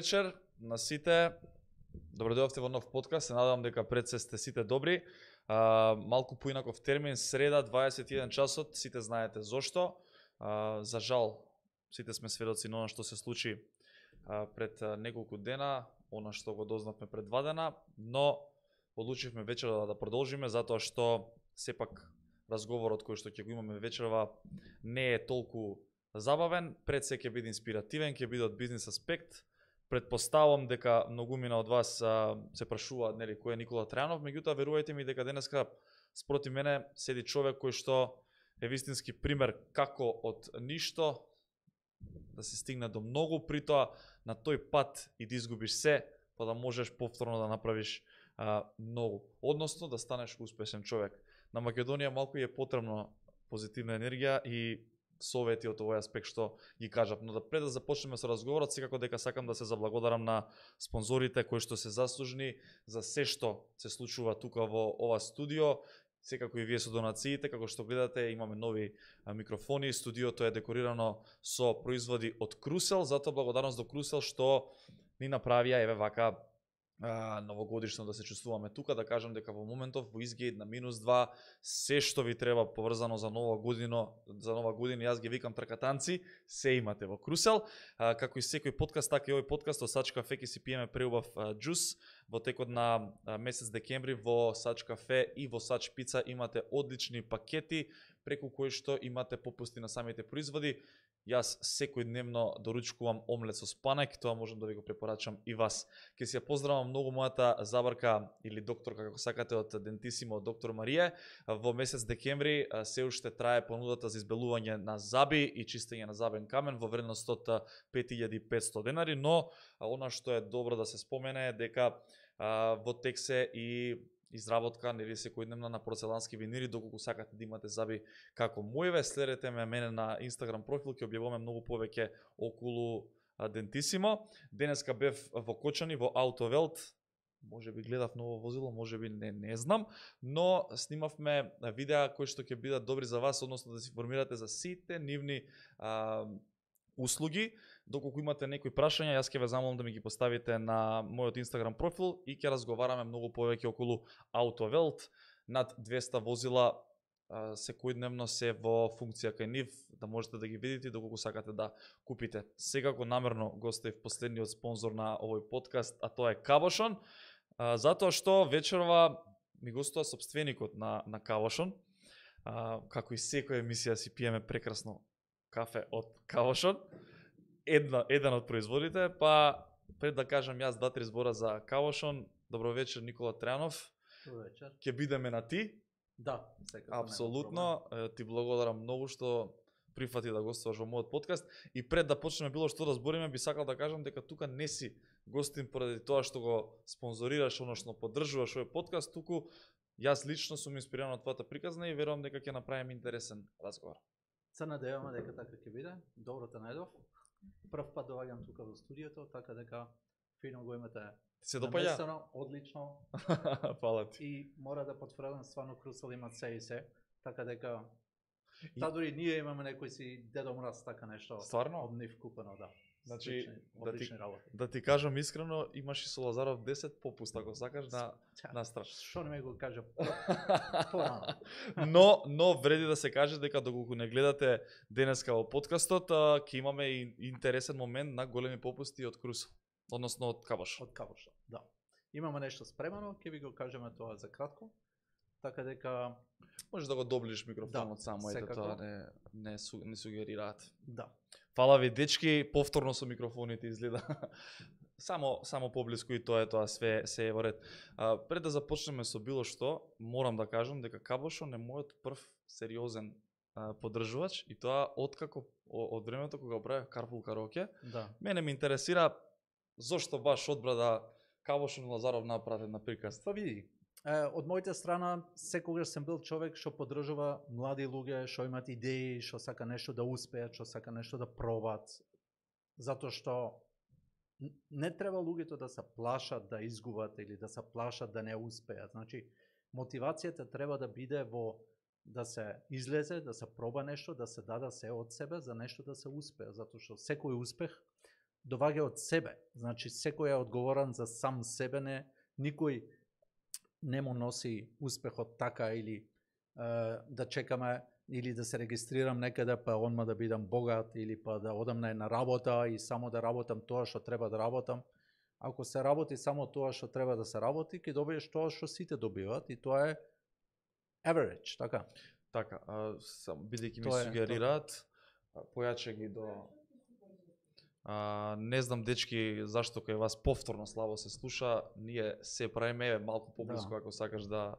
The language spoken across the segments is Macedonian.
вечер на сите. Добро дојдовте во нов подкаст. Се надевам дека пред се сте сите добри. Малку поинаков термин, среда, 21 часот, сите знаете зошто. За жал, сите сме сведоци на она што се случи пред неколку дена, она што го дознавме пред 2 дена, но одлучивме вечерва да продолжиме, затоа што сепак разговорот кој што ќе го имаме вечерва не е толку забавен, пред се ќе биде инспиративен, ќе биде од бизнис аспект. Предпоставам дека многумина од вас се прашуваат нели кој е Никола Трајанов, меѓутоа верувајте ми дека денеска спроти мене седи човек кој што е вистински пример како од ништо да се стигне до многу, притоа на тој пат и да изгубиш се, па да можеш повторно да направиш многу, односно да станеш успешен човек. На Македонија малку е потребно позитивна енергија и совети од овој аспект што ги кажав. Но да пред да започнеме со разговорот, секако дека сакам да се заблагодарам на спонзорите кои што се заслужни за се што се случува тука во ова студио. Секако и вие со донациите, како што гледате, имаме нови микрофони, студиото е декорирано со производи од Крусел, затоа благодарност до Крусел што ни направија еве вака новогодишно да се чувствуваме тука, да кажам дека во моментов во изглед на -2 се што ви треба поврзано за нова година, јас ги викам тркатанци, се имате во Крусел. Како и секој подкаст, така и овој подкаст од Сач кафе ќе си пиеме преубав џус. Во текот на месец декември во Сач кафе и во Сач пица имате одлични пакети преку кои што имате попусти на самите производи. Јас секојдневно доручкувам омлет со спанек, тоа можам да ви го препорачам и вас. Ке си ја поздравам многу мојата забарка или докторка, како сакате, од Дентисимо, доктор Марија. Во месец декември се уште трае понудата за избелување на заби и чистење на забен камен во вредност од 5500 денари, но она што е добро да се спомене е дека во тек се и изработка нели секојдневна на порцелански винири, доколку сакате да имате заби како мојве. Следете мене на Инстаграм профил, ќе објавуваме многу повеќе околу Дентисимо. Денеска бев во Кочани, во Аутовелт. Може би гледав ново возило, може би не знам, но снимавме видеа кои што ќе бидат добри за вас, односно да се информирате за сите нивни услуги. Доколку имате некои прашања, јас ќе ве замолам да ми ги поставите на мојот Инстаграм профил и ќе разговараме многу повеќе околу Аутовелт. Над 200 возила секојдневно се во функција кај нив, да можете да ги видите доколку сакате да купите. Секако намерно го оставив последниот спонзор на овој подкаст, а тоа е Кавошон, затоа што вечерва ми гостува сопственикот на Кавошон. Како и секоја емисија си пиеме прекрасно кафе од Кавошон. Еден од производите, па пред да кажам јас 2-3 збора за Кавошон. Добро вечер, Никола Трајанов. Добро вечер. Ќе бидеме на ти? Да, секако. Апсолутно. Ти благодарам многу што прифати да гостуваш во мојот подкаст. И пред да почнеме било што да збориме, би сакал да кажам дека тука не си гостин поради тоа што го спонзорираш, односно поддржуваш овој подкаст, туку јас лично сум инспириран од твојата приказна и верувам дека ќе направиме интересен разговор. Се надеваме дека така ќе биде. Добро те најдов. Прв пат доаѓам тука во студиото, така дека фино го имате. Се допаѓа? Наместено, одлично. Фала ти. И мора да потврдам, стварно Крусел има се и се, така дека дури ние имаме некој си Дедо Мраз, така нешто. Стварно? Од нив купено, да. Значи, одлични работи. Да ти кажам искрено, имаш и со Лазаров 10 попуст, ако сакаш на страш. Што не ме го кажа порано. Но вреди да се каже дека доколку не гледате денеска во подкастот, ќе имаме и интересен момент на големи попусти од Крусел, односно од Кавош. Од Кавош, да. Имаме нешто спремано, ќе ви го кажеме тоа за кратко. Така дека можеш да го доближиш микрофонот да, само, ете тоа не сугерираат. Да. Фала ви дечки, повторно со микрофоните изгледа. само поблиску и тоа све е во ред. Пред да започнеме со било што, морам да кажам дека Кавошон е мојот прв сериозен поддржувач и тоа откако од времето кога го правев Карпул Кароке. Да. Мене ме интересира зошто баш одбра да Кавошон Лазаров направи на приказ. Па види, од мојата страна секогаш сум бил човек што поддржува млади луѓе, што имаат идеи, што сака нешто да успеат, што сака нешто да пробат. Затоа што не треба луѓето да се плашат да изгубат или да се плашат да не успеат. Значи, мотивацијата треба да биде во да се излезе, да се проба нешто, да се даде се од себе за нешто да се успее, затоа што секој успех доваѓа од себе. Значи секој е одговорен за сам себе, никој не му носи успехот така или да чекаме или да се регистрирам некаде па онма да бидам богат или па да одам на една работа и само да работам тоа што треба да работам. Ако се работи само тоа што треба да се работи, ќе добиеш тоа што сите добиваат и тоа е average, така. Така, бидејќи ми сугерираат, појаче ги до... не знам, дечки, зашто кај вас повторно слабо се слуша, ние се правиме малку поблиску, ако сакаш да...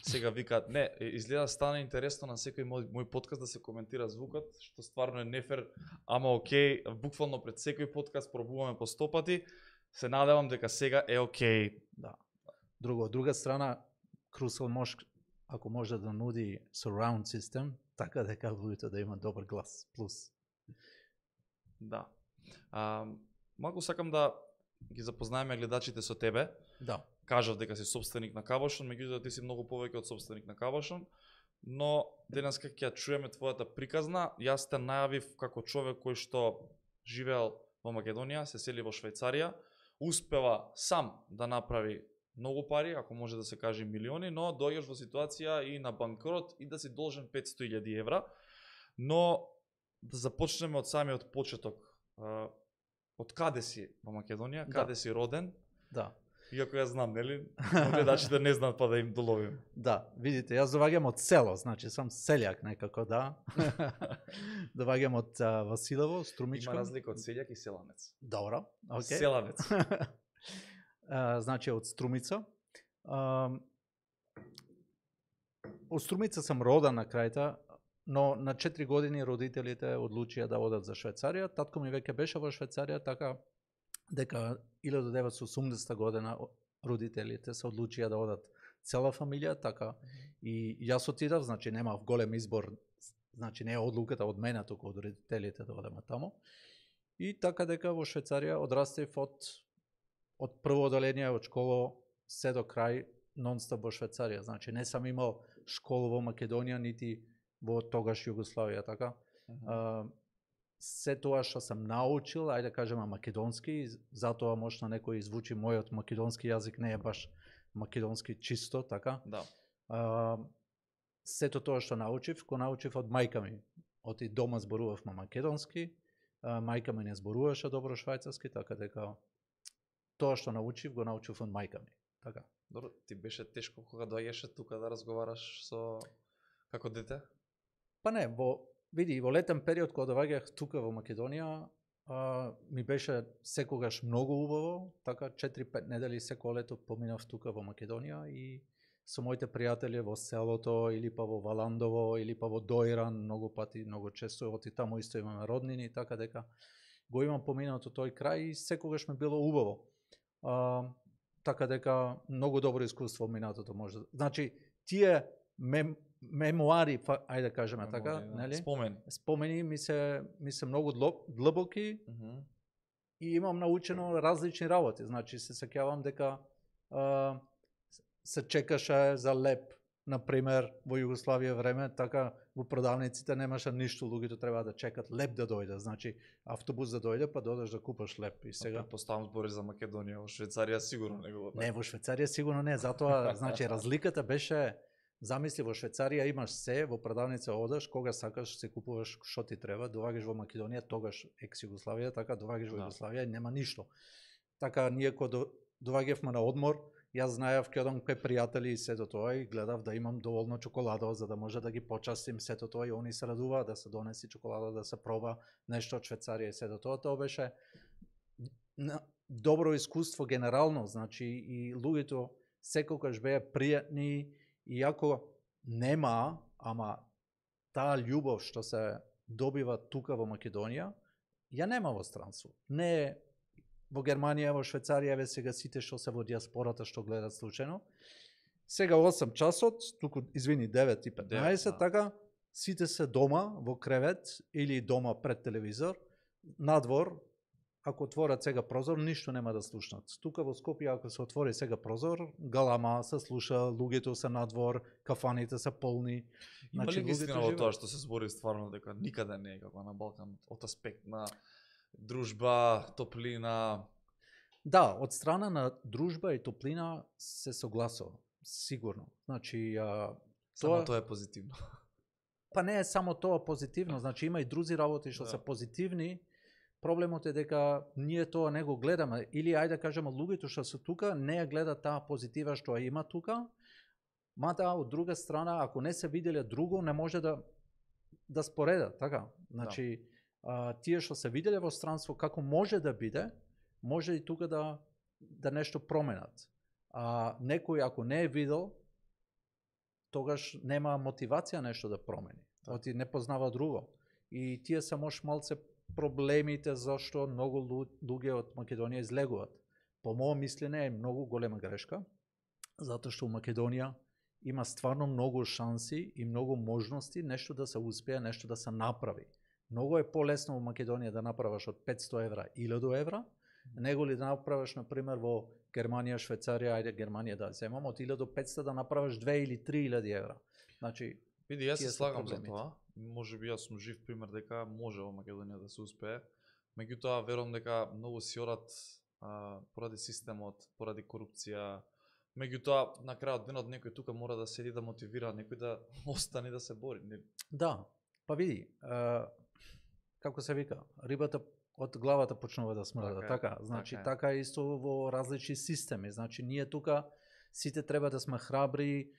Сега викаат, не, изгледа стана интересно на секој мој подкаст да се коментира звукот, што стварно е нефер, ама окей, буквално пред секој подкаст пробуваме по 100 пати, се надевам дека сега е окей. Да. Од друга страна, Crucial ако може да нуди surround system, така дека луѓето да има добар глас, плюс. Да. Малку сакам да ги запознаеме гледачите со тебе. Да. Кажав дека си собственик на Кавошон, меѓутоа ти си многу повеќе од собственик на Кавошон, но денеска ќе ја чуеме твојата приказна. Јас те најавив како човек кој што живеел во Македонија, се сели во Швајцарија, успева сам да направи многу пари, ако може да се каже милиони, но дојдеш во ситуација и на банкрот и да си должен 500.000 евра. Но да започнеме од самиот почеток. Од каде си во Македонија, каде си роден? Да. Иако ја знам, нели? Гледачите не знаат па да им доловим. Да, видите, јас доваѓам од село, значи сам селјак некако, да. Доваѓам од Василево, Струмичко. Има разлика од селјак и селанец. Добро, окей. Селанец. Значи од Струмица. Од Струмица сам роден на крајта, но на 4 години родителите одлучија да одат за Швајцарија. Татко ми веќе беше во Швајцарија, така дека 1980 година родителите се одлучија да одат цела фамилија, така и јас отидав, значи немав голем избор, значи не е одлуката од мене, туку од родителите да одеме тамо. И така дека во Швајцарија одрастев од прво одделение од школа се до крај нон-стоп во Швајцарија. Значи не сам имал школа во Македонија, нити во тогаш Југославија, така. Се тоа што сам научил, ајде да кажеме македонски, затоа можна некој звучи мојот македонски јазик не е баш македонски чисто, така. Да. Сето тоа што научив, го научив од мајка ми. Од и дома зборувавме македонски, мајка ми не зборуваше добро швајцарски, така дека тоа што научив, го научив од мајка ми. Така. Добро, ти беше тешко кога доаѓаше тука да разговараш со како дете? Па не, види, во летен период кога доаѓах тука во Македонија, ми беше секогаш многу убаво, така 4-5 недели секој лето поминав тука во Македонија и со моите пријатели во селото или па во Валандово или па во Доиран, многу пати, многу често оти таму исто имаме роднини, така дека го имам поминато тој крај и секогаш ми било убаво. Така дека многу добро искуство минатото може. Значи тие мемуари, ајде да кажеме така, нели? Спомени ми се многу длабоки и имам научено различни работи. Значи се сеќавам дека се чекаше за леп, например, во Југославија време, така во продавниците немаше ништо, луѓето треба да чекат леп да дојде. Значи автобус да дојде, па додеш да купаш леп и сега. Поставам збори за Македонија, во Швајцарија сигурно не го. Не, во Швајцарија сигурно не, затоа значи разликата беше. Замисли, во Швајцарија имаш се, во продавница одеш, кога сакаш се купуваш што ти треба, доаѓаш во Македонија, тогаш екс Југославија, така доаѓаш во Југославија и нема ништо. Така ние кога доаѓавме на одмор, јас знаев ќе одам кај пријатели и сето тоа и гледав да имам доволно чоколадо за да може да ги почастим сето тоа и они се радуваат да се донеси чоколада, да се проба нешто од Швајцарија и сето тоа. Тоа беше добро искуство генерално, значи и луѓето секогаш беа пријатни. Иако нема, ама таа љубов што се добива тука во Македонија, ја нема во странство. Не во Германија, во Швајцарија, сега сите што се во диаспората што гледат случајно. Сега 8 часот, туку извини 9 и 15, така сите се дома во кревет или дома пред телевизор, надвор. Ако отворат сега прозор, ништо нема да слушнат. Тука во Скопје, ако се отвори сега прозор, галама се слуша, луѓето се надвор, кафаните се полни. Има ли вистина во тоа што се збори стварно дека никаде не е како на Балкан од аспект на дружба, топлина. Да, од страна на дружба и топлина се согласувам, сигурно. Значи, Само тоа е позитивно. Па не е само тоа позитивно, значи има и други работи што се позитивни. Проблемот е дека ние тоа не го гледаме, или ајде да кажеме луѓето што се тука не ја гледат таа позитива што ја има тука, мада од друга страна ако не се виделе друго не може да споредат, така? Значи тие што се виделе во странство како може да биде, може и тука да нешто променат. Некој ако не е видел, тогаш нема мотивација нешто да промени. Оти не познава друго. И тие се може малце проблемите зашто многу луѓе од Македонија излегуваат. По моје мислење е многу голема грешка, затоа што у Македонија има стварно многу шанси и многу можности нешто да се успее, нешто да се направи. Многу е полесно во Македонија да направиш од 500 евра 1000 евра, него ли да направиш, например, во Германија, Швајцарија, ајде Германија да земам, од 1500 да направиш 2 или 3000 евра. Значи, види, јас се слагам за тоа. Може би јас сум жив пример дека може во Македонија да се успее. Меѓутоа, верувам дека многу си орат поради системот, поради корупција. Меѓутоа, на крајот денот некој тука мора да седи да мотивира некој да остане да се бори. Да, па види, како се вика, рибата од главата почнува да смрда, така. Значи, така е исто во различни системи. Значи, ние тука сите треба да сме храбри,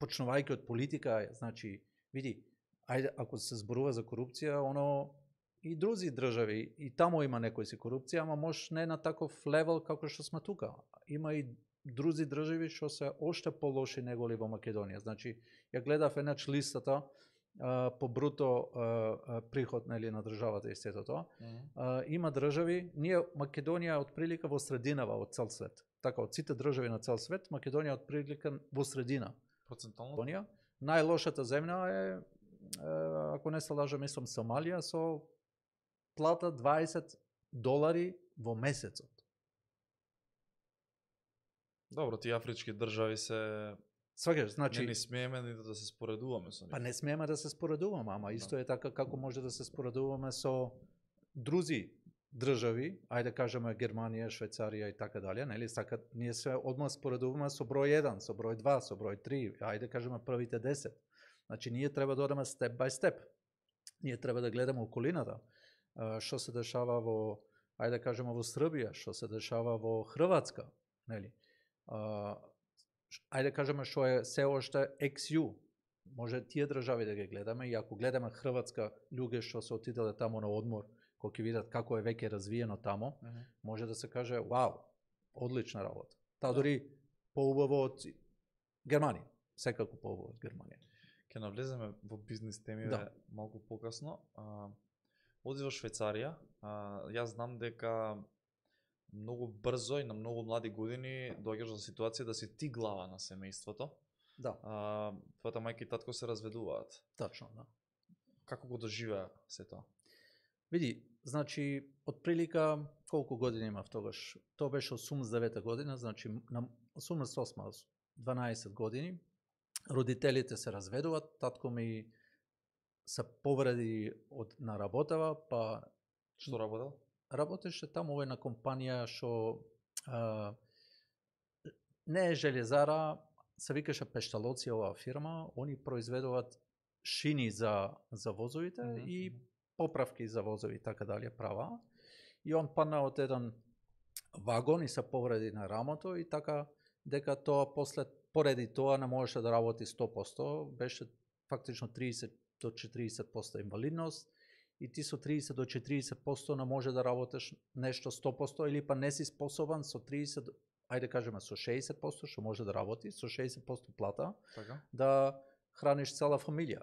почнувајќи од политика. Значи, види, ајде, ако се зборува за корупција, оно и други држави, и таму има некој си корупција, ама може не на таков левел како што сме тука. Има и други држави што се оште полоши неголи во Македонија. Значи, ја гледав еднач листата по бруто приход на државата и сето тоа. Има држави, ние Македонија од прилика во срединава од цел свет. Така, од сите држави на цел свет, Македонија од прилика во средина. Процентално? Најлошата земја е, ако не се лажам, мислам Сомалија, со плата $20 во месецот. Добро, тие афрички држави се... Сваќаш, значи... Не смееме да се споредуваме со нив. Па не смееме да се споредуваме, ама исто е така како може да се споредуваме со други држави, ајде кажеме Германија, Швајцарија и така дале, нели? Сакат ние се одма споредуваме со број 1, со број 2, со број 3, ајде кажеме првите 10. Значи ние треба да одеме степ бај степ. Ние треба да гледаме околината, што се дешава во, ајде кажеме во Србија, што се дешава во Хрватска, нели? Ајде кажеме што е се оште XU. Може тие држави да ги гледаме, и ако гледаме Хрватска, луѓе што се отиделе таму на одмор, кога ќе видат како е веќе развиено тамо, може да се каже, вау, одлична работа. Таа дори поубаво од Германија, секако поубаво од Германија. Ќе навлеземе во бизнис темиве малку покасно. Оди во Швајцарија, јас знам дека многу брзо и на многу млади години доаѓаш до ситуација да си ти глава на семејството. Да. Твојата мајка и татко се разведуваат. Точно, да. Како го доживеа се тоа? Види, значи, од прилика колку години имав тогаш? Тоа беше 89 година, значи на 88, 12 години. Родителите се разведуваат, татко ми се повреди на работава, па... Што работел? Работеше таму во една компанија што не е железара, се викаше Пешталоци оваа фирма, они произведуваат шини за возовите и поправки за возови, така дали права. И он падна од еден вагон и се повреди на рамото и така дека тоа после поради тоа не можеше да работи 100%, беше фактично 30 до 40% инвалидност и ти со 30 до 40% не може да работиш нешто 100% или па не си способен со 30, ајде кажеме со 60%, што може да работи, со 60% плата, така? Да храниш цела фамилија.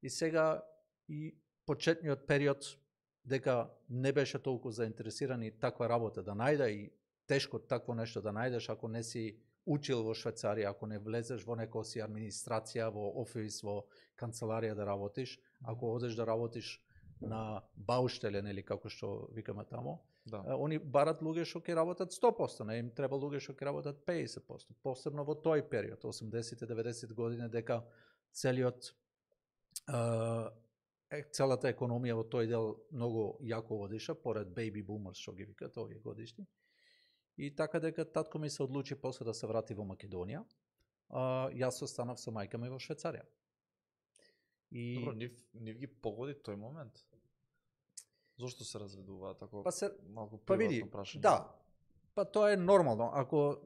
И сега и почетниот период дека не беше толку заинтересирани таква работа да најде и тешко такво нешто да најдеш ако не си учил во Швајцарија, ако не влезеш во некоја си администрација, во офис, во канцеларија да работиш, ако одеш да работиш на бауштелен или како што викаме тамо, они барат луѓе што ќе работат 100%, не им треба луѓе што ќе работат 50%, посебно во тој период, 80-90 години, дека целиот целата економија во тој дел многу јако водиша, поред baby boomers што ги викат овие годишни. И така дека татко ми се одлучи после да се врати во Македонија, јас останав со мајка ми во Швајцарија. И Добро, нив ги погоди тој момент. Зошто се разведуваат ако малку види, прашање? да. Па тоа е нормално. Ако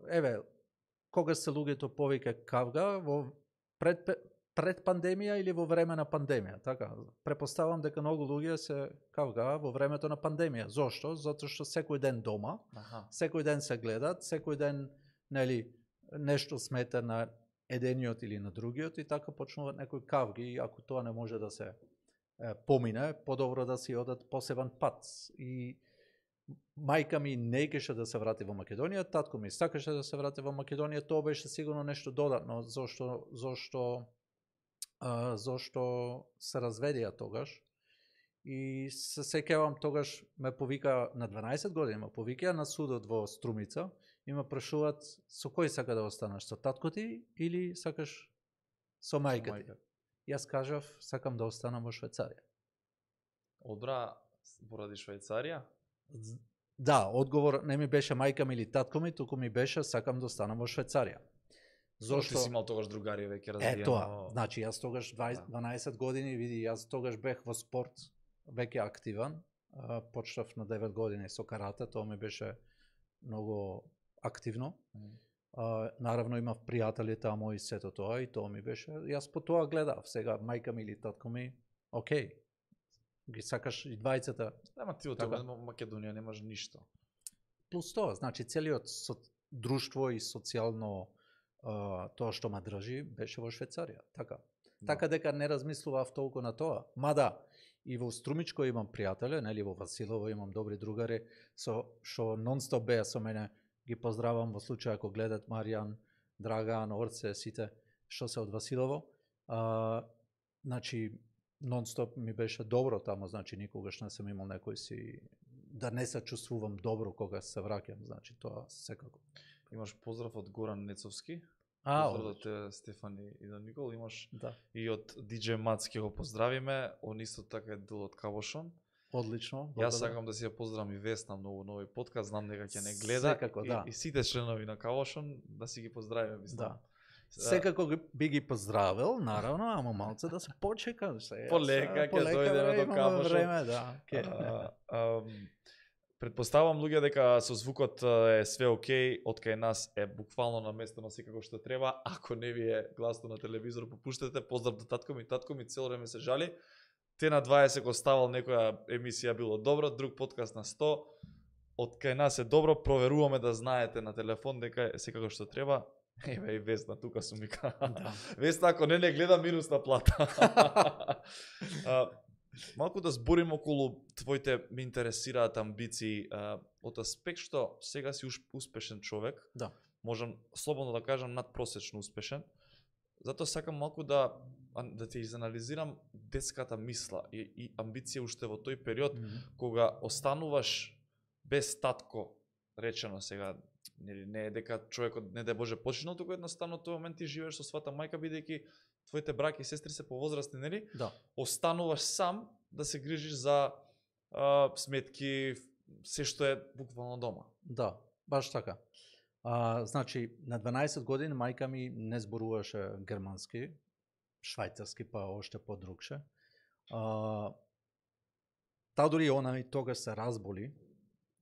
кога се луѓето повеќе кавга во пред пандемија или во време на пандемија, така? Препоставам дека многу луѓе се кавга во времето на пандемија. Зошто? Затоа што секој ден дома, секој ден се гледат, секој ден нешто смета на едениот или на другиот и така почнуваат некои кавги и ако тоа не може да се помине, подобро да си одат посебен пат. И мајка ми не искаше да се врати во Македонија, татко ми сакаше да се врати во Македонија, тоа беше сигурно нешто додатно, зошто се разведија тогаш. И се сеќавам тогаш ме повика на 12 години, ме повика на судот во Струмица и ме прашуваат со кој сака да останеш, со татко ти или сакаш со мајка ти? Јас кажав, сакам да останам во Швајцарија. Одбра поради Швајцарија? Да, одговор не ми беше мајка ми или татко ми, туку ми беше сакам да останам во Швајцарија. Зошто? Ти си имал тогаш другари веќе развиено? Тоа, значи јас тогаш 12 години, види, јас тогаш бех во спорт веќе активан, почнав на 9 години со карате, тоа ми беше многу активно. Наравно имав пријатели таму и сето тоа и тоа ми беше, јас по тоа гледав, сега мајка ми или татко ми, окей, ги сакаш и двајцата. Ама ти од Македонија немаш ништо. Плюс тоа, значи целиот друштво и социјално тоа што ме држи беше во Швајцарија, така. Така дека не размислував толку на тоа. Мада и во Струмичко имам пријатели, нели во Василово имам добри другари што нон-стоп беа со мене. Ги поздравам во случај ако гледат Маријан, Драган, Орце, сите што се од Василово. Значи нон-стоп ми беше добро таму, значи никогаш не сум имал некој си да не се чувствувам добро кога се враќам, значи тоа секако. Имаш поздрав од Горан Нецовски. Поздрав од те Стефани и да Никол, имаш и од DJ Мацки го поздравиме, он исто така е дел од Кавошон. Одлично. Јас сакам да си ја поздравам и Весна многу нови подкаст, знам дека ќе не гледа. Секако, да. И сите членови на Кавошон да си ги поздравиме, мислам. Секако би ги поздравил, наравно, ама малце да се почека. Полека ќе дојдеме до Кавошон. Предпоставам луѓе дека со звукот е све окей, од кај нас е буквално наместено секако што треба. Ако не ви е гласно на телевизор, попуштете. Поздрав до татко ми цело време се жали. Те на 20 го ставал некоја емисија било добро, друг подкаст на 100. Од кај нас е добро, проверуваме да знаете на телефон дека е секако што треба. Еве и Весна, тука сум мика. Весна, ако не гледа минус на плата. Малку да зборим околу твоите ме интересираат амбиции од аспект што сега си успешен човек. Да. Можам слободно да кажам надпросечно успешен. Затоа сакам малку да те изанализирам детската мисла и амбиција уште во тој период кога остануваш без татко, речено сега, не е дека човекот не да Боже починал, туку едноставно тој момент ти живееш со својата мајка бидејќи твоите браќа и сестри се повозрастни, нели? Да. Остануваш сам да се грижиш за сметки, се што е буквално дома. Да, баш така. Значи, на 12 години мајка ми не зборуваше германски, швајцарски, па оште подругше. Та дури она и тогаш се разболи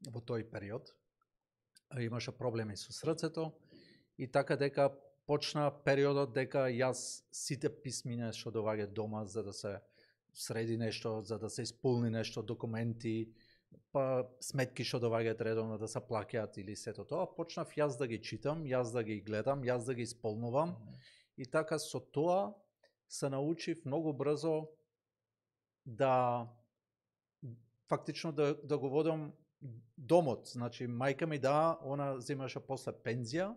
во тој период. Имаше проблеми со срцето и така дека почна периодот дека јас сите писмиња што доаѓаат дома за да се среди нешто, за да се исполни нешто, документи, па сметки што доаѓаат редовно да се плаќаат или сето тоа, почнав јас да ги читам, јас да ги гледам, јас да ги исполнувам и така со тоа се научив многу брзо да фактично да го водам домот. Значи мајка ми она земаше после пензија,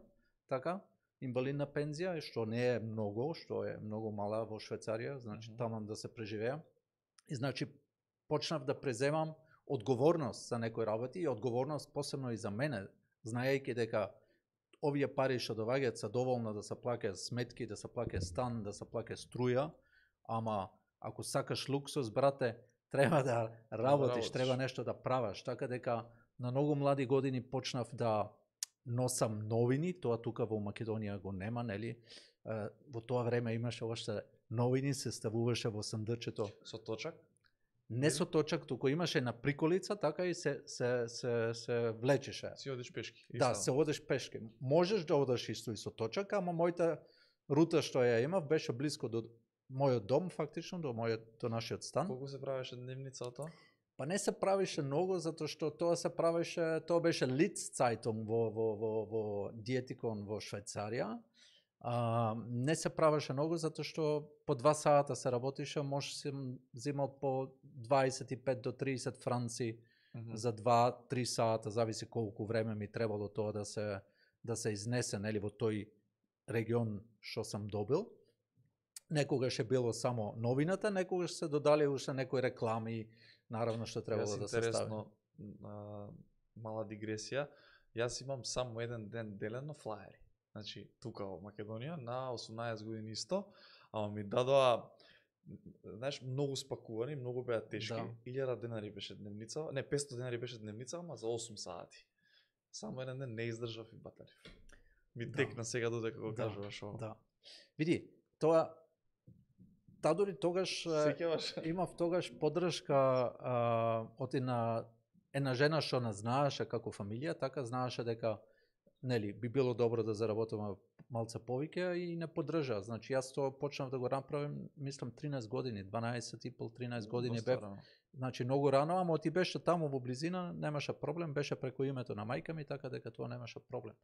така, инвалидна пензија, што не е многу, што е многу мала во Швајцарија, значи таму да се преживеа. И значи почнав да преземам одговорност за некои работи и одговорност посебно и за мене, знаејќи дека овие пари што доаѓаат се доволно да се плаќаат сметки, да се плаќа стан, да се плаќа струја, ама Ако сакаш луксус, брате, треба да работиш, треба нешто да правиш. Така дека на многу млади години почнав да носам новини, тоа тука во Македонија го нема, нели? Во тоа време имаше уште новини, се ставуваше во сандачето. Со точак? Не со точак, туку имаше на приколица, така и се влечеше. Си одиш пешки. Да, се одиш пешки. Можеш да одиш исто и со точак, ама мојата рута што ја имав беше близко до мојот дом, фактично, до нашиот стан. Колку се правеше дневница од тоа? Па не се правише многу, затоа што тоа се правише, тоа беше Litz-Zeitung во Диетикон во Швајцарија. Не се правеше многу, затоа што по 2 сата се работише, може се взимал по 25 до 30 франци за 2-3 сата, зависи колку време ми требало тоа да се изнесе, нели, во тој регион што сам добил. Некогаш е било само новината, некогаш се додали уште некои реклами, наравно што требало да се стави. Интересно, мала дигресија, јас имам само еден ден делено флаери. Значи, тука во Македонија, на 18 години исто, ама ми дадоа, знаеш, многу спакувани, многу беа тешки. Да. 1000 денари беше дневница, не, 500 денари беше дневница, ама за 8 сати. Само еден ден не издржав и батарив. Ми текна сега додека го кажуваш ово. Да. Види, тоа дори тогаш имав тогаш поддршка од една жена што не знаеше како фамилија, така знаеше дека нели би било добро да заработиме малце повеќе и не поддржа. Значи јас тоа почнав да го направим, мислам 13 години, 12 и пол 13 години бев. Значи многу рано, ама ти беше таму во близина, немаше проблем, беше преку името на мајка ми, така дека тоа немаше проблем.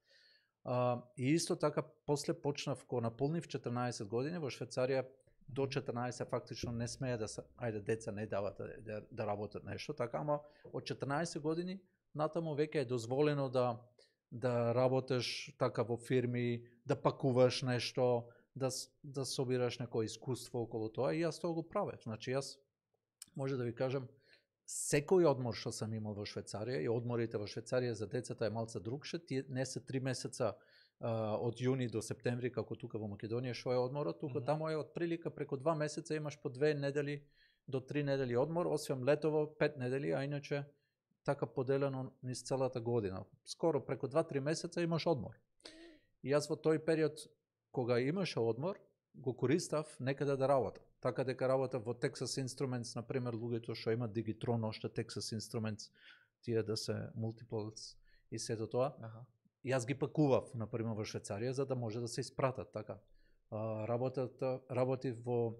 И исто така после почнав кога наполнив 14 години во Швајцарија. До 14 фактично не смее да се, ајде деца не дават да работат нешто, така, ама од 14 години натаму веќе е дозволено да работиш така во фирми, да пакуваш нешто, да собираш некој искуство околу тоа и јас тоа го правев. Значи јас може да ви кажам секој одмор што сам имал во Швајцарија и одморите во Швајцарија за децата е малце другше, тие не се 3 месеца од јуни до септември како тука во Македонија што е одморот, тука таму е од прилика преку 2 месеца имаш по 2 недели до 3 недели одмор, освен летово 5 недели, а иначе така поделено низ целата година. Скоро преку 2-3 месеца имаш одмор. И јас во тој период кога имаше одмор, го користав некаде да работам. Така дека работав во Texas Instruments, например, луѓето што имаат Digitron, оште Texas Instruments, тие да се multiples и сето тоа. Јас ги пакував, например, во Швајцарија, за да може да се испратат, така. Работив во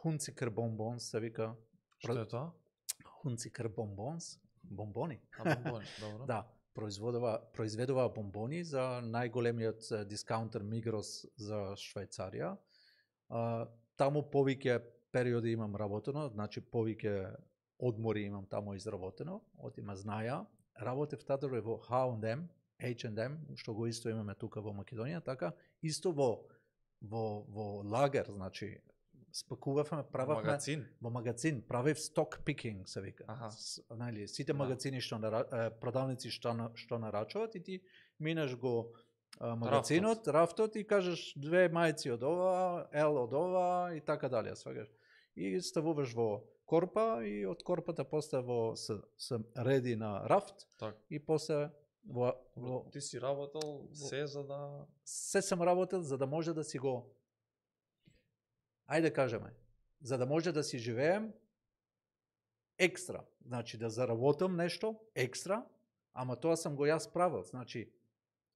Hunziker Bonbons, се вика. Што е тоа? Hunziker Bonbons, бомбони. Бомбони, добро. Да, произведува бомбони за најголемиот дискаунтер Migros за Швајцарија. Таму повеќе периоди имам работено, значи повеќе одмори имам таму изработено, од има знаја. Работев тадор во H&M, што го исто имаме тука во Македонија, така, исто во лагер, значи, спакувавме, прававме во магазин, правев stock picking, се вика. Најли, сите магазини што продавници што нарачуваат и ти минеш го магазинот, рафтот и кажеш 2 мајци од ова, L од ова и така дале, свагаш. И ставуваш во корпа и од корпата после се реди на рафт и после Ти си работел се за да... Се сам работел за да може да си го... Ајде кажеме, за да може да си живеем екстра. Значи да заработам нешто екстра, ама тоа сам го јас правил. Значи,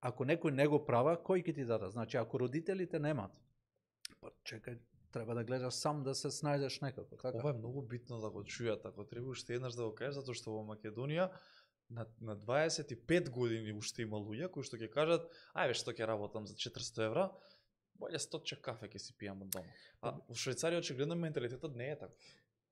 ако некој не го права, кој ќе ти даде? Значи, ако родителите немат, па чекај, треба да гледаш сам да се снајдеш некако. Така? Ова е многу битно да го чујат, ако треба уште еднаш да го кажеш, затоа што во Македонија на 25 години уште има луѓе кои што ќе кажат, ајде што ќе работам за 400 евра, боле 100 кафе ќе си пијам од дома. А во Швајцарија очигледно менталитетот не е таков.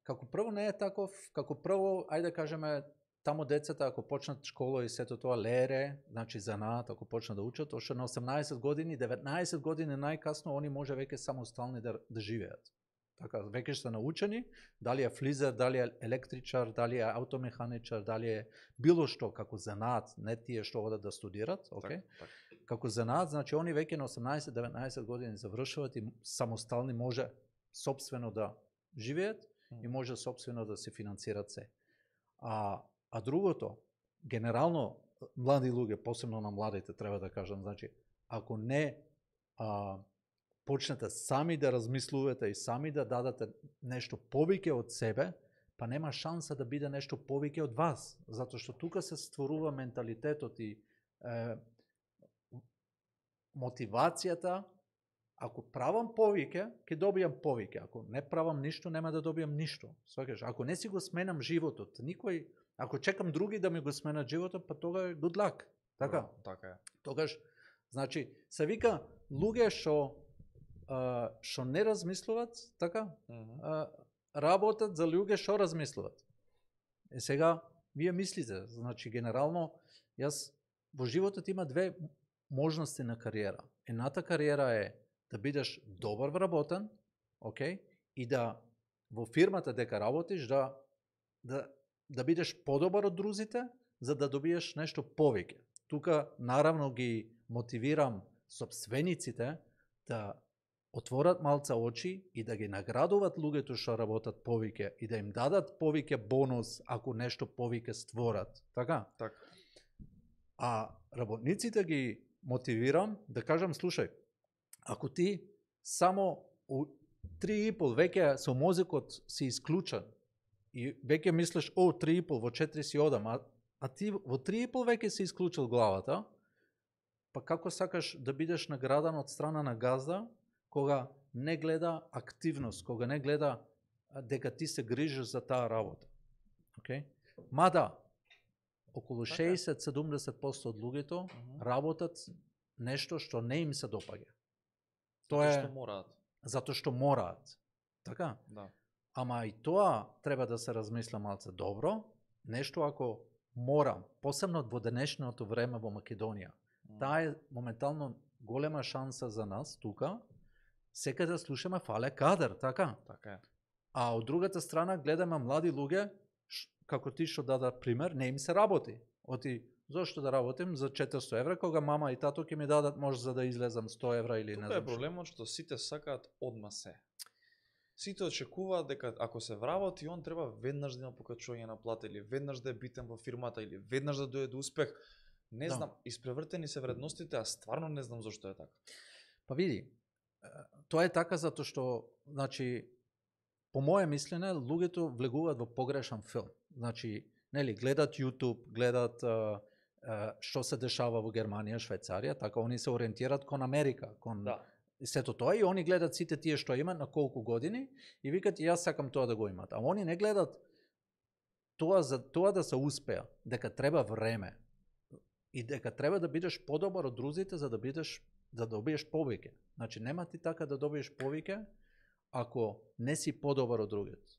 Како прво не е таков, како прво, ајде да кажеме, таму децата ако почнат школа и сето тоа лере, значи занаат, ако почнат да учат, ошто на 18 години, 19 години најкасно они може веќе самостални да живеат. Така, веќе се научени, дали е флизер, дали е електричар, дали е аутомеханичар, дали е било што како занаат, не тие што одат да студират, окей? Како занаат, значи они веќе на 18-19 години завршуваат и самостални може собствено да живеат и може сопствено да се финансират се. А другото, генерално млади луѓе, посебно на младите треба да кажам, значи ако не почнете сами да размислувате и сами да дадете нешто повеќе од себе, па нема шанса да биде нешто повеќе од вас, затоа што тука се створува менталитетот и мотивацијата. Ако правам повеќе, ќе добијам повеќе. Ако не правам ништо, нема да добијам ништо. Сваќаш, ако не си го сменам животот, никој, ако чекам други да ми го сменат животот, па тога е good luck. Така? Така е. Тогаш, значи, се вика луѓе што не размислуват, така? Работат за луѓе што размислуват. Сега, вие мислите, значи, генерално, јас во животот има две можности на кариера. Едната кариера е да бидеш добар вработен, окей, и да во фирмата дека работиш да бидеш подобар од друзите, за да добиеш нешто повеќе. Тука наравно ги мотивирам сопствениците да отворат малца очи и да ги наградуваат луѓето што работат повеќе и да им дадат повеќе бонус ако нешто повеќе створат. Така? Така. А работниците ги мотивирам да кажам, слушај, ако ти само 3,5 веќе со мозокот си исклучен и веќе мислиш, 3,5 во 4 си одам, а ти во 3,5 веќе си исклучил главата, па како сакаш да бидеш наградан од страна на газда, кога не гледа активност, кога не гледа дека ти се грижиш за таа работа. Okay? Мада, околу 60-70% од луѓето работат нешто што не им се допаѓа. Тоа е што мораат. Затоа што мораат. Така? Да. Ама и тоа треба да се размисля малце добро. Нешто ако морам, посебно во денешното време во Македонија. Таа е моментално голема шанса за нас тука. Секаде слушаме фале кадар, така? Така е. А од другата страна гледаме млади луѓе, како ти што даде пример, не им се работи. Оти, зошто да работим за 400 евра, кога мама и тато ќе ми дадат може за да излезам 100 евра или тука не знам. Тука е проблемот што сите сакаат одма се. Сите очекуваат дека ако се вработи, он треба веднаш да има покачување на плата или веднаш да е битен во фирмата или веднаш да дојде до успех. Не знам, испревртени се вредностите, а стварно не знам зошто е така. Па види, тоа е така затоа што, значи, по моје мислене, луѓето влегуваат во погрешен филм. Значи, нели, гледат YouTube, гледат што се дешава во Германија, Швајцарија, така они се ориентираат кон Америка, кон сето тоа и они гледат сите тие што имаат на колку години и викат јас сакам тоа да го имат. А они не гледат тоа за тоа да се успеа, дека треба време и дека треба да бидеш подобар од друзите за да добиеш повеќе. Значи нема ти така да добиеш повеќе ако не си подобар од другите.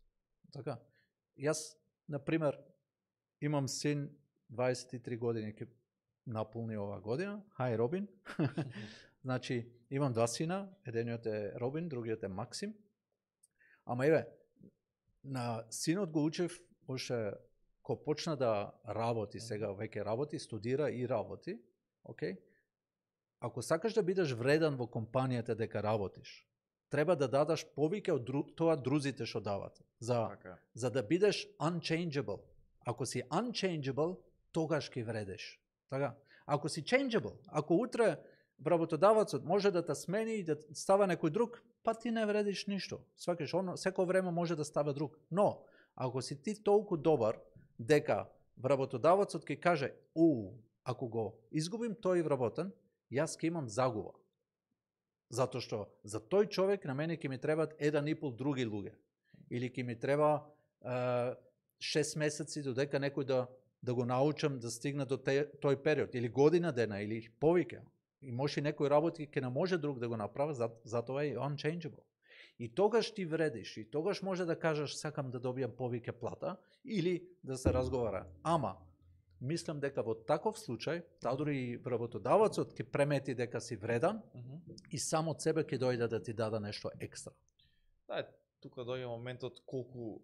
Така. Јас на пример имам син 23 години ќе наполни ова година. Хај Робин. Значи имам два сина, едениот е Робин, другиот е Максим. Ама еве, на синот го учев още кога почна да работи, сега веќе работи, студира и работи, окей? Ако сакаш да бидеш вреден во компанијата дека работиш, треба да дадаш повеќе од тоа друзите што дават. За да бидеш unchangeable. Ако си unchangeable, тогаш ќе вредеш. Така? Ако си changeable, ако утре работодавецот може да те смени и да става некој друг, па ти не вредиш ништо. Свакаш, секој време може да става друг. Но, ако си ти толку добар, дека работодавецот ќе каже, ако го изгубим тој вработен, јас ќе имам загуба. Затоа што за тој човек на мене ќе ми требаат 1,5 други луѓе. Или ќе ми треба 6 месеци додека некој да го научам да стигне до тој период. Или година дена, или повеќе. И може некој работи ќе не може друг да го направи, затоа е unchangeable. И тогаш ти вредиш, и тогаш може да кажеш сакам да добијам повеќе плата, или да се разговара. Ама, мислам дека во таков случај, дури и работодавецот ќе премети дека си вредан и само од себе ќе дојде да ти даде нешто екстра. Да, тука доаѓа моментот колку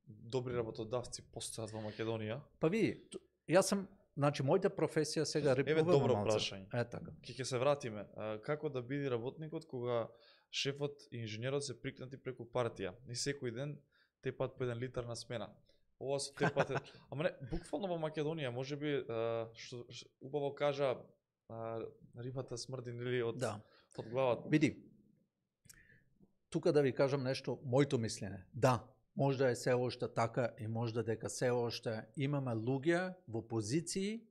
добри работодавци постојат во Македонија. Па види, јас сум, значи мојата професија сега рипувам малце. Еве добро прашање. Така. Ќе се вратиме. Како да биде работникот кога шефот и инженерот се прикнати преку партија и секој ден тепат по 1 литар на смена. Ова со тепат ама не, буквално во Македонија можеби што убаво кажа рибата смрди нели од од главата. Види. Тука да ви кажам нешто, моето мислење. Да, можда е се оште така и можда дека се оште имаме луѓе во позиции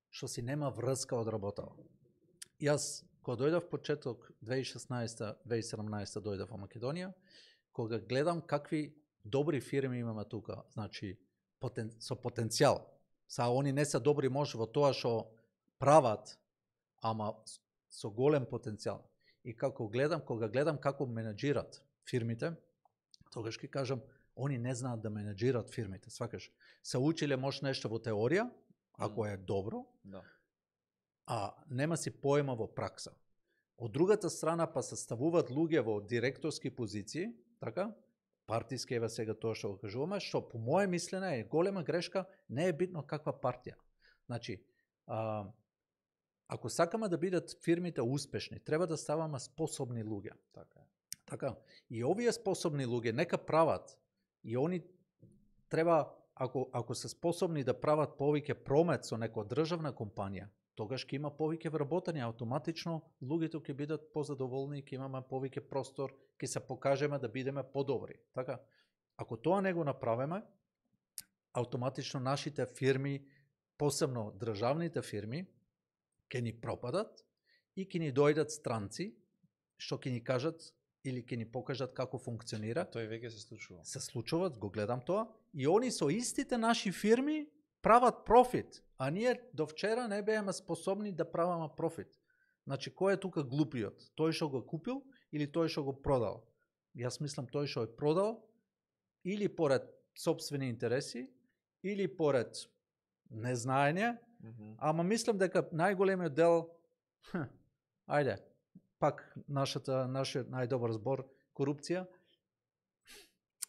што си нема врска од работа. Јас кога дојдов почеток 2016-2017 дојдов во Македонија, кога гледам какви добри фирми имаме тука, значи со потенцијал. Они не се добри може во тоа што прават, ама со голем потенцијал. И кога гледам како менеджират фирмите, тогаш ќе кажам, они не знаат да менеджират фирмите, свакаш. Се училе може нешто во теорија, ако е добро, а нема си поема во пракса. Од другата страна па се ставуваат луѓе во директорски позиции, така, партиски еве сега тоа што го кажуваме, што по моје мислене е голема грешка, не е битно каква партија. Значи, ако сакаме да бидат фирмите успешни, треба да ставаме способни луѓе. Така. И овие способни луѓе нека прават и они треба, ако се способни да прават повеќе промет со некоја државна компанија, тогаш ќе има повеќе вработени, автоматично луѓето ќе бидат позадоволни, ќе имаме повеќе простор, ќе се покажеме да бидеме подобри. Така, ако тоа не го направиме, автоматично нашите фирми, посебно државните фирми, ќе ни пропадат и ќе ни дојдат странци што ќе ни кажат или ќе ни покажат како функционира. Тоа веќе се случува. Се случуваат, го гледам тоа, и они со истите наши фирми прават профит, а ние до вчера не бееме способни да правиме профит. Значи, кој е тука глупиот? Тој што го купил или тој што го продал? Јас мислам тој што е продал или поред сопствени интереси, или поред незнаење, ама мислам дека најголемиот дел, ајде, пак нашиот најдобар збор, корупција,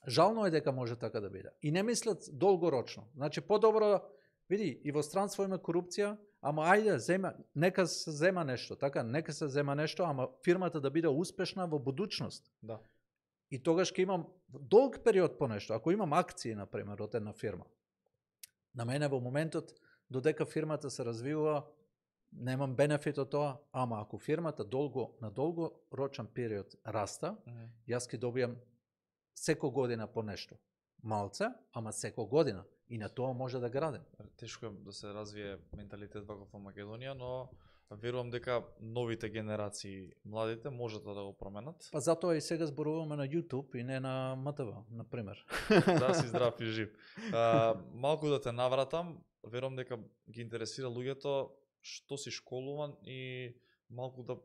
жално е дека може така да биде. И не мислат долгорочно. Значи, подобро, види, и во странство има корупција, ама ајде, нека се зема нешто, така, нека се зема нешто, ама фирмата да биде успешна во будучност. Да. И тогаш ќе имам долг период по нешто. Ако имам акции, например, од една фирма, на мене во моментот, додека фирмата се развива, немам бенефит од тоа, ама ако фирмата на долгорочен период раста, јас ќе добијам секој година по нешто. Малце, ама секој година. И на тоа може да градим. Тешко е да се развие менталитет ваков во Македонија, но верувам дека новите генерации, младите, можат да го променат. Па затоа и сега зборуваме на YouTube и не на МТВ, например. Да си здрав и жив. Малку да те навратам, верувам дека ги интересира луѓето што си школуван и малку да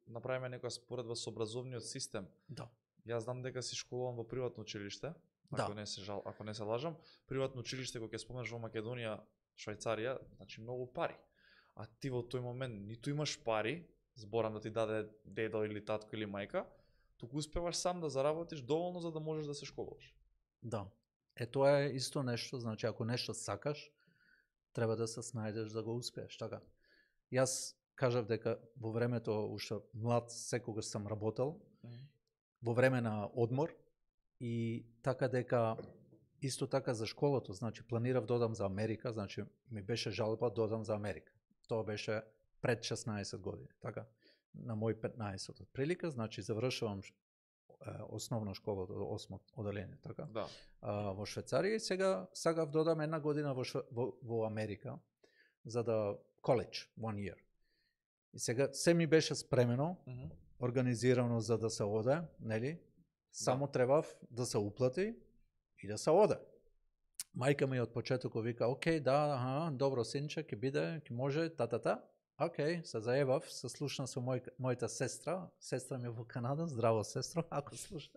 направиме некоја споредба со образовниот систем. Да. Јас знам дека си школуван во приватно училиште, ако не се лажам. Приватно училиште, кога ќе споменеш во Македонија, Швајцарија, значи многу пари. А ти во тој момент ниту имаш пари, зборам да ти даде дедо или татко или мајка, туку успеваш сам да заработиш доволно за да можеш да се школуваш. Да. Тоа е исто нешто, значи ако нешто сакаш, треба да се снајдеш да го успееш, така. Јас кажав дека во времето уште млад секогаш сам работел, во време на одмор, и така дека исто така за школото, значи планирав да одам за Америка, значи ми беше жалба да одам за Америка. Тоа беше пред 16 години, така, на мој 15 отприлика, значи завршувам основна школа до 8 оделение, така, да. Во Швајцарија, и сега сакав да одам една година во Америка, за да college, 1 year. И сега се ми беше спремено, организирано за да се оде, нели? Само требав да се уплати и да се оде. Мајка ми од почетокот вика, окей, да, добро синче, ќе биде, ќе може, та. Окей, се заебав, се слушна со мојата сестра ми е во Канада, здраво сестро, ако слуша,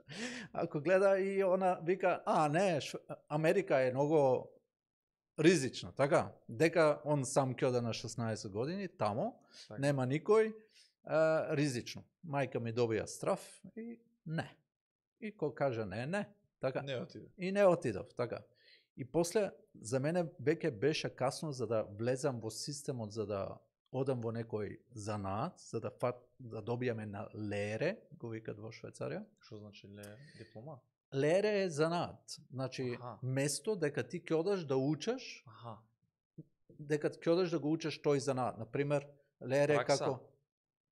ако гледа, и она вика, не, Америка е многу ризична, така, дека он сам ќе оде на 16 години, тамо, так. Нема никој, ризично. Мајка ми добија страв и не. И кој каже не, така. Не отидов. И не отидов, така. И после, за мене веќе беше касно за да влезам во системот, за да одам во некој занаат, за да добијаме на лере, го викат во Швајцарија. Што значи лере? Диплома? лере е занаат. Значи, Аха. место дека ти ќе одаш да учиш, Аха. дека ќе одаш да го учиш тој занаат. Например, лере Пракса? како...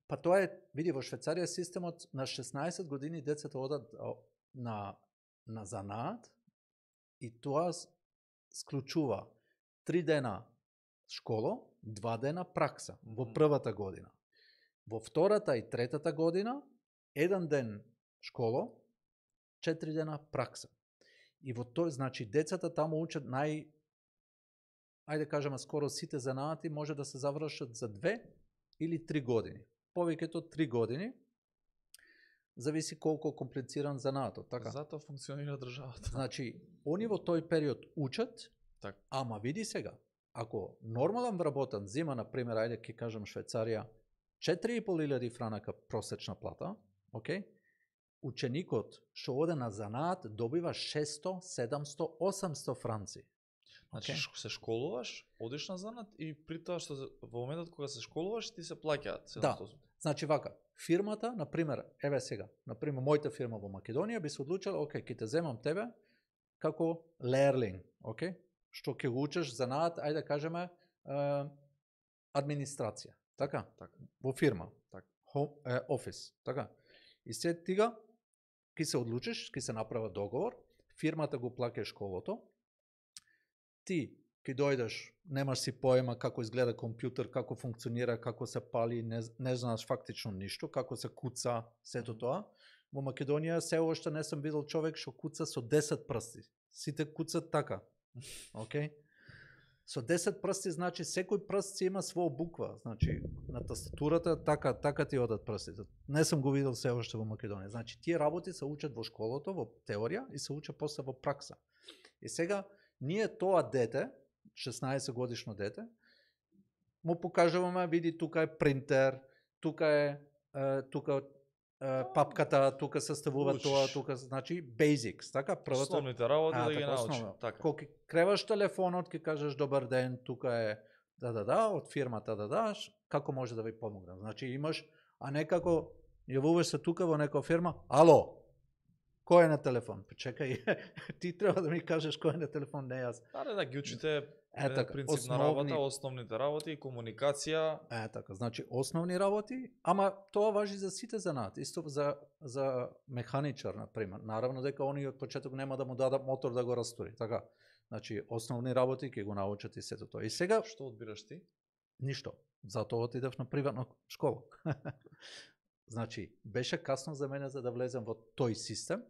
Па тоа е, види, во Швейцарија системот на 16 години децата одат на занаат и тоа склучува 3 дена школа, 2 дена пракса во првата година. Во втората и третата година, 1 ден школа, 4 дена пракса. И во тој, значи, децата таму учат ајде кажеме, скоро сите занаати може да се завршат за 2 или 3 години. Повеќето 3 години, зависи колку комплициран занаатот, така? Затоа функционира државата. Значи, они во тој период учат, Так. ама види сега, ако нормален вработен зима, например, ајде ќе кажам Швейцарија, 4.500 франака просечна плата, окей? Ученикот што оде на занаат добива 600, 700, 800 франци. Значи, Okay. се школуваш, одиш на занат и при тоа што во моментот кога се школуваш ти се плаќаат. Да. Значи вака, фирмата, например, еве сега, например, мојата фирма во Македонија би се одлучила, окей, ќе те земам тебе како лерлинг, окей? Што ќе го учиш занаат, ајде да кажеме, администрација, така? Така. Во фирма, Така. офис, така? И се тига ќе се одлучиш, ќе се направи договор, фирмата го плаќа школото, ти ќе дојдеш, немаш си поема како изгледа компјутер, како функционира, како се пали, не знаеш фактично ништо, како се куца, сето тоа. Во Македонија се уште не сум видел човек што куца со 10 прсти. Сите куцат така. Океј? Со 10 прсти значи секој прст си има своја буква, значи на тастатурата така ти одат прстите. Не сум го видел се уште во Македонија. Значи тие работи се учат во школото, во теорија и се учат после во пракса. И сега ние тоа дете, 16 годишно дете, му покажуваме, види тука е принтер, тука е папката, тука се ставува тоа, тука, значи basics, така? Првото основните работи да ги научи. Така. Кога креваш телефонот, ќе кажеш добар ден, тука е од фирмата како може да ви помогнам? Значи имаш, а не како јавуваш се тука во некоја фирма, ало, кој е на телефон? Чекај, ти треба да ми кажеш кој е на телефон, не јас. Да ги учите така, принцип на работа, основните работи, комуникација. Така, значи основни работи, ама тоа важи за сите занаати, исто за механичар, например. Наравно дека они од почеток нема да му дадат мотор да го растури, така. Значи основни работи ќе го научат и сето тоа. И сега Што одбираш ти? Ништо. Затоа отидев на приватна школа. Значи, беше касно за мене за да влезем во тој систем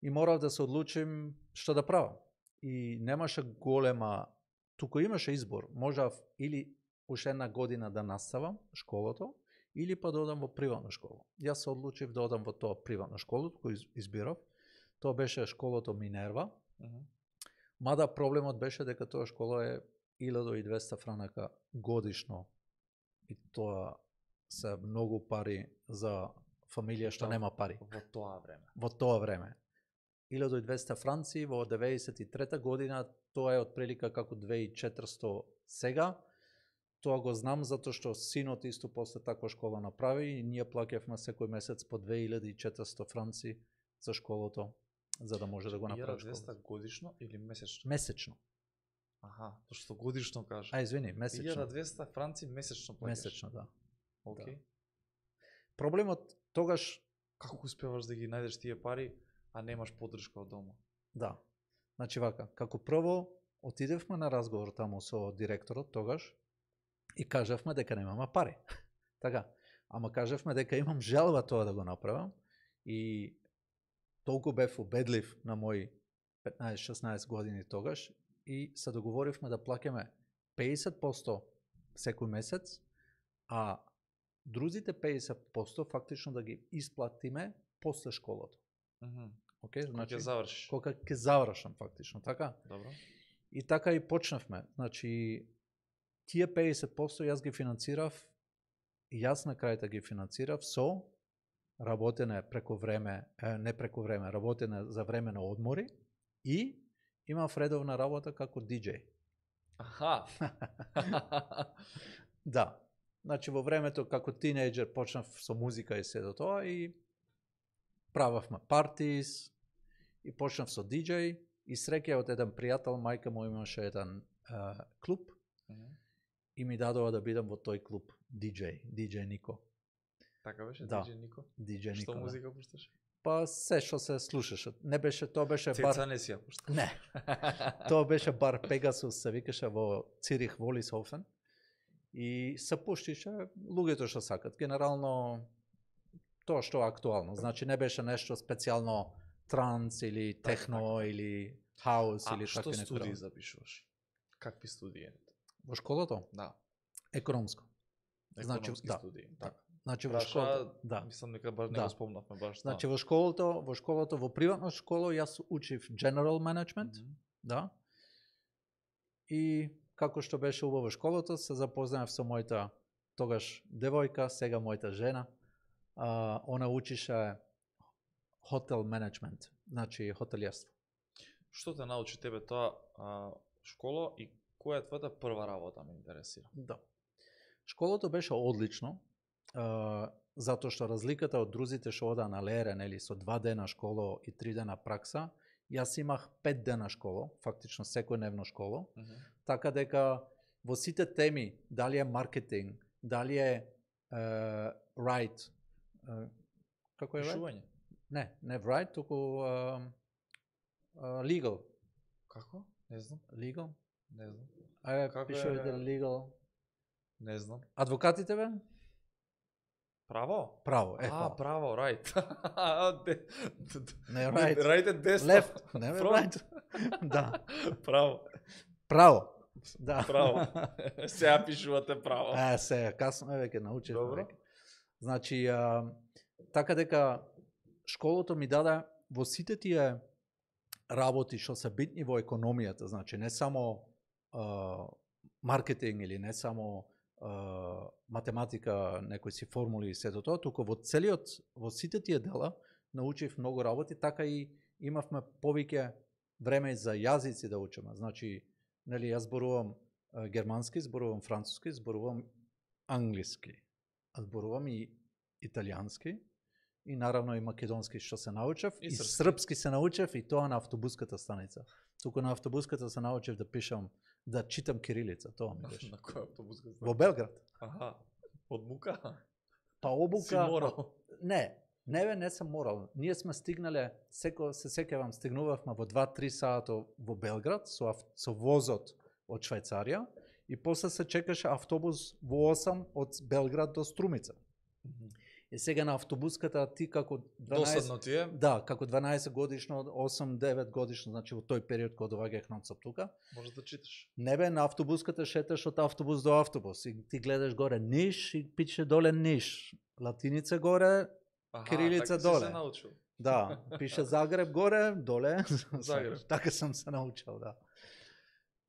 и морав да се одлучим што да правам. И немаше голема, туку имаше избор, можав или уште една година да наставам школото, или па да одам во приватна школа. Јас се одлучив да одам во тоа приватна школа, кој избирав. Тоа беше школото Минерва. Мада проблемот беше дека тоа школа е 1200 франака годишно. И тоа се многу пари за фамилија што нема пари. Во тоа време. Во тоа време. 1200 франци во 93 година, тоа е отприлика како 2400 сега. Тоа го знам затоа што синот исто после таква школа направи и ние плаќавме секој месец по 2400 франци за школото, за да може да го направи школата. 1200 годишно или месечно? Месечно. Аха, тоа што годишно кажа. Извини, месечно. 1200 франци месечно плаќаш. Месечно, да. Океј. Да. Проблемот тогаш како успеваш да ги најдеш тие пари, а немаш поддршка од дома? Да. Значи вака, како прво отидевме на разговор таму со директорот тогаш и кажавме дека немаме пари. Така, ама кажавме дека имам желба тоа да го направам и толку бев убедлив на мои 15-16 години тогаш и се договоривме да плаќаме 50% секој месец, а друзите 50% фактично да ги исплатиме после школото. Океј, значи ќе завршиш. Кога ќе завршам фактично, така? Добро. И така и почнавме. Значи тие 50% јас ги финансирав, јас на крајта ги финансирав со работене преку време, не преку време, работене за време на одмори и имав редовна работа како диџеј. Аха. Да. Значи во времето како тинејџер почнав со музика и сето тоа и прававме партис и почнав со диџеј и среќа од еден пријател, мајка му имаше еден клуб и ми дадува да бидам во тој клуб диџеј Нико. Така беше, Да. диџеј Нико? диџеј Нико. Што Да. музика пушташе? Па се што се слушаше. Не беше, тоа беше бар. Цеца не си ја пушта. Не. Тоа беше бар Пегасус, се викаше во Цирих Волисхофен. И се пуштише луѓето што сакат. Генерално тоа што е актуално. Значи не беше нешто специјално транс или техно или хаус или што такви студии некои. запишуваш? Какви студии? Во школото? Да. Економско. Значи, Економски да. студии. Така. Значи во школото, да. Мислам дека баш не Да. го спомнавме баш. Значи во школото, во приватна школа јас учив General Management, да. И како што беше убаво школото, се запознав со мојата тогаш девојка, сега мојата жена. Она учише хотел менеджмент, значи хотелиерство. Што те научи тебе тоа школа и која е твојата прва работа, ме интересира? Да. Школото беше одлично, затоа што разликата од друзите што одаа на Лере, нели, со 2 дена школо и 3 дена пракса, јас имах 5 дена школо, фактично секојдневно школо, така дека во сите теми, дали е маркетинг, дали е right, како е right? Пишување. Не right, туку legal. Како? Не знам. Legal? Не знам. Како пишувате legal? Не знам. Адвокатите бе? Право? Право, фала. Право, right. Не right. Right е десно. Left, не бе Front. right. Да. Право. Да. Право. Сега пишувате право. Се, касно е веќе научив. Добро. Значи, така дека школото ми даде во сите тие работи што се битни во економијата, значи не само маркетинг или не само математика, некои си формули и сето тоа, туку во сите тие дела научив многу работи, така и имавме повеќе време за јазици да учиме. Значи, нели, јас зборувам германски, зборувам француски, зборувам англиски, зборувам и италијански, и наравно и македонски што се научев, и српски се научев, и тоа на автобуската станица. Туку на автобуската се научив да пишам, да читам кирилица, тоа ми беше. На која автобуска станица? Во Белград. Аха. Од мука? Па обука... Си морал? Не сам морал. Ние сме стигнале, се сеќавам, стигнувавме во 2-3 сата во Белград со возот од Швајцарија и после се чекаше автобус во 8 од Белград до Струмица. И сега на автобуската ти како 12... Досадно ти е? Да, како 12 годишно, 8-9 годишно, значи во тој период кога доаѓаах нонсоп тука. Може да читаш. Не бе, на автобуската шеташ од автобус до автобус и ти гледаш горе Ниш и пише доле Ниш. Латиница горе, кирилица така доле. Си се научил. Да, пише Загреб горе, доле. Загреб. Така сам се научил, да.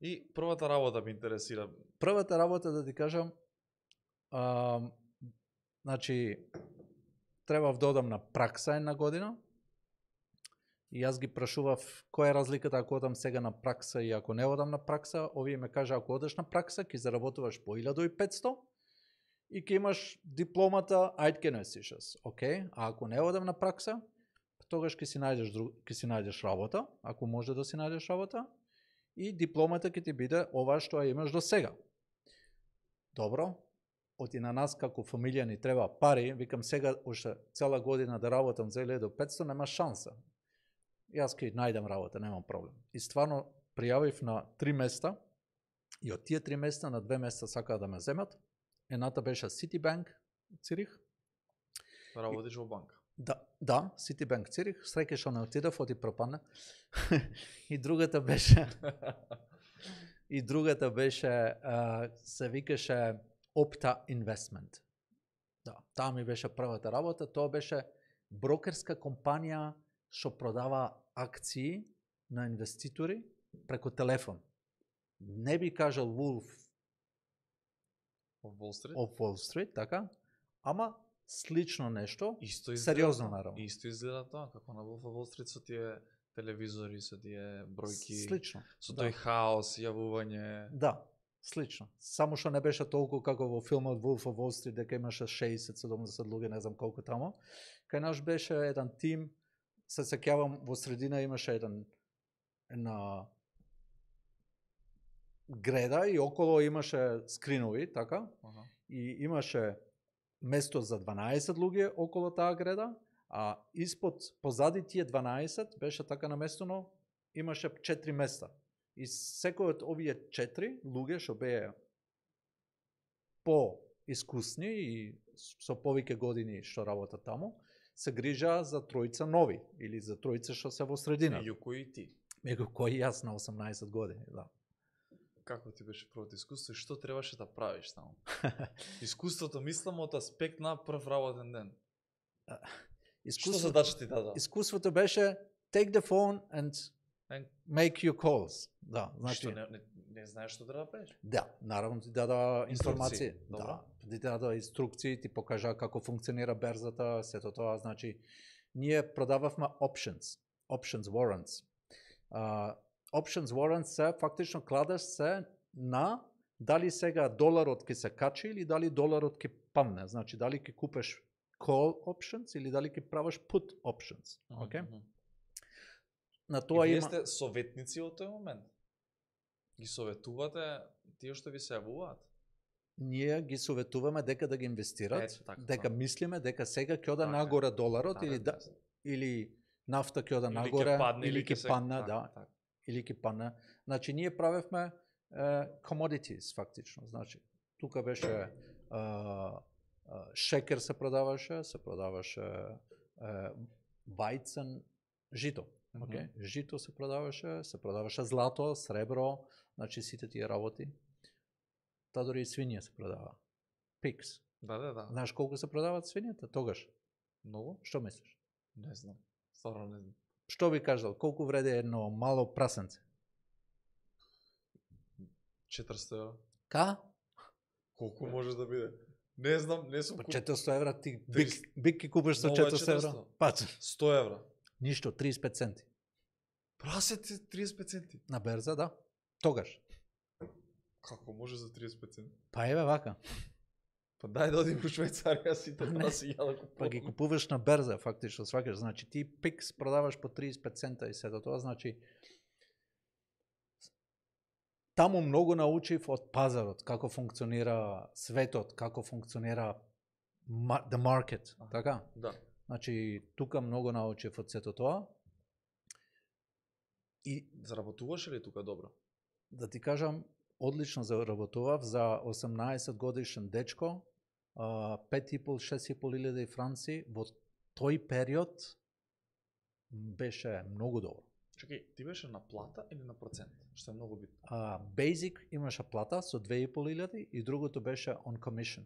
И првата работа ме интересира. Првата работа, да ти кажам, значи, требав да одам на пракса една година и јас ги прашував која е разликата ако одам сега на пракса и ако не одам на пракса. Овие ме кажа ако одеш на пракса ќе заработуваш по 1500 и ќе имаш дипломата Eidgenössisches. Океј, а ако не одам на пракса, тогаш ќе си најдеш работа, ако може да си најдеш работа, и дипломата ќе ти биде ова што ја имаш до сега. Добро, оти на нас како фамилија ни треба пари, викам сега уште цела година да работам за 1500, нема шанса. Јас ќе најдам работа, немам проблем. И стварно пријавив на 3 места, и од тие 3 места на 2 места сакаа да ме земат. Едната беше Citibank Цирих. Работиш во банка. Да, Citibank Цирих, среќа што не отидов, оти пропадна. И другата беше се викаше Opta Investment. Да, таа ми беше првата работа, тоа беше брокерска компанија што продава акции на инвеститори преку телефон. Не би кажал Wolf of Wall Street, така, ама слично нешто, Исто изгледа, сериозно наравно. Исто изгледа тоа, како на Wolf of Wall Street со тие телевизори, со тие бројки, Слично. со тој хаос, јавување. Да, слично. Само што не беше толку како во филмот Wolf of Wall Street, дека имаше 60-70 луѓе, не знам колку тамо. Кај наш беше еден тим се сеќавам во средина имаше една греда и около имаше скринови, така? Аха. И имаше место за 12 луѓе околу таа греда, а испод, позади тие 12 беше така наместено, имаше 4 места. И секој од овие 4 луѓе што беа по-искусни и со повеќе години што работат таму, се грижаа за тројца нови или за тројца што се во средина. Меѓу кои ти? Меѓу кои јас на 18 години, да. Како ти беше првото искуство и што требаше да правиш таму? Искуството мислам од аспект на прв работен ден. Што задача ти даде? Искуството беше take the phone and make your calls. Да, значи Што не знаеш што треба да правиш? Да, наравно ти дада информација. Добро. Да, ти дада инструкции, ти покажа како функционира берзата, сето тоа, значи ние продававме options warrants. Options warrants се фактично кладеш се на дали сега доларот ќе се качи или дали доларот ќе падне. Значи дали ќе купеш call options или дали ќе правиш put options. Океј? На тоа и вие има сте советници од тој момент. Ги советувате тие што ви се јавуваат? ние ги советуваме дека да ги инвестират, така, дека мислиме дека сега ќе ода Така, нагоре доларот така, или нафта ќе ода Или нагоре ќе падне, или ќе падне, така, да, така. или ќе падне. Значи ние правевме commodities фактично, значи тука беше шекер се продаваше вајцен, жито. Okay? Жито се продаваше злато, сребро, значи сите тие работи. Та дори и свиња се продава. Пикс. Да. Знаеш колку се продаваат свињата тогаш? Многу? Што мислиш? Не знам. Стварно не знам. Што би кажал, колку вреди едно мало прасенце? 400 евра. Ка? Колку може да биде? Не знам, не сум По куп... 400 евра ти Трис- бик ки купиш со Много е 400 евра? 400. Па, 100 евра. ништо, 35 центи. Прасете 35 центи. На берза, да. Тогаш. Како може за 35 центи? Па еве вака. Па дај да одим у Швајцарија сите праси ја да купувам. Па ги купуваш на берза, фактично, свакаш. Значи ти пикс продаваш по 35 цента и сето тоа, значи таму многу научив од пазарот, како функционира светот, како функционира the market, така? Да. Значи тука многу научив од сето тоа. И Заработуваше ли тука добро? да ти кажам, одлично заработував за 18 годишен дечко, 5,5-6,5 илјади франци во тој период беше многу добро. Чекај, ти беше на плата или на процент? Што е многу битно. Basic имаше плата со 2,5 и другото беше on commission,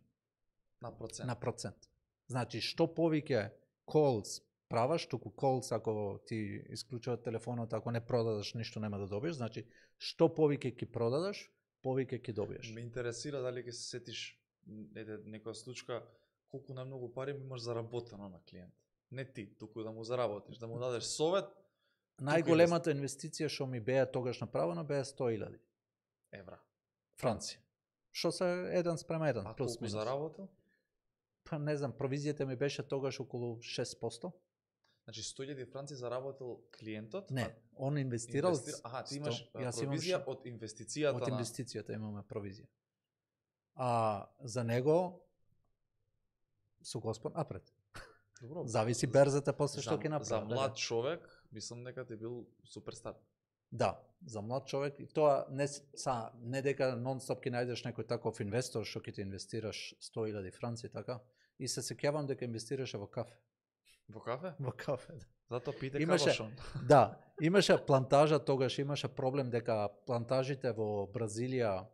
На процент. на процент. Значи, што повеќе calls праваш, туку calls ако ти исклучуват телефонот, ако не продадеш ништо нема да добиеш, значи што повеќе ќе продадеш, повеќе ќе добиеш. Ме интересира дали ќе се сетиш некоја случка колку најмногу пари имаш заработено на клиент. Не ти, туку да му заработиш, да му дадеш совет. Најголемата инвестиција што ми беа тогаш направена беа 100.000 евра. франци. Што се 1:1, А плюс колку минус. заработил? Па не знам, провизијата ми беше тогаш околу 6%. Значи 100.000 франци заработил клиентот? Не, он инвестирал. Аха, ти имаш 100. Јас имам провизија од инвестицијата од на... инвестицијата имаме провизија. А за него со Господ напред. Добро. Зависи берзата после што ќе направи. За млад човек, мислам дека ти бил суперстар. Да, за млад човек и тоа не дека нон-стоп ќе најдеш некој таков инвестор што ќе ти инвестираш 100.000 франци, така. И се сеќавам дека инвестираше во кафе. Во кафе? Во кафе. Зато пите Имаше- кавашон. Да, имаше плантажа тогаш, имаше проблем дека плантажите во Бразилија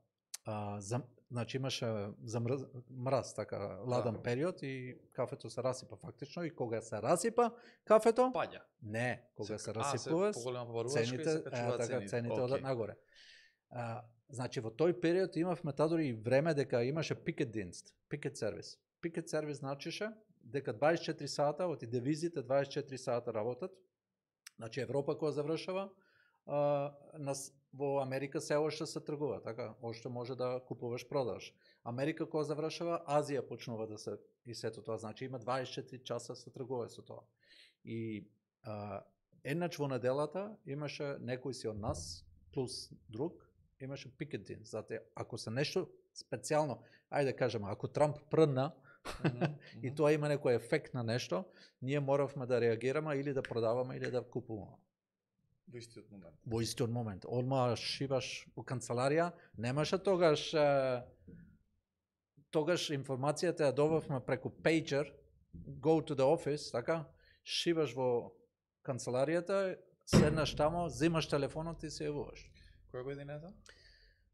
значи имаше мраз, така, ладен Да. период и кафето се расипа фактично и кога се расипа кафето, Паѓа. не, кога се Се расипува, поголема побарувачка и цените, се качуваат така, цените. цените Окей. одат нагоре. Значи во тој период имавме тадори и време дека имаше пикет динст, пикет сервис. Пикет сервис значише дека 24 сата, оти девизите 24 сата работат. Значи Европа кога завршава, во Америка се уште се тргува, така, уште може да купуваш, продаваш. Америка кога завршава, Азија почнува да се и сето тоа, значи има 24 часа се тргува со тоа. И еднач во неделата имаше некој си од нас плюс друг, имаше пикетин. Зате ако се нешто специјално, ајде да кажеме, ако Трамп прдна и тоа има некој ефект на нешто, ние моравме да реагираме или да продаваме или да купуваме. Во истиот момент. Во истиот момент. Одма шиваш во канцеларија, немаше тогаш информацијата ја добавме преку пейджер, go to the office, така, шиваш во канцеларијата, седнаш тамо, земаш телефонот и се јавуваш. Која година е тоа?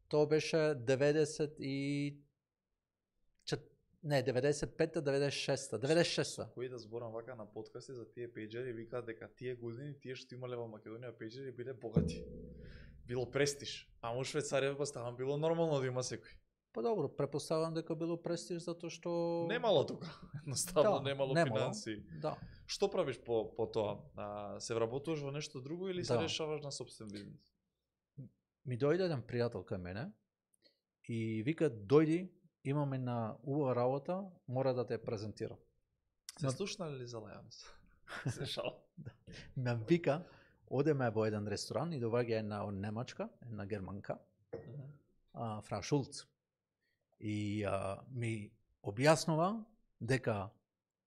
Тоа беше 95-та, 96-та. Кој да зборам вака на подкасти за тие пејджери, викаат дека тие години, тие што имале во Македонија пејджери биле богати. Било престиж. А во Швајцарија поставам било нормално да има секој. Па добро, препоставам дека било престиж затоа што Немало тука. Едноставно немало финанси. Да. Што правиш по тоа? Се вработуваш во нешто друго или се решаваш на сопствен бизнис? Ми дојде еден пријател кај мене и вика дојди, имаме на убава работа, мора да те презентирам. Се слушнали ли за лајанс? Се шал. Ме вика, одеме во еден ресторан и доваѓа една од Немачка, една германка, Фрау Шулц. И ми објаснува дека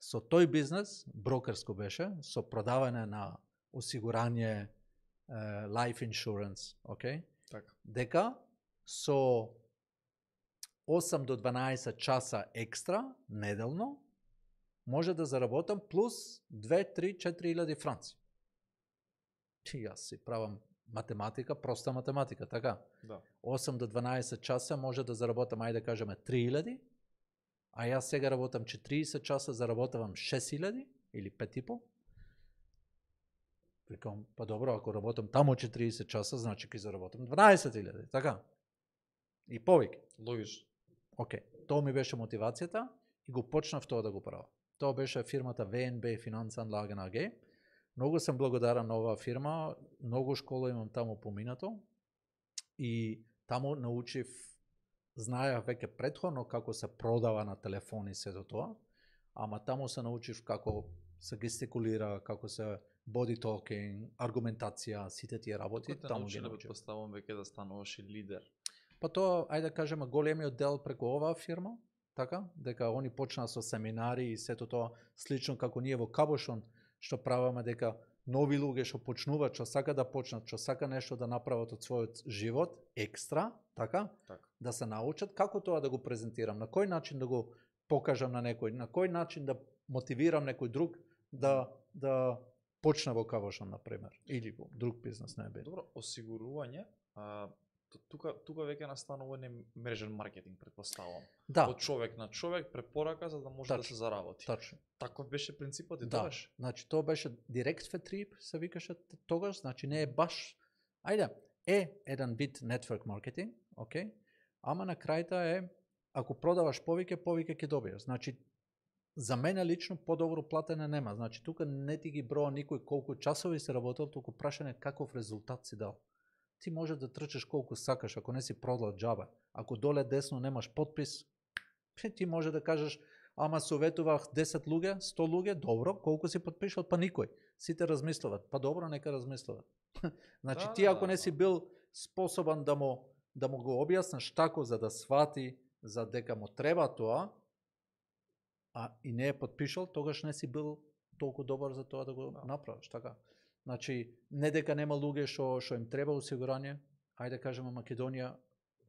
со тој бизнес, брокерско беше, со продавање на осигурање, life insurance, okay? Така. Дека со 8 до 12 часа екстра неделно може да заработам плюс 2, 3, 4 илјади франци. И јас си правам математика, проста математика, така? Да. 8 до 12 часа може да заработам, ајде да кажеме 3000, а јас сега работам 40 часа, заработавам 6000 или 5,5. Викам, па добро, ако работам тамо 40 часа, значи ќе заработам 12,000, така? И повеќе. Логично. Океј, тоа ми беше мотивацијата и го почнав тоа да го правам. Тоа беше фирмата ВНБ Финанsanlagen AG. Многу сум благодарен на оваа фирма, многу школа имам таму поминато и таму научив, знаех веќе претходно како се продава на телефон и сето тоа, ама таму се научив како се гестикулира, како се body talking, аргументација, сите тие работи, таму ги научив. Поставам веќе да стануваш и лидер. Па тоа, ајде да кажеме, големиот дел преку оваа фирма, така, дека они почнаа со семинари и сето тоа слично како ние во Кабошон, што правиме дека нови луѓе што почнуваат, што сака да почнат, што сака нешто да направат од својот живот, екстра, така, да се научат како тоа да го презентирам, на кој начин да го покажам на некој, на кој начин да мотивирам некој друг да почне во Кабошон, например, или во друг бизнес, не е. Добро, осигурување, тука веќе настанува мрежен маркетинг, предпоставам. Да. Од човек на човек, препорака за да може да се заработи. Точно. Таков беше принципот и тогаш? Да, значи тоа беше директ фетрип, се викаше тогаш, значи не е баш, ајде, е еден вид network маркетинг, окей, ама на крајта е, ако продаваш повеќе ќе добиеш. Значи, за мене лично подобро платене нема. Значи, тука не ти ги броа никој колку часови се работел, туку прашање каков резултат си дал. Ти може да трчаш колку сакаш, ако не си продал џабе. Ако доле десно немаш подпис, ти може да кажеш, ама советувах 10 луѓе, 100 луѓе, добро, колку си подпишал, па никој. Сите размислуват, па добро, нека размислуват. Значи, ти ако не си бил способен да му го објасниш тако за да свати, за дека му треба тоа, а и не е подпишал, тогаш не си бил толку добар за тоа да го направиш, така. Значи, не дека нема луѓе што им треба осигурање, ајде да кажеме Македонија,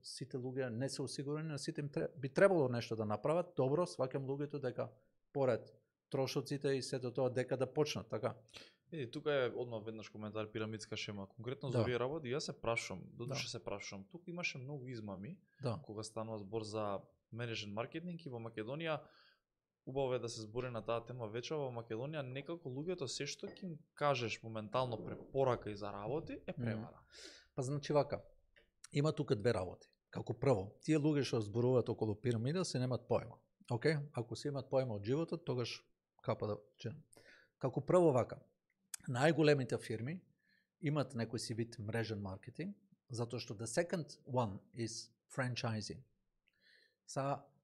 сите луѓе не се осигурени, но сите им би требало нешто да направат, добро, сваќам луѓето дека поред трошоците и сето тоа дека да почнат, така. Еди, тука е одма веднаш коментар пирамидска шема, конкретно за овие работи, јас се прашувам, додуше се прашувам, тука имаше многу измами, кога станува збор за мрежен маркетинг и во Македонија. Убаво е да се збори на таа тема вече, во Македонија некако луѓето се што ќе им кажеш моментално препорака и за работи е превара. Па значи вака, има тука две работи. Како прво, тие луѓе што зборуваат околу пирамида се немаат поема. Океј, ако се имаат поема од животот, тогаш капа да чинам. Како прво вака, најголемите фирми имаат некој си вид мрежен маркетинг, затоа што the second one is franchising.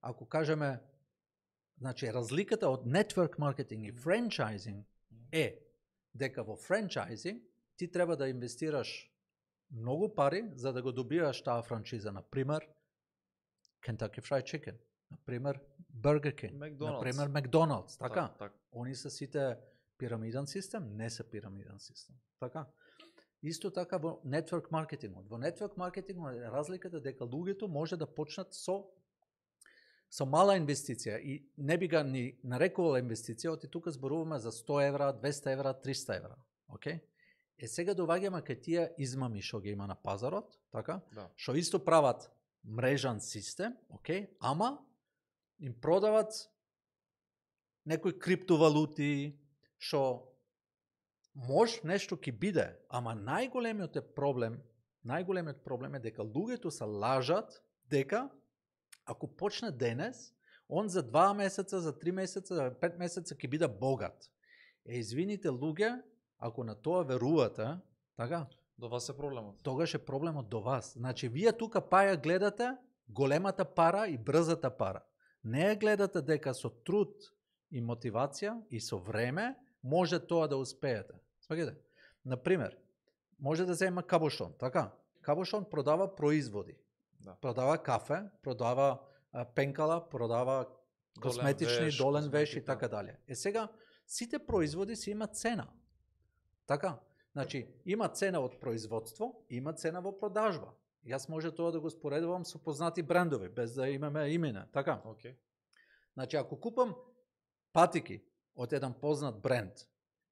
Ако кажеме, значи, разликата од network маркетинг и франчайзинг е дека во франчайзи ти треба да инвестираш многу пари за да го добиваш таа франшиза, на пример Kentucky Fried Chicken, на пример Burger King, на пример McDonald's, така? Так. Они се сите пирамиден систем, не се пирамиден систем. Така? Исто така во network маркетингот. Во network маркетингот е разликата дека луѓето може да почнат со мала инвестиција и не би га ни нарекувала инвестиција, оти тука зборуваме за 100 евра, 200 евра, 300 евра. Океј? Сега доваѓаме кај тие измами што ги има на пазарот, така? Да. Што исто прават мрежан систем, океј, ама им продават некои криптовалути, што може нешто ќе биде, ама најголемиот проблем е дека луѓето се лажат дека ако почне денес, он за 2 месеца, за 3 месеца, за 5 месеца ќе биде богат. Извините луѓе, ако на тоа верувате, така? До вас е проблемот. Тогаш е проблемот до вас. Значи, вие тука паја гледате големата пара и брзата пара. Не ја гледате дека со труд и мотивација и со време може тоа да успеете. Сваѓате? Например, може да зема Кабошон, така? Кабошон продава производи. Да. Продава кафе, продава пенкала, продава косметични, долен веш и така дале. Сега, сите производи си имат цена. Така? Значи, има цена од производство, има цена во продажба. Јас може тоа да го споредувам со познати брендови, без да имаме имена. Така? Okay. Значи, ако купам патики од еден познат бренд,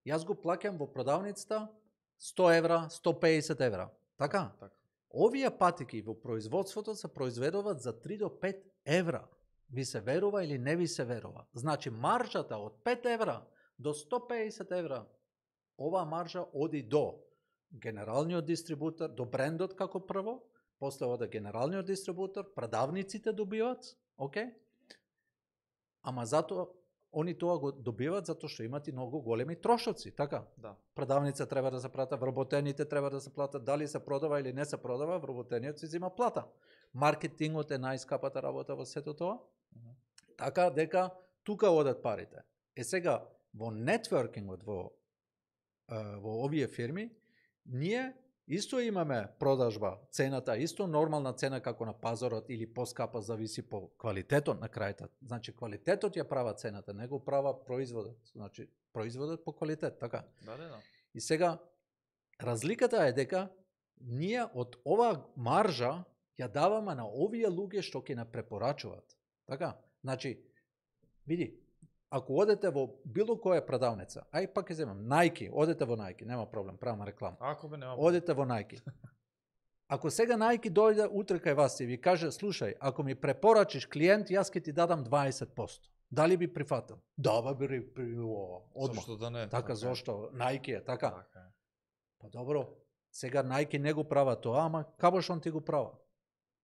јас го плаќам во продавницата 100 евра, 150 евра. Така? Така. Овие патики во производството се произведуваат за 3 до 5 евра. Ви се верува или не ви се верува? Значи, маржата од 5 евра до 150 евра, оваа маржа оди до генералниот дистрибутор, до брендот како прво, после ода генералниот дистрибутор, продавниците добиват, окей? Ама затоа они тоа го добиваат затоа што имат и многу големи трошоци, така? Да. Продавница треба да се плата, вработените треба да се платат, дали се продава или не се продава, вработениот се зема плата. Маркетингот е најскапата работа во сето тоа. Така дека тука одат парите. Сега во нетворкингот во овие фирми, ние исто имаме продажба, цената исто нормална цена како на пазарот или поскапа, зависи по квалитетот на крајата. Значи квалитетот ја права цената, не го права производот. Значи производот по квалитет, така. Да. И сега разликата е дека ние од оваа маржа ја даваме на овие луѓе што ќе не препорачуваат. Така? Значи, види, ако одете во било која продавница, ај пак ќе земам Nike, одете во Nike, нема проблем, правам реклама. Ако бе нема. Одете во Nike. Ако сега Nike дојде утре кај вас и ви каже, слушај, ако ми препорачиш клиент, јас ќе ти дадам 20%. Дали би прифатил? Да, би одмах. Зошто да не? Така, зошто? Nike е, така. Така. Па добро, сега Nike не го права тоа, ама Кабошон ти го права.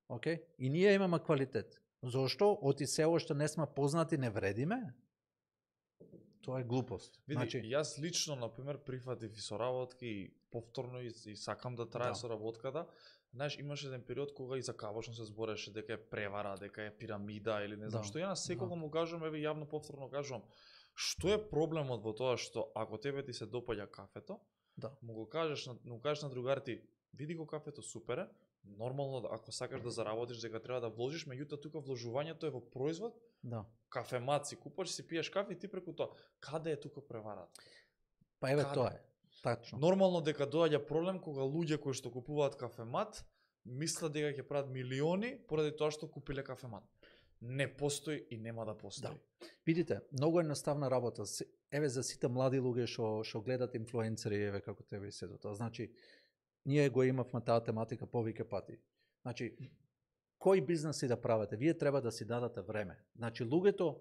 Океј? И ние имаме квалитет. Зошто? Оти се уште не сме познати, не вредиме? Тоа е глупост. Види, Значи, јас лично, например, прифатив и соработки и повторно и сакам да трае соработката. Знаеш, имаше еден период кога и за Кабошон се збореше дека е превара, дека е пирамида или не знам што. Ја на секого му кажувам, еве јавно повторно кажувам, што е проблемот во тоа што ако тебе ти се допаѓа кафето, му го кажеш на другарите, види го кафето, супер е, нормално ако сакаш да заработиш дека треба да вложиш, меѓутоа тука вложувањето е во производ. да. Кафемат си купаш, си пиеш кафе и ти преку тоа. Каде е тука преварата? Па еве тоа е. Тачно. Нормално дека доаѓа проблем кога луѓе кои што купуваат кафемат мислат дека ќе прават милиони поради тоа што купиле кафемат. Не постои и нема да постои. Да. Видите, многу едноставна работа. Еве за сите млади луѓе што гледат инфлуенцери, еве како тебе и сето тоа. Значи, ние го имавме таа тематика повеќе пати. Значи, кој бизнеси да правите, вие треба да си дадете време. Значи, луѓето,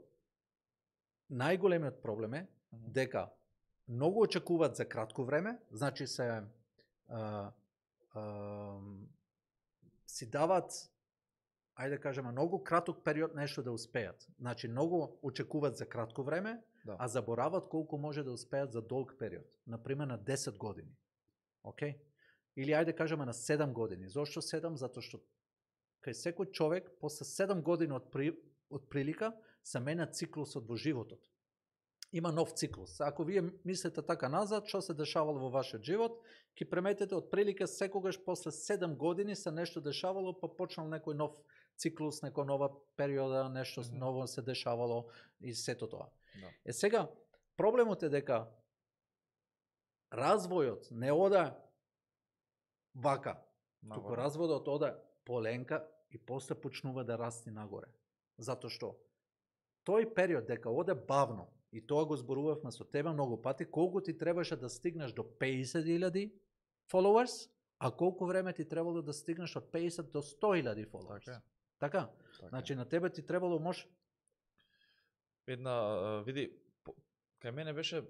најголемиот проблем е дека многу очекуваат за кратко време, значи си дават, ајде да кажеме, многу краток период нешто да успеат. Значи, многу очекуваат за кратко време, а заборават колку може да успеат за долг период. Например, на 10 години. Океј? Или ајде да кажеме на 7 години. Зошто 7? Затоа што кај секој човек после 7 години од прилика се мене циклусот во животот. има нов циклус. Ако вие мислите така назад, што се дешавало во вашиот живот, ќе приметите отприлика секогаш после 7 години се нешто дешавало, па почнал некој нов циклус, некоја нова периода, нешто ново се дешавало и сето тоа. Да. Сега, проблемот е дека развојот не ода вака, туку разводот ода поленка и после почнува да расти нагоре. Затоа што тој период дека оде бавно, и тоа го зборувавме со тебе многу пати, колку ти требаше да стигнеш до 50.000 followers, а колку време ти требало да стигнеш од 50 до 100.000 followers. Така? Значи на тебе ти требало види, кај мене беше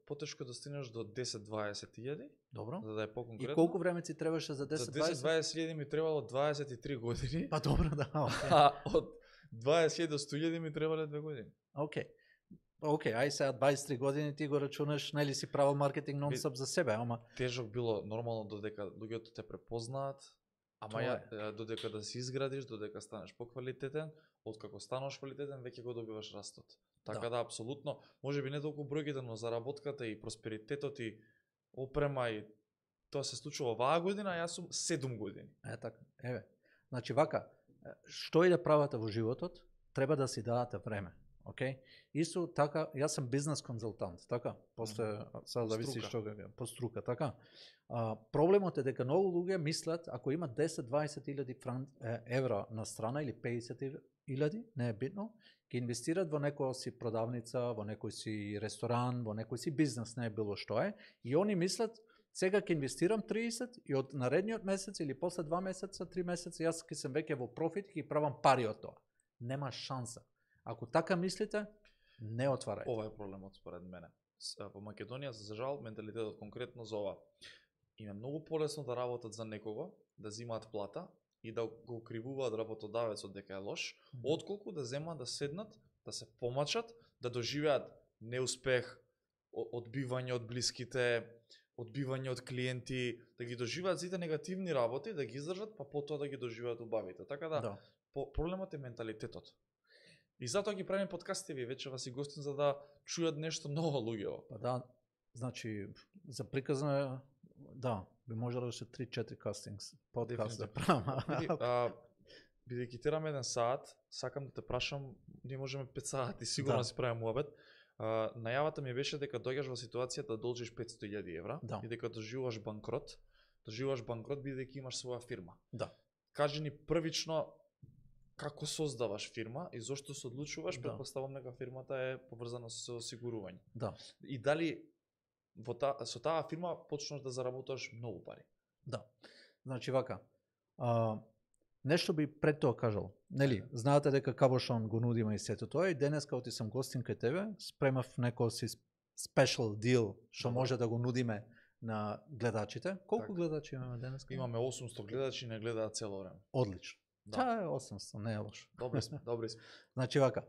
потешко да стигнеш до 10-20.000. Добро. За да е поконкретно. И колку време ти требаше за 10-20? За 10-20.000 ми требало 23 години. Па добро, да. А од 20 до 100.000 ми требале 2 години. Океј, ај сега 23 години ти го рачунаш, нели си правил маркетинг нон-стоп за себе, ама тежок било нормално додека луѓето те препознаат, ама додека да се изградиш, додека станеш поквалитетен, откако станеш квалитетен, веќе го добиваш растот. Така да апсолутно, можеби не толку бројките, но заработката и просперитетот и опрема и тоа се случува оваа година, а јас сум 7 години. Така, еве. Значи вака, што и да правите во животот, треба да си дадете време. Океј? Исто така, јас сум бизнес консултант, така? После сега зависи што по струка, така? Проблемот е дека многу луѓе мислат, ако има 10-20.000 евра на страна или 50.000, не е битно, ќе инвестират во некоја си продавница, во некој си ресторан, во некој си бизнес, не е било што е, и они мислат, сега ќе инвестирам 30 и од наредниот месец или после 2 месеца, 3 месеца, јас ќе сум веќе во профит и ќе правам пари од тоа. Нема шанса. Ако така мислите, не отварајте. Ова е проблемот според мене. Во Македонија, за жал, менталитетот конкретно за ова. Им е многу полесно да работат за некого, да земаат плата и да го укривуваат работодавецот дека е лош, отколку да земаат да седнат, да се помачат, да доживеат неуспех, одбивање од блиските, одбивање од клиенти, да ги доживеат сите негативни работи, да ги издржат, па потоа да ги доживеат убавите. Така да, проблемот е менталитетот. И затоа ги правиме подкастите, ви вече вас и гостин за да чујат нешто ново луѓето. Па да, значи за приказна да, би можело да се 3-4 кастингс подкаст да правам. Бидејќи тераме 1 саат, сакам да те прашам, ние можеме 5 сати, сигурно си правиме муабет. Најавата ми беше дека доаѓаш во ситуација да должиш 500.000 евра и дека доживуваш банкрот. Доживуваш банкрот бидејќи имаш своја фирма. Да. Кажи ни првично како создаваш фирма и зошто се одлучуваш, претпоставам дека фирмата е поврзана со осигурување. Да. И дали со таа фирма почнеш да заработуваш многу пари? Да. Значи вака, нешто би пред тоа кажал. Нели, знаете дека Кабошон го нудиме и сето тоа и денеска оти сум гостин кај тебе, спремав некој си special deal што може да го нудиме на гледачите. Колку гледачи имаме денеска? Имаме 800 гледачи, не гледаат цело време. Одлично. Та е 800, не е лошо. Добри сме, добри сме. Значи вака,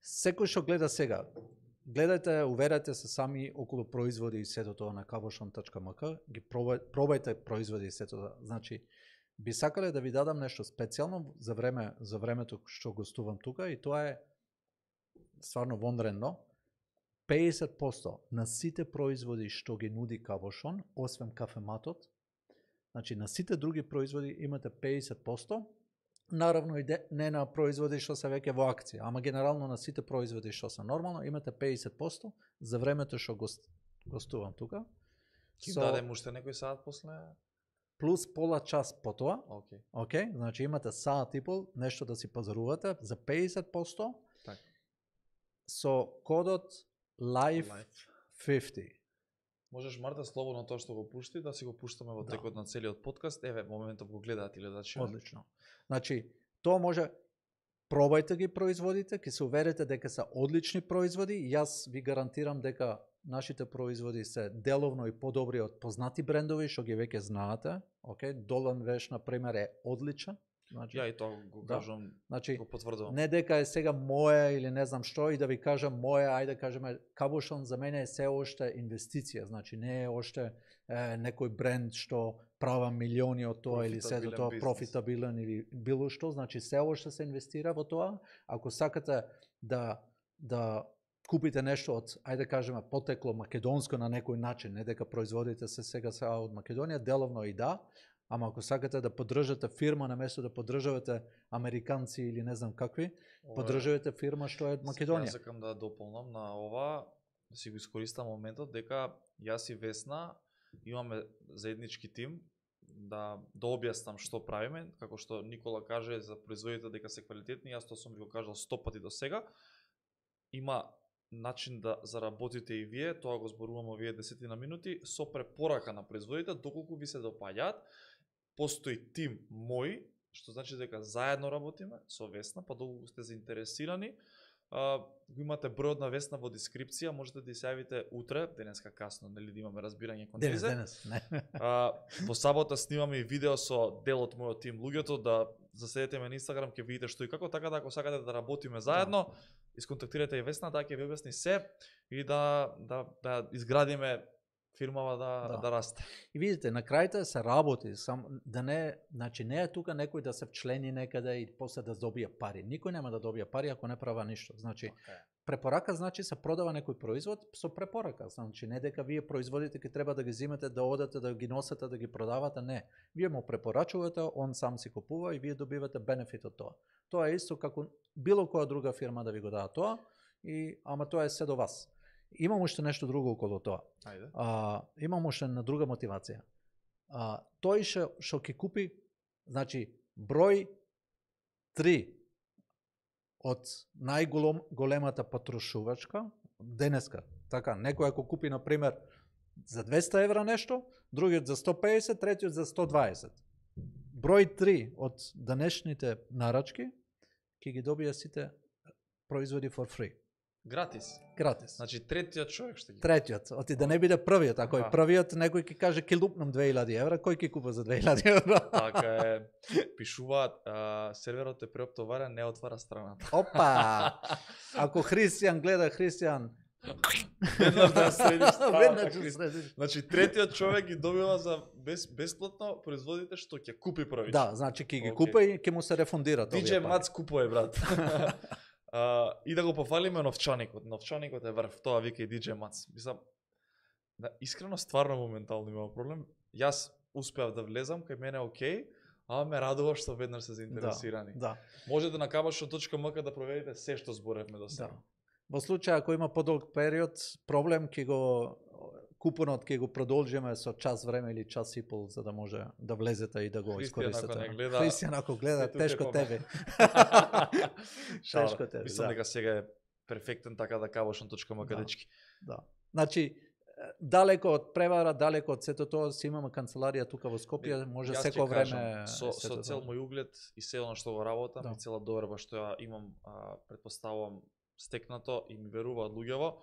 секој што гледа сега, гледајте, уверете се сами околу производи и сето тоа на kaboshon.mk, ги пробајте производи и сето тоа. Значи, би сакале да ви дадам нешто специјално за времето што гостувам тука и тоа е стварно вонредно. 50% на сите производи што ги нуди Кабошон, освен кафематот, значи на сите други производи имате 50%, наравно и не на производи што се веќе во акција, ама генерално на сите производи што се нормално имате 50% за времето што гостувам тука. Ки дадем уште некој саат после? Плюс пола час по тоа. Океј, значи имате саат и пол, нешто да си пазарувате за 50%. Така. Со кодот LIFE50. Можеш, Марта, слободно тоа што го пушти, да си го пуштаме во текот на целиот подкаст. Еве, моментов го гледаат и гледачи. Одлично. Значи, тоа може, пробајте ги производите, ќе се уверите дека се одлични производи. Јас ви гарантирам дека нашите производи се деловно и подобри од познати брендови, што ги веќе знаете. Долан Веш, на пример, е одличен. Значи, ја и тоа го кажам, значи, го потврдувам. Не дека е сега моја или не знам што и да ви кажам моја, ајде да кажеме, Кабошон за мене е се уште инвестиција, значи не е уште некој бренд што права милиони од тоа или се до тоа профитабилен или било што, значи се уште се инвестира во тоа. Ако сакате да купите нешто од, ајде кажеме, потекло македонско на некој начин, не дека производите се сега од Македонија, деловно и да, ама ако сакате да поддржате фирма наместо да поддржавате американци или не знам какви, поддржавате фирма што е од Македонија. Јас сакам да дополнам на ова, да си го искористам моментот дека јас и Весна имаме заеднички тим да објаснам што правиме, како што Никола каже за производите дека се квалитетни, јас тоа сум ви го кажал 100 пати до сега. Има начин да заработите и вие, тоа го зборуваме овие 10 на минути, со препорака на производите, доколку ви се допаѓаат. Постои тим мој, што значи дека заедно работиме со Весна, па доколку сте заинтересирани, го имате бројот на Весна во дескрипција, можете да се јавите утре, денеска касно, нели да имаме разбирање кон Тезе. Денес, не. Во сабота снимаме и видео со дел од мојот тим луѓето, да заседете ме на Инстаграм, ќе видите што и како, така да ако сакате да работиме заедно, исконтактирате и Весна, да ќе ви објасни се и да изградиме фирмава да расте. И видите, на крајта се работи, сам да не, значи не е тука некој да се вчлени некаде и после да добие пари. Никој нема да добие пари ако не права ништо. Значи препорака значи се продава некој производ со препорака. Значи не дека вие производите ќе треба да ги земете, да одете, да ги носете, да ги продавате, не. Вие му препорачувате, он сам си купува и вие добивате бенефит од тоа. Тоа е исто како било која друга фирма да ви го дава тоа, ама тоа е се до вас. Имам уште нешто друго околу тоа. Имам уште на друга мотивација. Тој што ќе купи, значи број 3 од најголемата потрошувачка денеска. Така, некој ако купи на пример за 200 евра нешто, другиот за 150, третиот за 120. Број 3 од денешните нарачки ќе ги добија сите производи for free. Гратис. Гратис. Значи третиот човек што ги. Третиот, оти да не биде првиот, ако е првиот некој ќе каже ќе лупнам 2000 евра, кој ќе купа за 2000 евра? Така е. Пишуваат, серверот е преоптоварен, не отвара страната. Опа! Ако Христијан гледа Христијан, веднаш да средиш. Значи третиот човек ги добива за бесплатно производите што ќе купи првично. Да, значи ќе ги купа и ќе му се рефундира тоа. DJ Мац купува, брат. И да го пофалиме новчаникот. Новчаникот е врв, тоа вика и DJ Мац. Мислам, искрено стварно моментално имам проблем. Јас успеав да влезам, кај мене окей, ама ме радува што веднаш се заинтересирани. Да. Можете на kabash.mk да проверите се што зборевме до сега. Да. Во случај ако има подолг период, проблем ќе го купонот ќе го продолжиме со час време или час и пол за да може да влезете и да го искористите. Христијан ако гледа, тешко тебе. Тешко тебе. Мислам дека сега е перфектен така да kabash.mk дечки. Да. Значи далеко од превара, далеко од сето тоа, си имаме канцеларија тука во Скопје, може секој време со цел мој углед и се она што го работам и цела доверба што ја имам, претпоставувам стекнато и ми веруваат луѓево,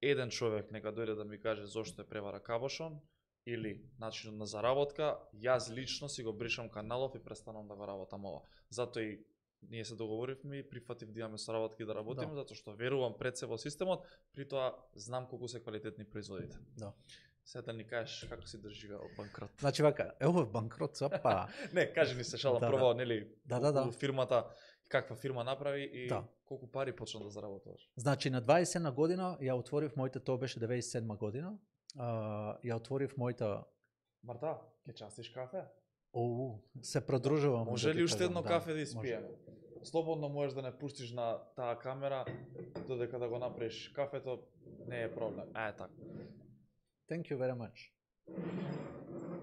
еден човек нека дојде да ми каже зошто е превара Кабошон или начинот на заработка, јас лично си го бришам каналов и престанам да го работам ова. Затоа и ние се договоривме и прифатив да имаме соработки да работиме, затоа што верувам пред се во системот, при тоа знам колку се квалитетни производите. Да. Сега да ни кажеш како си доживеал банкрот. Значи вака, ево банкрот, па. Не, кажи ни се шалам, прво, нели, фирмата, каква фирма направи и колку пари почна да заработуваш. Значи на 20 година ја отворив мојата, тоа беше 97 година, ја отворив мојата... Марта, ќе частиш кафе? Се продружувам. Може ли уште едно кафе да испиеме? Слободно можеш да не пуштиш на таа камера, додека да го направиш кафето, не е проблем. Така. Thank you very much.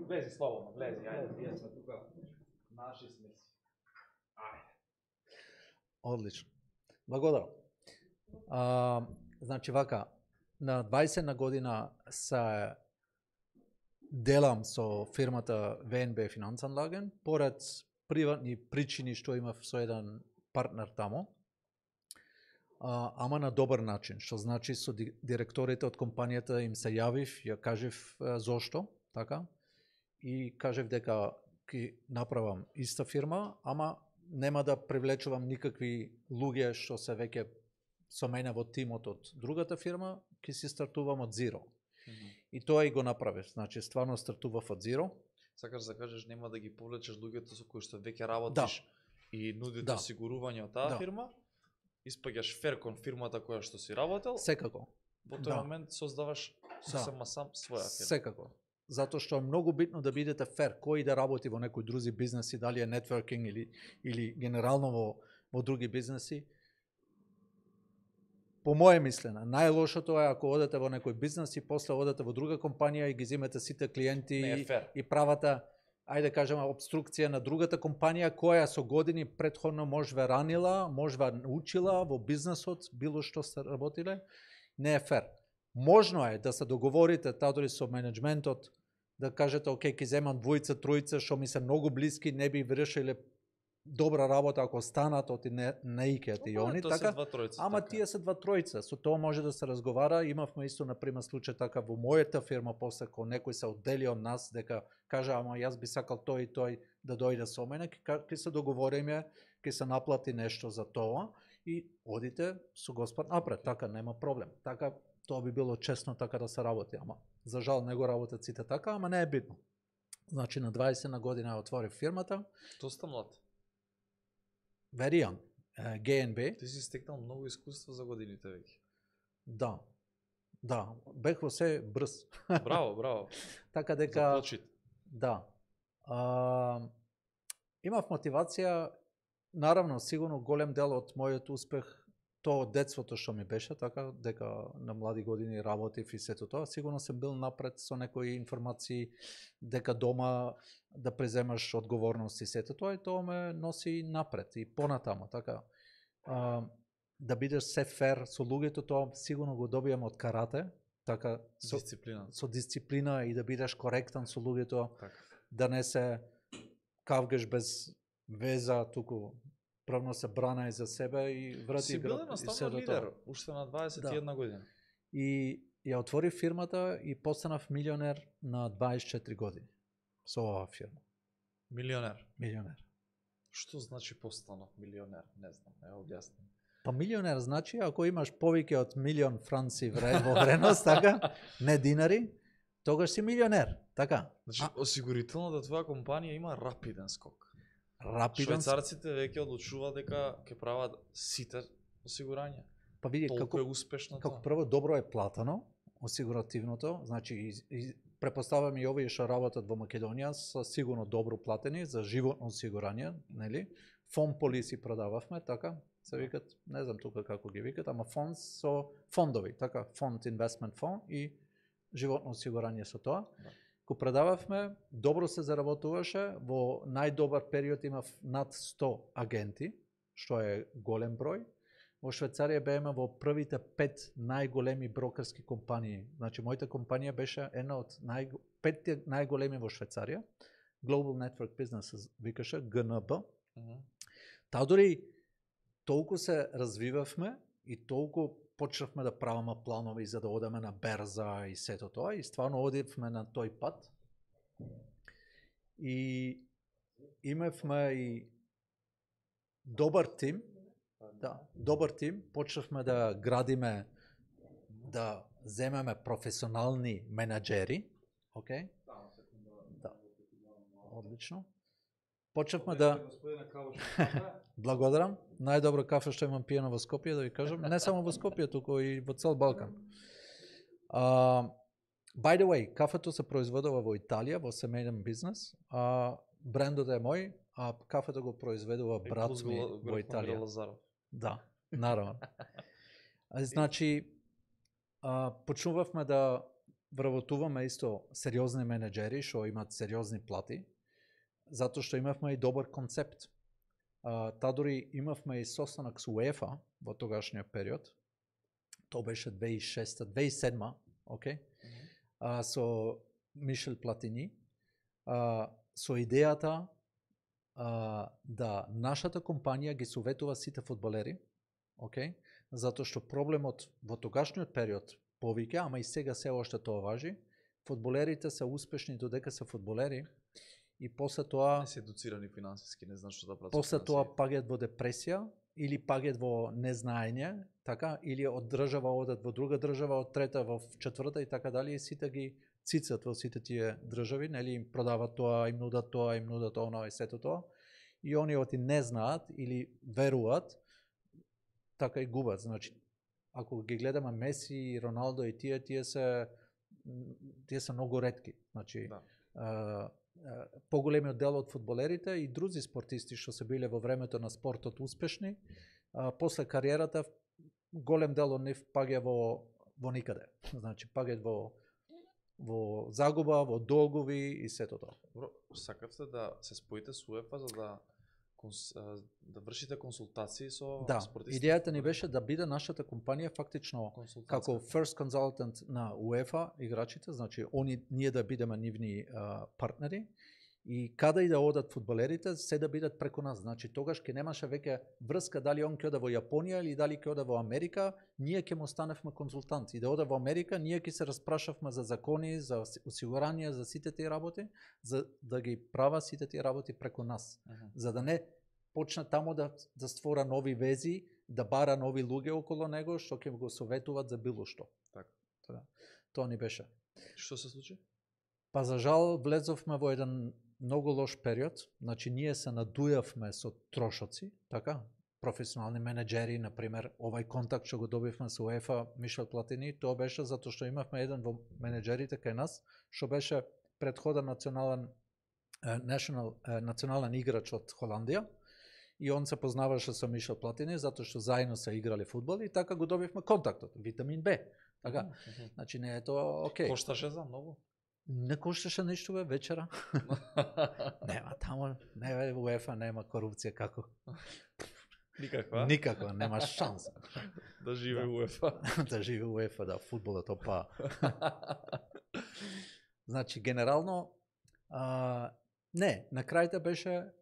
Влези слободно, влези, ајде, ние сме тука, наши сме си. Одлично. Благодарам. Значи вака, на 20 година се делам со фирмата ВНБ Финансанлаген, поред приватни причини што имав со еден партнер тамо, ама на добар начин, што значи со директорите од компанијата им се јавив, ја кажев зошто, така, и кажев дека ќе направам иста фирма, ама нема да привлечувам никакви луѓе што се веќе со мене во тимот од другата фирма, ќе си стартувам од зиро. И тоа и го направив, значи стварно стартував од зиро. Сакаш да кажеш нема да ги повлечеш луѓето со кои што веќе работиш и нудите осигурување од таа фирма, испаѓаш фер кон фирмата која што си работел, Секако. во тој момент создаваш сосема сам своја фирма. Секако. Затоа што е многу битно да бидете фер, кој да работи во некои други бизнеси, дали е нетворкинг или генерално во други бизнеси. По моје мислене, најлошото е ако одете во некој бизнес и после одете во друга компанија и ги земете сите клиенти и правата, ајде кажеме, обструкција на другата компанија која со години претходно можве ранила, можве научила во бизнесот, било што сте работиле, не е фер. Можно е да се договорите тадори со менеджментот, да кажете, окей, ќе земам двојца, тројца, што ми се многу блиски, не би вршиле добра работа ако станат оти не икеат и они, така, ама тие се два тројца, со тоа може да се разговара. Имавме исто, например, случај така во мојата фирма, после кога некој се оддели од нас, дека кажа, ама јас би сакал тој и тој да дојде со мене, ќе се договориме, ќе се наплати нешто за тоа и одите со Господ напред, така нема проблем. Така тоа би било честно така да се работи, ама за жал не го работат сите така, ама не е битно. Значи на 20 на година отворив фирмата. Доста млад. Very young. GNB. Ти си стекнал многу искуство за годините веќе. Да. Да, бех во се брз. Браво, браво. Така дека за почит. Да. Имав мотивација, наравно, сигурно голем дел од мојот успех тоа од детството што ми беше, така дека на млади години работив и сето тоа, сигурно съм бил напред со некои информации дека дома да преземаш одговорност и сето тоа, и тоа ме носи напред и понатамо, така. Да бидеш се фер со луѓето, тоа сигурно го добијам од карате, така со дисциплина и да бидеш коректен со луѓето, да не се кавгаш без веза, туку правно се брана и за себе и врати. Си бил едноставно лидер, уште на 21 година. И ја отворив фирмата и постанав милионер на 24 години со оваа фирма. Милионер? Милионер. Што значи постанав милионер? Не знам, не објаснам. Па милионер значи ако имаш повеќе од милион франци во вредност, така, не динари, тогаш си милионер, така. Значи, осигурителната твоја компанија има рапиден скок. Швајцарците веќе одлучуваат дека ќе прават сите осигурања. Па види како е успешно тоа. Како прво добро е платено осигуративното, значи препоставам и овие што работат во Македонија се сигурно добро платени за животно осигурање, нели? Фонд полиси продававме, така, се викат, не знам тука како ги викат, ама фонд со фондови, така, фонд инвестмент фонд и животно осигурање со тоа. Ко продававме, добро се заработуваше, во најдобар период имав над 100 агенти, што е голем број. Во Швајцарија бееме во првите 5 најголеми брокерски компании. Значи, мојата компанија беше една од 5 најголеми во Швајцарија. Global Network Business викаше, ГНБ. Таа дори толку се развивавме и толку почнавме да правиме планови за да одеме на берза и сето тоа и стварно одивме на тој пат. И имавме и добар тим. Да, добар тим, почнавме да градиме, да земеме професионални менаџери, окей? Да. Одлично. Почнавме да благодарам. Најдобро кафе што имам пиено во Скопје, да ви кажам, не само во Скопје, туку и во цел Балкан. By the way, кафето се произведува во Италија, во семејен бизнес. Брендот е мој, а кафето го произведува брат ми во Италија. Да, наравно. Значи, почнувавме да вработуваме исто сериозни менеџери што имаат сериозни плати, затоа што имавме и добар концепт. Та дори имавме и состанок со УЕФА во тогашниот период. Тоа беше 2006-2007, окей? Со Мишел Платини, со идејата да нашата компанија ги советува сите фудбалери, окей? Затоа што проблемот во тогашниот период повеќе, ама и сега се уште тоа важи, фудбалерите се успешни додека се фудбалери и после тоа не се едуцирани финансиски, не знаат што да прават. После тоа паѓаат во депресија или паѓаат во незнаење, така, или од држава одат во друга држава, од трета во четврта и така дали, и сите ги цицат во сите тие држави, нели, им продават тоа, им нудат она и сето тоа. И они оти не знаат или веруваат така и губат. Значи, ако ги гледаме Меси, Роналдо и тие се многу ретки. Значи, поголемиот дел од фудбалерите и други спортисти што се биле во времето на спортот успешни, после кариерата голем дел од нив паѓа во никаде. Значи, паѓа во загуба, во долгови и сето тоа. Добро, сакавте да се споите со УЕФА за да вршите консултации со спортисти? Да, идејата ни беше да биде нашата компанија фактично како first consultant на УЕФА играчите, значи ние да бидеме нивни партнери и каде и да одат фудбалерите, се да бидат преку нас. Значи тогаш ќе немаше веќе врска дали он ќе ода во Јапонија или дали ќе ода во Америка, ние ќе му станевме консултанти. И да ода во Америка, ние ќе се распрашавме за закони, за осигурање, за сите тие работи, за да ги права сите тие работи преку нас. За да не почне тамо да створа нови вези, да бара нови луѓе околу него што ќе го советуваат за било што. Така. Тоа ни беше. Што се случи? Па за жал влезовме во еден многу лош период, значи ние се надујавме со трошоци, така, професионални менеджери, например, овај контакт што го добивме со УЕФА, Мишел Платини, тоа беше затоа што имавме еден во менеджерите кај нас, што беше претходен национален играч од Холандија, и он се познаваше со Мишел Платини, затоа што заедно се играле фудбал и така го добивме контактот, витамин Б, така, значи не е тоа окей. Кошташе за многу? Не кошташе ништо вечера. Нема тамо, не УЕФА нема корупција како. Никаква? Никаква, нема шанса. Да живе УЕФА. Да живе УЕФА, да, фудбалот опа. Значи, генерално, не, на крајта беше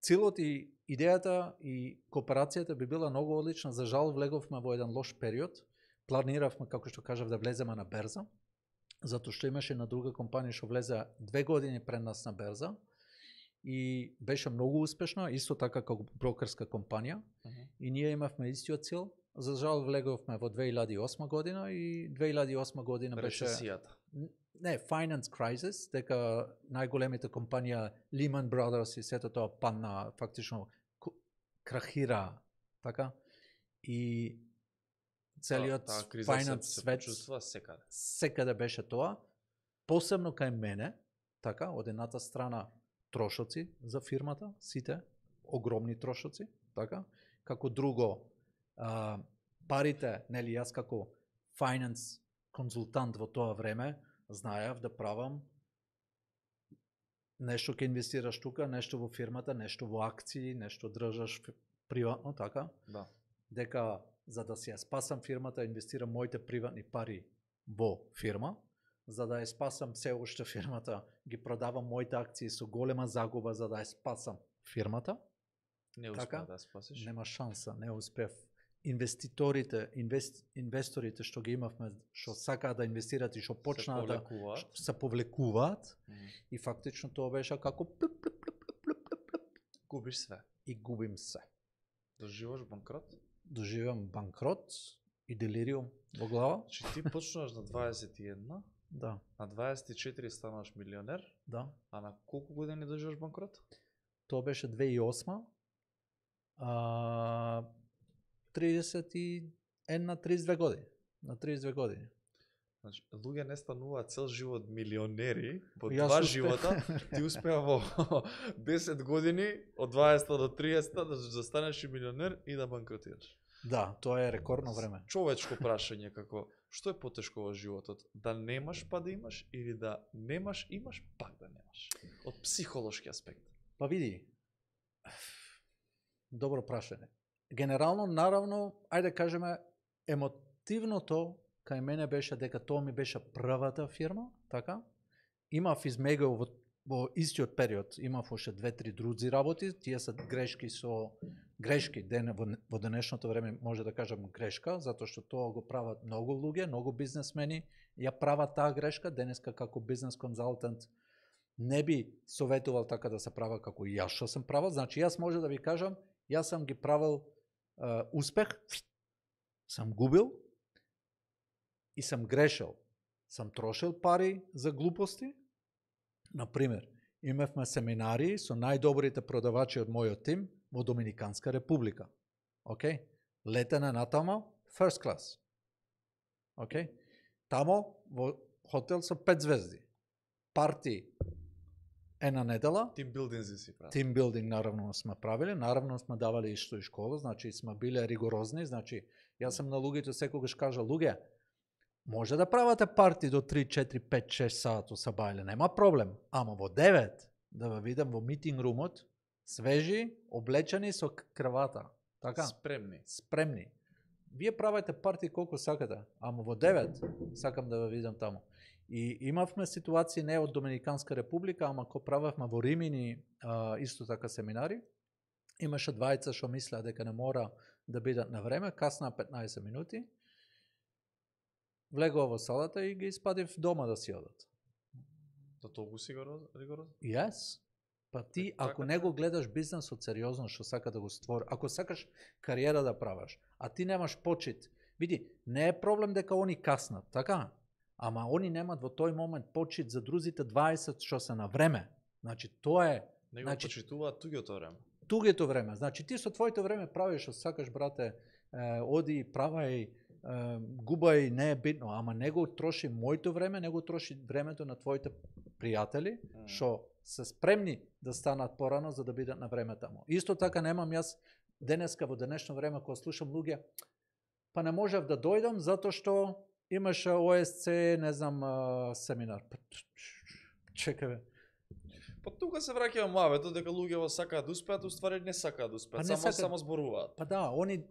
целот и идејата и кооперацијата би била многу одлична. За жал, влеговме во еден лош период. Планиравме, како што кажав, да влеземе на берза, затоа што имаше на друга компанија што влезе 2 години пред нас на берза и беше многу успешна, исто така како брокерска компанија, и ние имавме истиот цел. За жал влеговме во 2008 година и 2008 година беше рецесијата. Не, finance crisis, дека најголемите компанија Lehman Brothers и сето тоа падна, фактично крахира, така, и целиот finance свет секаде беше тоа, посебно кај мене, така, од едната страна трошоци за фирмата, сите, огромни трошоци, така, како друго, парите, нели, јас како finance консултант во тоа време, знаев да правам нешто ќе инвестираш тука, нешто во фирмата, нешто во акции, нешто држаш приватно, така, да. Дека за да си ја спасам фирмата, инвестирам моите приватни пари во фирма, за да ја спасам се уште фирмата, ги продавам моите акции со голема загуба за да ја спасам фирмата. Не успеа да спасиш. Нема шанса, не успев. Инвесторите што ги имавме, што сакаат да инвестираат и што почнаа да се повлекуваат, и фактично тоа беше како губиш све. И губим се. Доживаш банкрот? Доживам банкрот и делириум во глава. Значи ти почнуваш на 21, да. На 24 станаш милионер, да. А на колку години доживаш банкрот? Тоа беше 2008. 31 на 32 години. На 32 години. Значи, луѓе не стануваат цел живот милионери, во 2 живота, ти успеа во 10 години, од 20 до 30 да станеш милионер и да банкротираш. Да, тоа е рекордно време. Човечко прашање како, што е потешко во животот? Да немаш па да имаш или да немаш, имаш пак да немаш? Од психолошки аспект. Па види, добро прашање. Генерално, наравно, ајде кажеме, емотивното кај мене беше дека тоа ми беше првата фирма, така? Имав измегал во истиот период, имав уште 2-3 други работи, тие се грешки во денешното време може да кажам грешка, затоа што тоа го прават многу луѓе, многу бизнесмени, ја прават таа грешка, денеска како бизнес консултант не би советувал така да се права како и јас што сам правил, значи јас може да ви кажам, јас сам ги правил успех, сам губил, и сам грешил. Сам трошил пари за глупости. Например, имавме семинари со најдобрите продавачи од мојот тим во Доминиканска република. Океј? Летене натамо, first class. Океј? Тамо во хотел со 5 звезди. Парти една недела. Тимбилдинзи си прави. Тимбилдинг наравно сме правили, наравно сме давали исто и школа, значи сме биле ригорозни, значи јас сам на луѓето секогаш кажа, луѓе, може да правате парти до 3, 4, 5, 6 сато са бајле, нема проблем, ама во 9 да ве видам во митинг румот, свежи, облечени со крвата, така? Спремни. Вие правите парти колку сакате, ама во 9 сакам да ве видам таму. И имавме ситуации не од Доминиканска република, ама ко правевме во Римини исто така семинари, имаше двајца што мислеа дека не мора да бидат на време, касна 15 минути, влегува во салата и ги испадив дома да си одат. Да толку си ригорозно? Yes. Па ти, ако не го гледаш бизнесот сериозно што сака да го створи, ако сакаш кариера да праваш, а ти немаш почит, види, не е проблем дека они каснат, така? Ама они немат во тој момент почит за друзите 20 што се на време. Значи, тоа е... Не го почитуваат туѓото време. Туѓето време. Значи, ти со твоето време правиш што сакаш, брате, оди, правај, губај, не е битно, ама не го троши моето време, не го троши времето на твоите пријатели, што се спремни да станат порано за да бидат на време таму. Исто така немам јас денеска во денешно време кога слушам луѓе, па не можев да дојдам затоа што имаше ОСЦ, не знам, семинар. Чекаве. Па тука се враќава муавето дека луѓето сакаат да успеат, уствари не сакаат да успеат, само зборуваат. Па да, они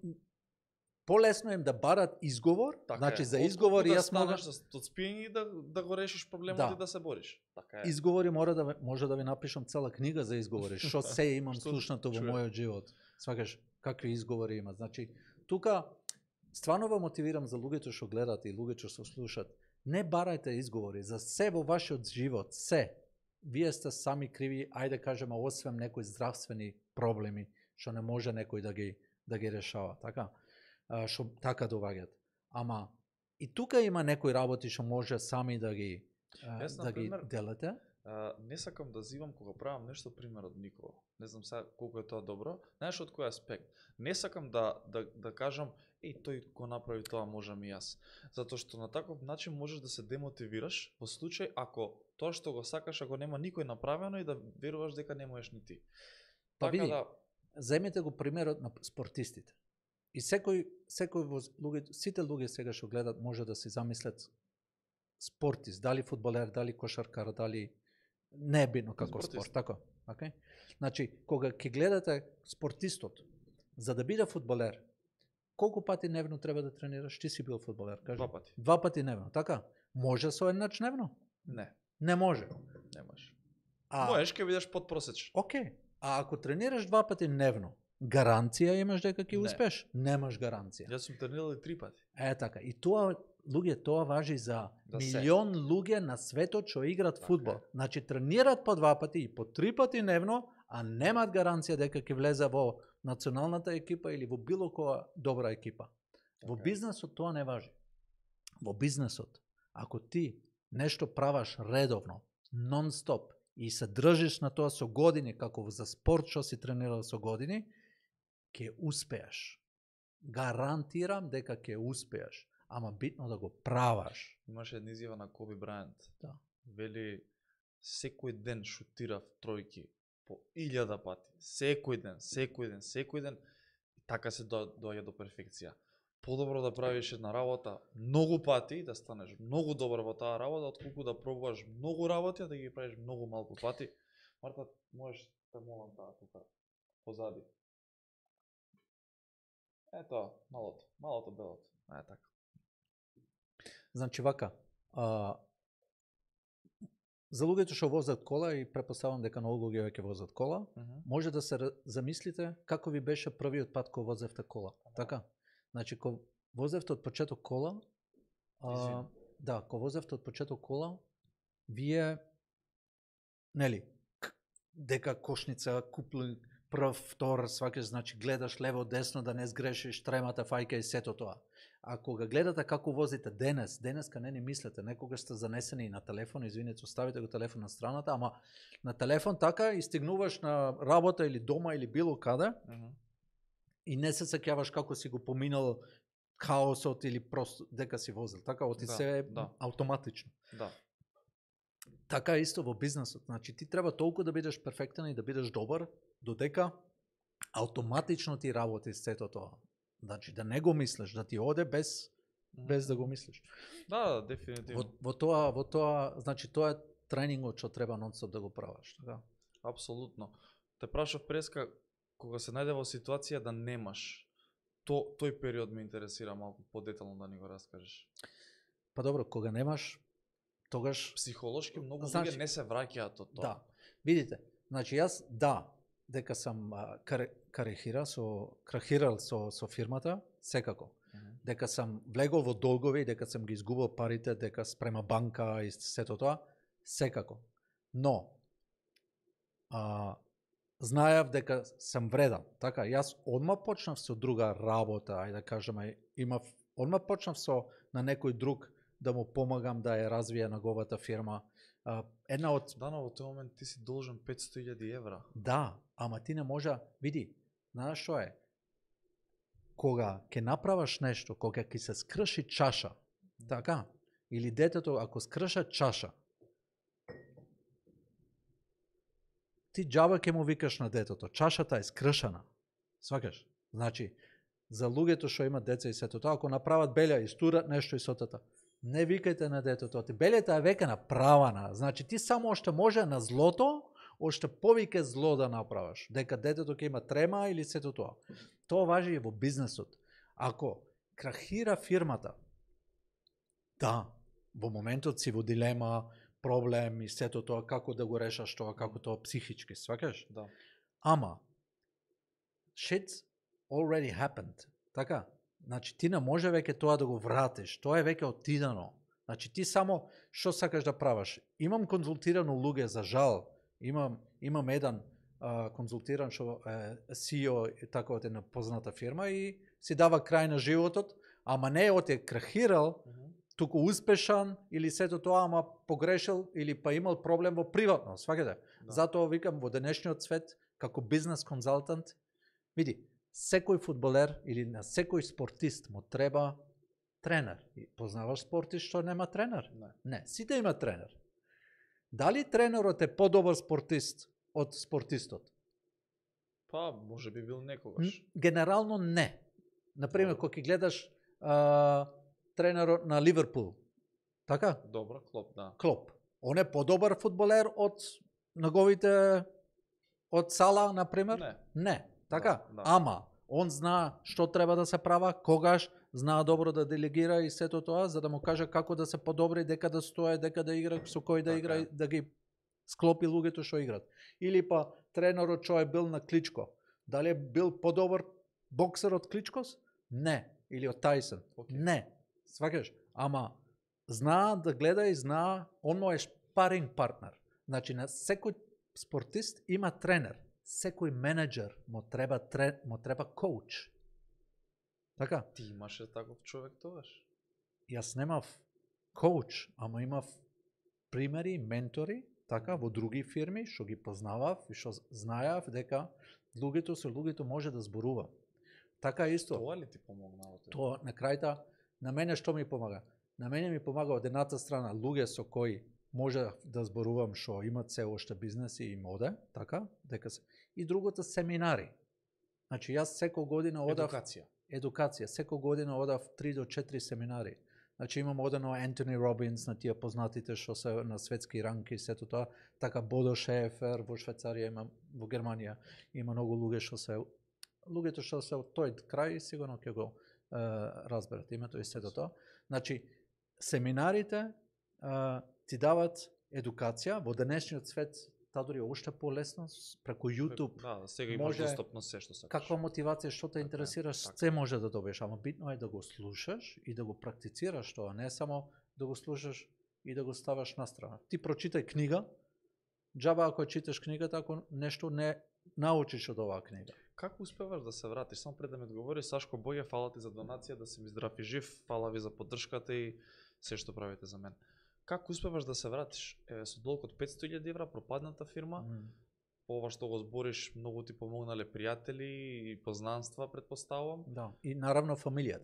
полесно им да барат изговор, така значи е. за изговори јас мога од спиење да го решиш проблемот и да се бориш. Така е. Изговори може да ви напишам цела книга за изговори, што се имам слушнато во мојот живот. Свакаш какви изговори има. Значи тука стварно ве мотивирам за луѓето што гледат и луѓето што слушат. Не барајте изговори за се во вашиот живот, се. Вие сте сами криви, ајде кажеме, освен некои здравствени проблеми што не може некој да ги решава, така? Што така доваѓат. Ама и тука има некои работи што може сами да ги делате. Не сакам да зивам кога правам нешто пример од никого. Не знам сега колку е тоа добро. Знаеш од кој аспект? Не сакам да кажам тој го направи тоа, можам и јас. Затоа што на таков начин можеш да се демотивираш во случај ако тоа што го сакаш, ако нема никој направено и да веруваш дека не можеш ни ти. Па така види, земете го примерот на спортистите. И секој луѓе, сите луѓе сега што гледат може да се замислат спортист, дали фудбалер, дали кошаркар, дали не е битно како спорт, така? Okay? Значи, кога ќе гледате спортистот, за да биде фудбалер, колку пати дневно треба да тренираш? Ти си бил фудбалер, кажи. 2 пати. 2 пати дневно, така? Може со еднач дневно? Не. Не може. Не може. Можеш ќе бидеш подпросечен. Океј. А ако тренираш 2 пати дневно, гаранција имаш дека ќе успеш? Немаш гаранција. Јас сум тренирал и 3 пати. Така. И тоа, луѓе, тоа важи за милион луѓе на светот што играат фудбал. Значи тренираат по 2 пати и по 3 пати дневно, а немаат гаранција дека ќе влезе во националната екипа или во било која добра екипа. Во бизнесот тоа не важи. Во бизнесот, ако ти нешто праваш редовно, нон-стоп, и се држиш на тоа со години, како за спорт што си тренирал со години, ќе успеаш. Гарантирам дека ќе успеаш, ама битно да го праваш. Имаше една изјава на Коби Брајант. Да. Вели, секој ден шутирав тројки по 1000 пати. Секој ден. И така се доаѓа до перфекција. Подобро да правиш една работа многу пати и да станеш многу добар во таа работа, отколку да пробуваш многу работи, а да ги правиш многу малку пати. Марта, можеш да молам таа тука позади. Ето, малото белото. Така. Значи вака, за луѓето што возат кола, и препоставам дека многу луѓе веќе возат кола, може да се замислите како ви беше првиот пат кога возевте кола. Така? Значи, кога возевте од почеток кола, кога возевте од почеток кола, вие, нели, дека кошница, купли прв, втор, свакаш, значи гледаш лево, десно, да не сгрешиш, тремата, фајка и сето тоа. А кога гледате како возите денеска не ни мислете, некогаш сте занесени и на телефон, извинете, оставите го телефон на страната, ама на телефон така и стигнуваш на работа или дома или било каде, и не се сеќаваш како си го поминал хаосот или просто дека си возил. Така оти се автоматично. Да. Така исто во бизнесот. Значи ти треба толку да бидеш перфектен и да бидеш добар, додека автоматично ти работи сето тоа. Значи да не го мислиш, да ти оде без да го мислиш. Да, дефинитивно. Во тоа, значи тоа е тренингот што треба нон-стоп да го правиш, така? Апсолутно. Те прашав преска, кога се најде во ситуација да немаш, тој период ме интересира малку подетално да ни го раскажеш. Па добро, кога немаш, тогаш психолошки многу луѓе не се враќаат од тоа. Да. Видите, значи јас дека сам крахирал со фирмата, секако. Дека сам влегол во долгови, дека сам ги изгубил парите, дека спрема банка и сето тоа, секако. Но знаев дека сам вреден. Така, јас одма почнав со друга работа, ајде да кажеме, одма почнав на некој друг да му помагам да ја развие неговата фирма. Една од... Да, но во тој момент ти си должен 500.000 евра. Да, ама ти не може... Види, знаеш што е? Кога ќе направаш нешто, кога ќе се скрши чаша, така? Или детето, ако скрша чаша, ти џаба ќе му викаш на детето, чашата е скршана. Сваќаш? Значи, за луѓето што имат деца и сето тоа, ако направат белја и стурат нешто и сотата, не викајте на детето, ти белјата е веќе направена. Значи ти само оште може на злото, оште повеќе зло да направаш, дека детето ќе има трема или сето тоа. Тоа важи и во бизнесот. Ако крахира фирмата, да, во моментот си во дилема, проблем и сето тоа, како да го решаш тоа, како тоа психички, сваќаш? Да. Ама, shit already happened, така? Значи, ти не може веќе тоа да го вратиш, тоа е веќе отидено. Значи, ти само, што сакаш да правиш? Имам конзултирано луѓе, за жал, имам еден конзултиран што CEO така од една позната фирма и си дава крај на животот, ама не од е крахирал, туку успешан или сето тоа, ама погрешил или па имал проблем во приватно, сваќате? Да. Затоа викам во денешниот свет, како бизнес консултант, види, секој фудбалер или на секој спортист му треба тренер. И познаваш спортист што нема тренер? Не, сите има тренер. Дали тренерот е подобар спортист од спортистот? Па, може би бил некогаш. Генерално не. Например, кога ќе гледаш тренерот на Ливерпул, така? Добро, Клоп, да. Клоп. Он е подобар фудбалер од неговите од Сала, например? Не. Така? Да. Ама, он знае што треба да се права, когаш, знае добро да делегира и сето тоа, за да му каже како да се подобри, дека да стое, дека да игра, со кој да игра, да ги склопи луѓето што играат. Или па тренерот што е бил на Кличко, дали е бил подобар боксер од Кличкос? Не. Или од Тайсон? Не. Сваќаш? Ама, знае да гледа и знае, он е шпаринг партнер. Значи, на секој спортист има тренер. Секој менеджер му треба коуч. Така? Ти имаше таков човек тогаш? Јас немав коуч, ама имав примери, ментори, така, во други фирми, што ги познавав и што знаев дека луѓето со луѓето може да зборува. Така исто. Тоа ли ти помогнало? Тоа, на крајта, на мене што ми помага? На мене ми помага од едната страна луѓе со кои може да зборувам што имат се оште бизнеси и моде, така, дека се. И другото семинари. Значи јас секој година одав едукација. Секој година одав 3 до 4 семинари. Значи имам одено Антони Робинс, на тие познатите што се на светски ранки и сето тоа, така Бодо Шефер во Швајцарија, има во Германија, има многу луѓето што се од тој крај сигурно ќе го разберат името и сето тоа. Значи семинарите ти дават едукација во денешниот свет. Таа дори уште полесно преку YouTube. Да, сега имаш достапно се што сакаш. Каква мотивација, што те интересираш, се може да добиеш, ама битно е да го слушаш и да го практицираш тоа, не само да го слушаш и да го ставаш на страна. Ти прочитај книга, џаба ако читаш книгата, ако нешто не научиш од оваа книга. Како успеваш да се вратиш? Само пред да ми одговори, Сашко Боѓе, фала ти за донација, да си ми здрав и жив, фала ви за поддршката и се што правите за мен. Како успеваш да се вратиш? Со долг од 500.000 евра, пропадната фирма, по ова што го збориш, многу ти помогнале пријатели и познанства, претпоставувам. Да, и наравно фамилијата.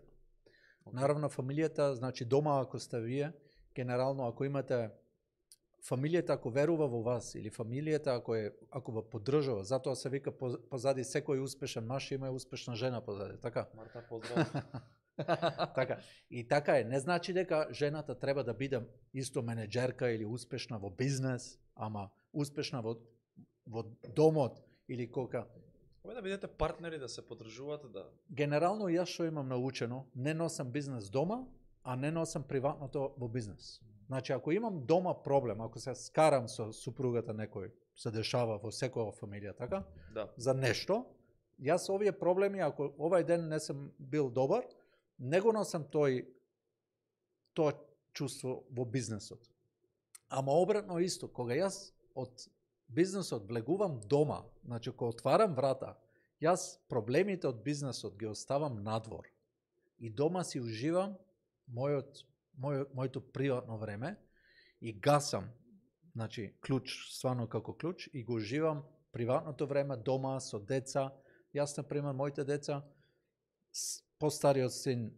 Okay. Наравно фамилијата, значи дома ако сте вие, генерално ако имате фамилијата ако верува во вас или фамилијата ако ве поддржува, затоа се вика позади секој успешен маж има успешна жена позади, така? Марта, поздрав. Така. И така е, не значи дека жената треба да биде исто менеджерка или успешна во бизнес, ама успешна во домот или кока. Кога да бидете партнери, да се поддржувате, да... Генерално јас што имам научено, не носам бизнес дома, а не носам приватното во бизнес. Значи, ако имам дома проблем, ако се скарам со супругата некој, се дешава во секоја фамилија, така? Да. За нешто, јас овие проблеми, ако овај ден не сум бил добар, не го носам тоа чувство во бизнесот. Ама обратно исто, кога јас од бизнесот влегувам дома, значи кога отварам врата, јас проблемите од бизнесот ги оставам надвор. И дома си уживам моето приватно време и гасам, значи клуч, стварно како клуч, и го уживам приватното време дома со деца. Јас, например, моите деца, постариот син,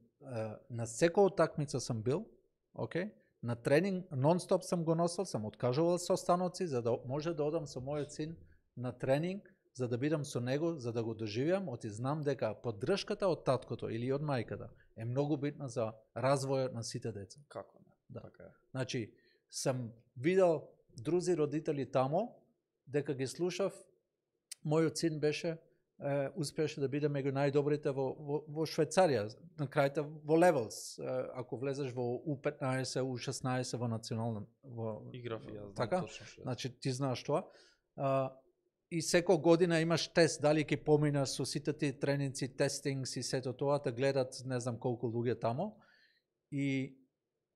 на секоја утакмица сам бил, окей? На тренинг нон-стоп сам го носил, сам откажувал состаноци за да може да одам со мојот син на тренинг, за да бидам со него, за да го доживеам, оти знам дека поддршката од таткото или од мајката е многу битна за развојот на сите деца. Како не? Да. Така е. Значи, сам видел друзи родители тамо, дека ги слушав, мојот син беше успееше да биде меѓу најдобрите во Швајцарија, на крајта во левелс, ако влезеш во U15, U16 во национална играв и јас, така? Точно што. Значи ти знаеш тоа. И секоја година имаш тест дали ќе поминаш со сите ти тренинци, тестингс и сето тоа, да гледат не знам колку луѓе тамо. И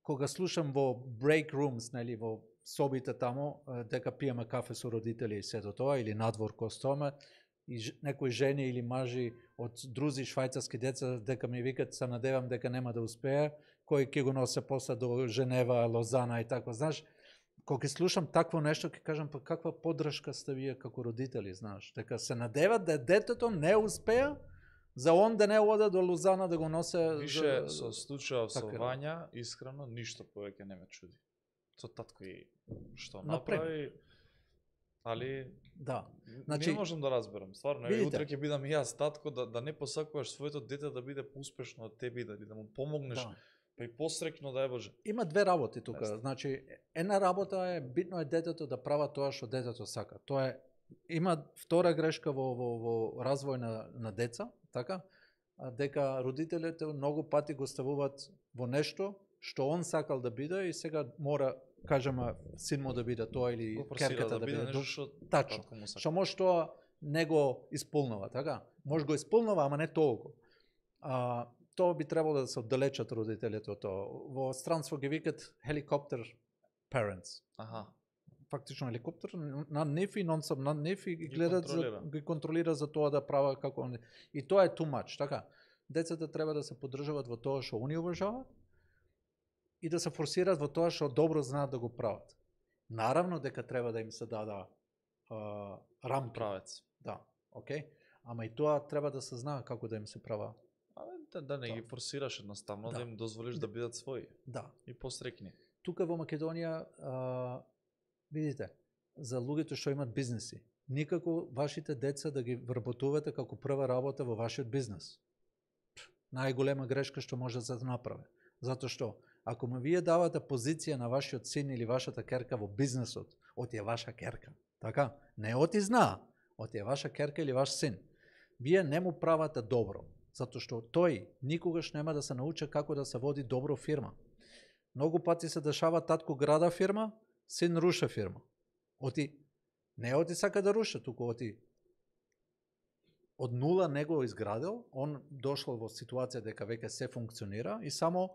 кога слушам во break rooms, нели, во собите тамо, дека пиеме кафе со родители и сето тоа, или надвор кој стоиме, и некои жени или мажи од друзи швајцарски деца дека ми викат се надевам дека нема да успее, кој ќе го носе после до Женева, Лозана и така, знаеш. Кога ќе слушам такво нешто, ќе кажам па каква поддршка сте вие како родители, знаеш, дека се надеват да детето не успеа, за он да не оде до Лозана да го носе. Више со случајот со така, Вања, искрено ништо повеќе не ме чуди. Со татко и што Например. направи, али Да. значи, не можам да разберам. Стварно, видите, утре ќе бидам и јас татко, да не посакуваш своето дете да биде поуспешно од тебе, да му помогнеш, да. па и посрекно, дај Боже. Има две работи тука. Значи, една работа е битно е детето да права тоа што детето сака. Тоа е има втора грешка во развој на деца, така? Дека родителите многу пати го ставуваат во нешто што он сакал да биде и сега мора, кажеме, син му да биде тоа или керката да биде нешто што тачно. Што може тоа не го исполнува, така? Може го исполнува, ама не толку. Тоа би требало да се оддалечат родителите од тоа. Во странство ги викат helicopter parents. Аха. Фактично хеликоптер на нив и нон-стоп на нив и ги гледат ги контролира за тоа да права како они. И тоа е too much, така? Децата треба да се поддржуваат во тоа што они уважаваат и да се форсираат во тоа што добро знаат да го прават. Наравно дека треба да им се дада рамки. Правец. Да, окей. Ама и тоа треба да се знае како да им се права. Да не ги форсираш едноставно, да им дозволиш да бидат своји. Да. И посрекни. Тука во Македонија, видите, за луѓето што имат бизнеси, никако вашите деца да ги вработувате како прва работа во вашиот бизнес. Најголема грешка што може да се направи. Затоа што, ако му вие давате позиција на вашиот син или вашата керка во бизнесот, оти е ваша керка, така? Не оти знаа, оти е ваша керка или ваш син. Вие не му правате добро, затоа што тој никогаш нема да се научи како да се води добро фирма. Многу пати се дешава татко града фирма, син руша фирма. Не оти сака да руша, туку оти од нула не го изградил, он дошол во ситуација дека веќе се функционира и само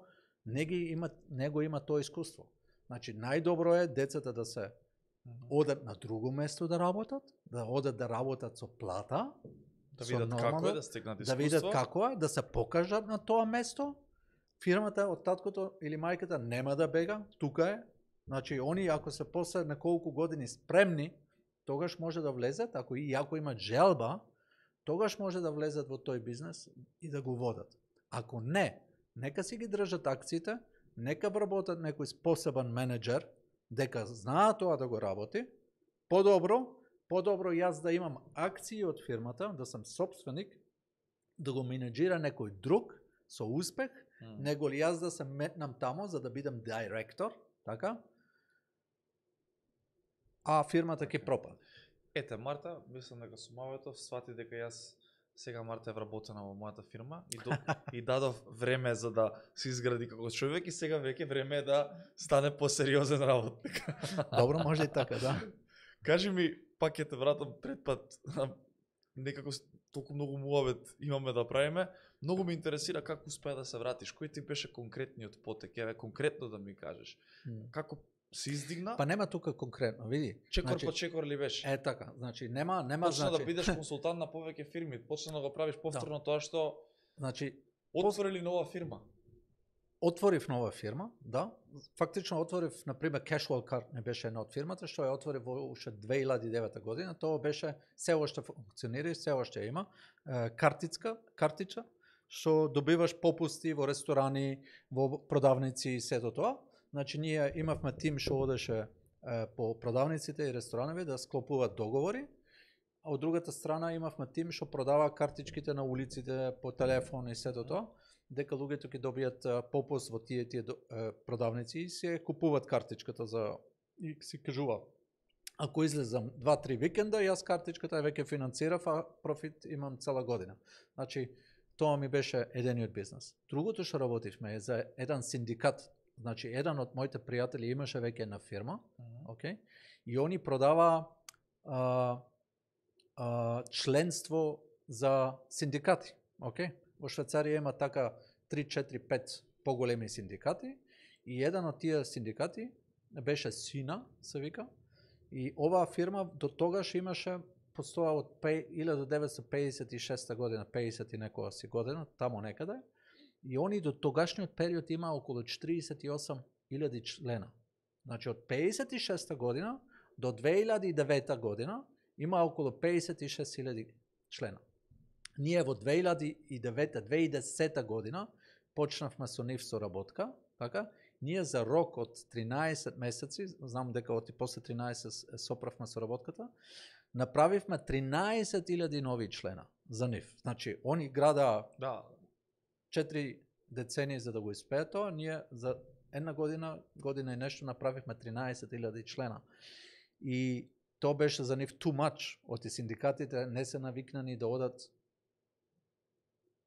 не го има тоа искуство. Значи, најдобро е децата да се одат на друго место да работат, да одат да работат со плата, да видат како е, да стекнат искуство, да видат како е, да се покажат на тоа место. Фирмата од таткото или мајката нема да бега, тука е. Значи, они ако се после неколку години спремни, тогаш може да влезат, ако имат желба, тогаш може да влезат во тој бизнес и да го водат. Ако не, нека си ги држат акциите, нека вработат некој способен менеджер, дека знаат тоа да го работи, подобро јас да имам акции од фирмата, да сам собственик, да го менеджира некој друг со успех, него ли јас да се метнам тамо за да бидам директор, така? А фирмата ќе пропаде. Ете, Марта, мислам дека со Маветов свати дека јас сега Марта е вработена во мојата фирма и дадов време за да се изгради како човек и сега веќе време е да стане посериозен работник. Добро, може и така, да. Кажи ми, пак ќе те вратам пред пат, некако толку многу муавет имаме да правиме, многу ме интересира како успеа да се вратиш, кој ти беше конкретниот потек, еве конкретно да ми кажеш. Како се издигна? Па нема тука конкретно, види. Чекор по чекор ли беше? Така, значи нема почна значи да бидеш консултант на повеќе фирми, почна да го правиш повторно тоа што значи отворили нова фирма. Отворив нова фирма, да. Фактично отворив, например, Casual Card не беше една од фирмата, што ја отворив во уште 2009 година. Тоа беше, се уште функционира и се уште има, картичка, што добиваш попусти во ресторани, во продавници и сето тоа. Значи, ние имавме тим што одеше по продавниците и рестораневи да склопуваат договори, а од другата страна имавме тим што продава картичките на улиците по телефон и сето тоа, дека луѓето ќе добијат попуст во тие продавници и се купуваат картичката за и си кажува. Ако излезам 2-3 викенда, јас картичката веќе финансирав, а профит имам цела година. Значи, тоа ми беше едениот бизнес. Другото што работивме е за еден синдикат. Значи, еден од моите пријатели имаше веќе една фирма, окей, и они продава членство за синдикати, окей. Во Швајцарија има така 3-4-5 поголеми синдикати и еден од тие синдикати беше Сина, се вика, и оваа фирма до тогаш имаше постоја од 1956 година, 50 и некоја си година, тамо некаде, и они до тогашниот период има околу 48.000 члена. Значи од 56 година до 2009 година има околу 56.000 члена. Ние во 2009-2010 година почнавме со нив соработка, така? Ние за рок од 13 месеци, знам дека оти после 13 соправме соработката, направивме 13.000 нови члена за нив. Значи, они града 4 децении за да го испеат тоа, ние за една година и нешто направивме 13.000 члена. И тоа беше за нив too much. Оти синдикатите не се навикнани да одат,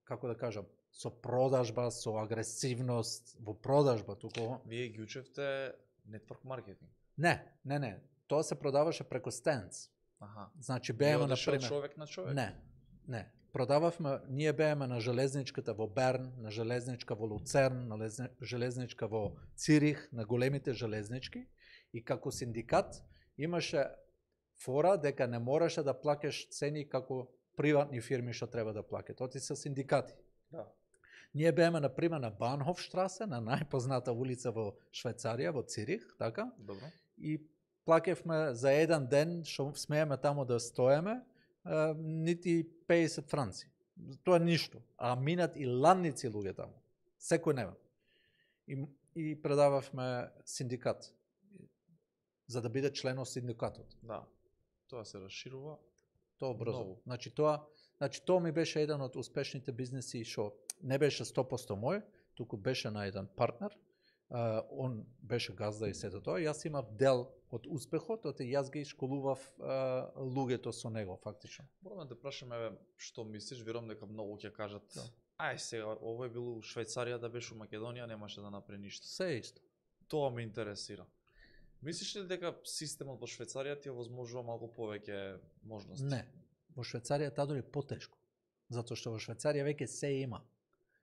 како да кажам, со продажба, со агресивност во продажба, туку. Вие ги учевте нетворк маркетинг? Не. Тоа се продаваше преко стендс. Значи бееме на пример човек на човек? Не. Продававме, ние бееме на железничката во Берн, на железничка во Луцерн, на железничка во Цирих, на големите железнички, и како синдикат имаше фора дека не мораше да плакеш цени како приватни фирми што треба да плакат. Оти се синдикати. Да. Ние бееме на пример на Банхофштрасе, на најпозната улица во Швајцарија, во Цирих, така? Добро. И плакевме за еден ден што смееме тамо да стоеме, нити 50 франци. Тоа ништо. А минат и ланници луѓе тамо. Секој дневен. И предававме синдикат за да биде член од синдикатот. Да. Тоа се расширува. Тоа брзо. Значи тоа ми беше еден од успешните бизнеси што не беше 100% мој, туку беше на еден партнер. Он беше газда и сето тоа. Јас имав дел од успехот, оти јас ги школував луѓето со него фактично. Морам да те прашам еве што мислиш, верувам дека многу ќе кажат. Да. Ај сега овој бил у Швајцарија, да беше у Македонија, немаше да направи ништо. Се исто. Тоа ме интересира. Мислиш ли дека системот во Швајцарија ти овозможува малку повеќе можности? Не. Во Швајцарија таа дури потешко. Затоа што во Швајцарија веќе се има.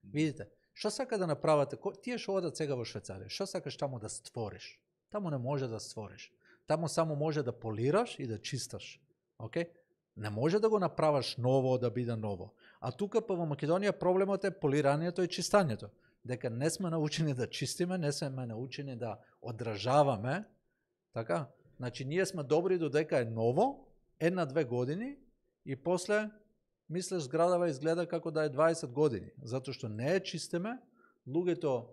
Видите, што сака да направите, тие што одат сега во Швајцарија, што сакаш таму да створиш? Таму не може да створиш. Таму само може да полираш и да чисташ. Океј? Не може да го направаш ново да биде ново. А тука па во Македонија проблемот е полирањето и чистањето. Дека не сме научени да чистиме, не сме научени да одражаваме. Така? Значи ние сме добри додека е ново, 1-2 години и после мислеш зградава изгледа како да е 20 години, затоа што не е чистеме, луѓето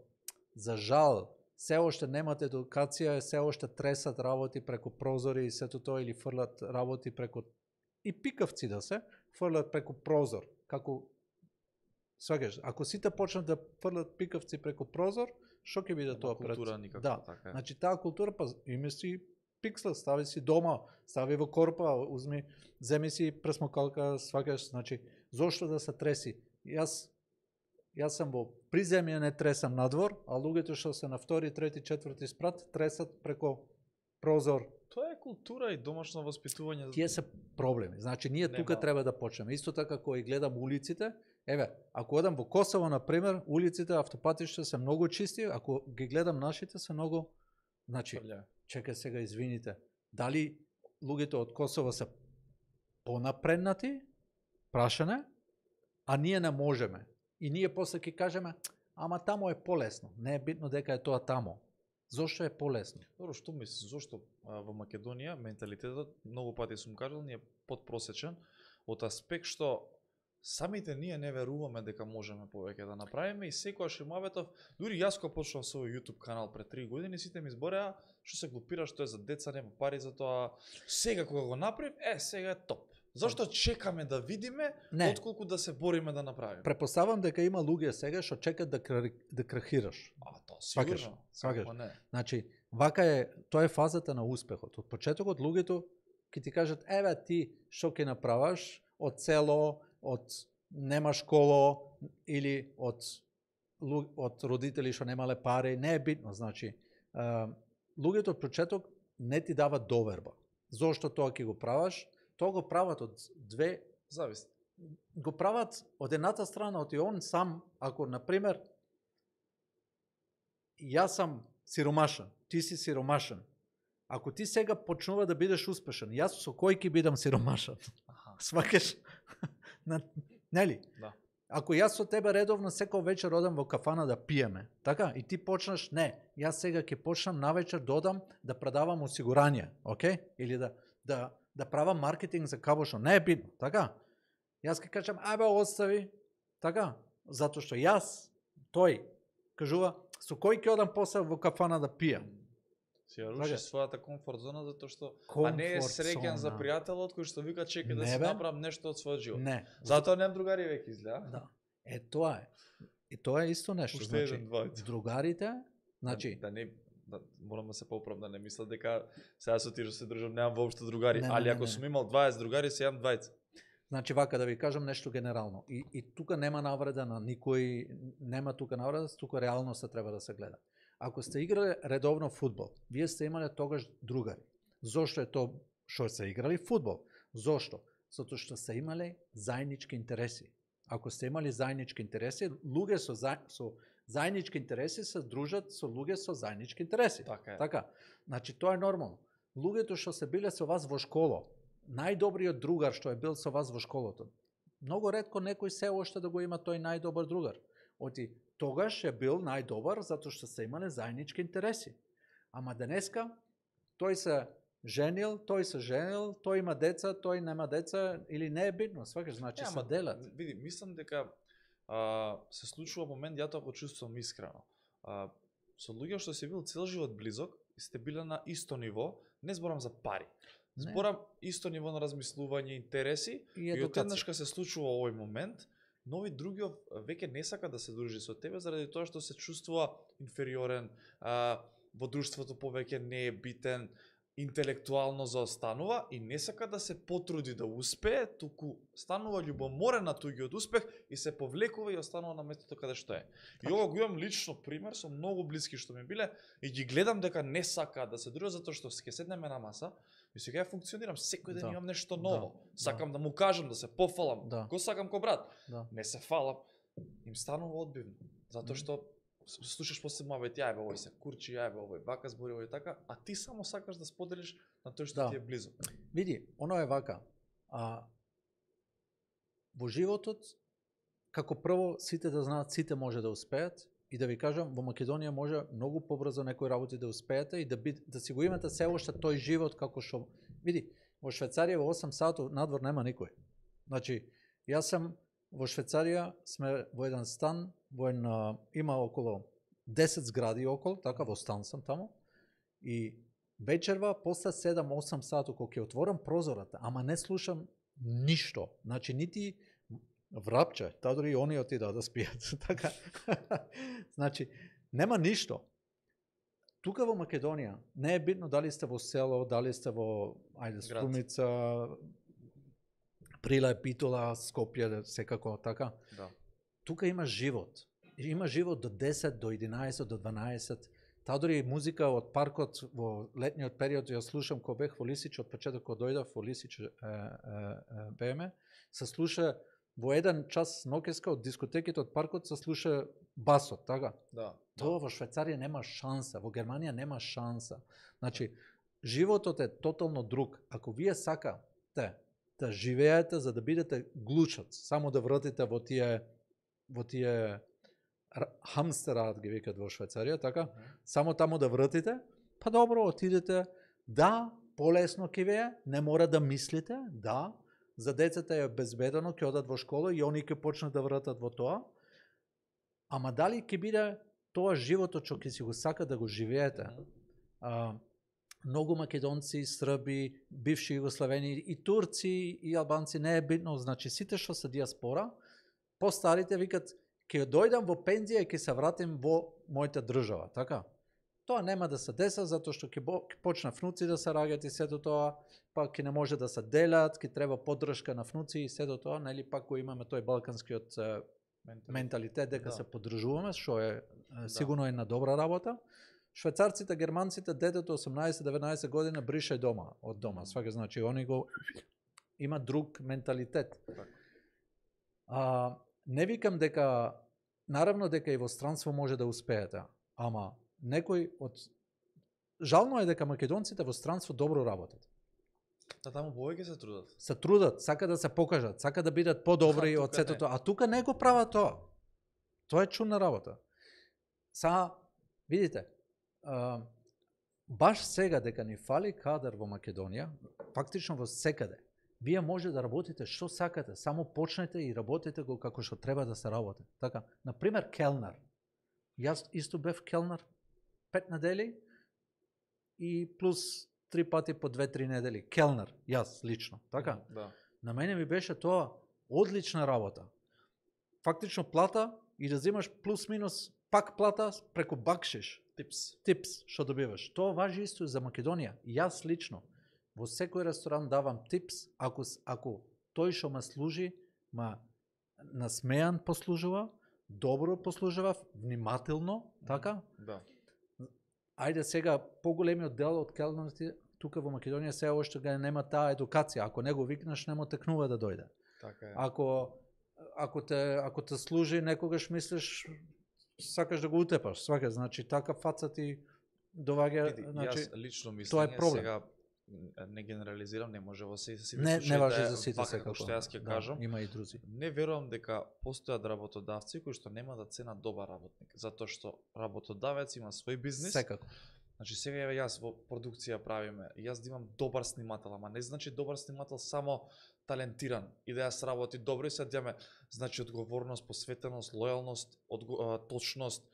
за жал се уште немат едукација, се уште тресат работи преку прозори и сето тоа или фрлат работи преку и пикавци да се фрлат преку прозор, како сваќаш, ако сите почнат да фрлат пикавци преку прозор, што ќе биде тоа пред? Култура никако да. така. Значи таа култура па име си пиксел, стави си дома, стави во корпа, узми, земи си пресмокалка, сваќаш, значи зошто да се треси? Јас сам во приземје не тресам надвор, а луѓето што се на втори, трети, четврти спрат тресат преку прозор. Тоа е култура и домашно воспитување. Тие се проблеми. Значи ние тука треба да почнеме. Исто така кога гледам улиците, еве, ако одам во Косово на пример, улиците, автопатишта се многу чисти, ако ги гледам нашите се многу, значи чекај сега извините, дали луѓето од Косово се понапреднати, прашане, а ние не можеме. И ние после ќе кажеме, ама тамо е полесно. Не е битно дека е тоа тамо. Зошто е полесно? Добро, што мислиш, зошто во Македонија менталитетот, многу пати сум кажал, ни е подпросечен од аспект што самите ние не веруваме дека можеме повеќе да направиме и секогаш имаветов, дури јас кога почнав со YouTube канал пред 3 години, сите ми збореа што се глупира, што е за деца, нема пари за тоа. Сега кога го направив, сега е топ. Зошто чекаме да видиме, отколку да се бориме да направиме? Препоставам дека има луѓе сега што чекат да крахираш. Тоа сигурно. Сваќаш. Значи, вака е, тоа е фазата на успехот. Од почетокот луѓето ќе ти кажат, еве ти што ќе направаш од село, од нема школо или од родители што немале пари, не е битно, значи луѓето од почеток не ти дават доверба. Зошто тоа ќе го праваш? Тоа го прават од две зависи. Го прават од едната страна, од и он сам, ако на пример јас сам сиромашен, ти си сиромашен. Ако ти сега почнува да бидеш успешен, јас со кој ќе бидам сиромашен? Сваќаш? Нели? Да. Ако јас со тебе редовно секој вечер одам во кафана да пиеме, така? И ти почнаш, не, јас сега ќе почнам навечер да одам да продавам осигурање, окей? Или да правам маркетинг за кабошо, не е битно, така? Јас ќе кажам, ајбе остави, така? Затоа што јас, тој, кажува, со кој ќе одам после во кафана да пијам? Си ја руши својата комфорт зона, затоа што а не е среќен за пријателот кој што вика чека да си направам нешто од својот живот. Не. Затоа немам другари веќе изгледа. Да. Тоа е. И тоа е исто нешто, значи, другарите, значи морам да се поправам, да не мислам дека сега со тие што се дружам немам воопшто другари, али ако сум имал 20 другари, се имам 20. Значи вака да ви кажам нешто генерално. И тука нема навреда на никој, нема тука навреда, тука реалноста треба да се гледа. Ако сте играли редовно фудбал, вие сте имале тогаш другари. Зошто е тоа што се играли фудбал? Зошто? Затоа што се имале заеднички интереси. Ако сте имали заеднички интереси, луѓе со заеднички интереси се дружат со луѓе со заеднички интереси. Така. Значи тоа е нормално. Луѓето што се биле со вас во школа, најдобриот другар што е бил со вас во школото, многу ретко некој се уште да го има тој најдобар другар. Оти тогаш е бил најдобар затоа што се имале заеднички интереси. Ама денеска тој се женил, тој има деца, тој нема деца или не е битно, сваќаш, значи се делат. Види, мислам дека се случува момент, ја тоа го чувствувам искрено. Со луѓе што си бил цел живот близок и сте биле на исто ниво, не зборам за пари. Зборам исто ниво на размислување, интереси и одеднашка се случува овој момент, нови други веќе не сака да се дружи со тебе заради тоа што се чувствува инфериорен, во друштвото повеќе не е битен, интелектуално заостанува и не сака да се потруди да успее, туку станува љубоморен на туѓиот успех и се повлекува и останува на местото каде што е. И ова го имам лично пример со многу блиски што ми биле и ги гледам дека не сака да се дружат затоа што ќе седнеме на маса и сега ја функционирам, секој ден имам нешто ново. Сакам да му кажам, да се пофалам, го сакам ко брат. Не се фалам, им станува одбивно, затоа што слушаш после мавет, јајбе овој се курчи, јајбе овој вака збори, овој така, а ти само сакаш да споделиш на тој што ти е близо. Види, оно е вака. Во животот, како прво, сите да знаат, сите може да успеат и да ви кажам, во Македонија може многу побрзо некои работи да успеете и да си го имате се уште тој живот како што... Види, Во Швајцарија во 8 сату надвор нема никој. Значи, јас сам во Швајцарија, сме во еден стан, има околу 10 згради околу, така во стан сам таму. И вечерва после 7-8 сату кога ќе отворам прозората, ама не слушам ништо. Значи нити врапче, таа дури и они отидаа да спијат. Така. Значи нема ништо. Тука во Македонија не е битно дали сте во село, дали сте во Струмица, Прилеп, Битола, Скопје, секако така. Да. Тука има живот. Има живот до 10, до 11, до 12. Таа дури музика од паркот во летниот период ја слушам кога бев во Лисич, од почеток кога дојдов во Лисич беме, се слуша во еден час ноќеска од дискотеките од паркот се слуша басот, така? Да. Тоа во Швајцарија нема шанса, во Германија нема шанса. Значи, животот е тотално друг. Ако вие сакате да живеете за да бидете глучац, само да вратите во тие хамстерат ги викат во Швајцарија, така? Само таму да вратите, па добро, отидете, да, полесно ќе вие, не мора да мислите, да, за децата е безбедно, ќе одат во школа и они ќе почнат да вратат во тоа. Ама дали ќе биде тоа животот што ќе си го сака да го живеете? Многу македонци, срби, бивши југославени и турци и албанци, не е битно, значи сите што се диаспора, постарите викат ќе дојдам во пензија и ќе се вратим во мојата држава, така? Тоа нема да се деса затоа што ќе почна внуци да се раѓаат и сето тоа, па ќе не може да се делат, ќе треба поддршка на внуци и сето тоа, нели пак го имаме тој балканскиот менталитет дека се поддржуваме, што е сигурно е на добра работа. Швајцарците, германците, детето 18-19 година брише дома, од дома, сваќа, значи они го има друг менталитет. Не викам дека, наравно дека и во странство може да успеете, ама некој од... Жално е дека македонците во странство добро работат. Да, таму повеќе се трудат. Се трудат, сака да се покажат, сака да бидат подобри од сето тоа, а тука не го прават тоа. Тоа е чудна работа. Видите, баш сега дека ни фали кадар во Македонија, фактично во секаде, вие може да работите што сакате, само почнете и работите го како што треба да се работи. Така, например, келнер. Јас исто бев келнер 5 недели и плюс 3 пати по 2-3 недели. Келнер, јас лично, така? Да. На мене ми беше тоа одлична работа. Фактично плата и да взимаш плюс-минус пак плата преку бакшиш. Типс, што добиваш. Тоа важи исто за Македонија. Јас лично во секој ресторан давам типс, ако тој што ме служи, ма насмеан послужува, добро послужува, внимателно, така? Да. Ајде сега, поголемиот дел од келнерите тука во Македонија се уште га нема таа едукација. Ако не го викнеш, нема текнува да дојде. Така е. Ако те служи, некогаш мислиш сакаш да го утепаш, сваќаш, значи така фаца ти доваѓа, значи јас лично мислење, тоа е проблем. сега не генерализирам, не може во сите случаи. Не важи за сите секако. Што јас ќе кажам, има и други. Не верувам дека постојат работодавци кои што нема да ценат добар работник, затоа што работодавец има свој бизнис. Секако. Значи сега јас во продукција правиме, јас да имам добар снимател, ама не значи добар снимател само талентиран и да јас работи добро и се дјаме, значи одговорност, посветеност, лојалност, точност.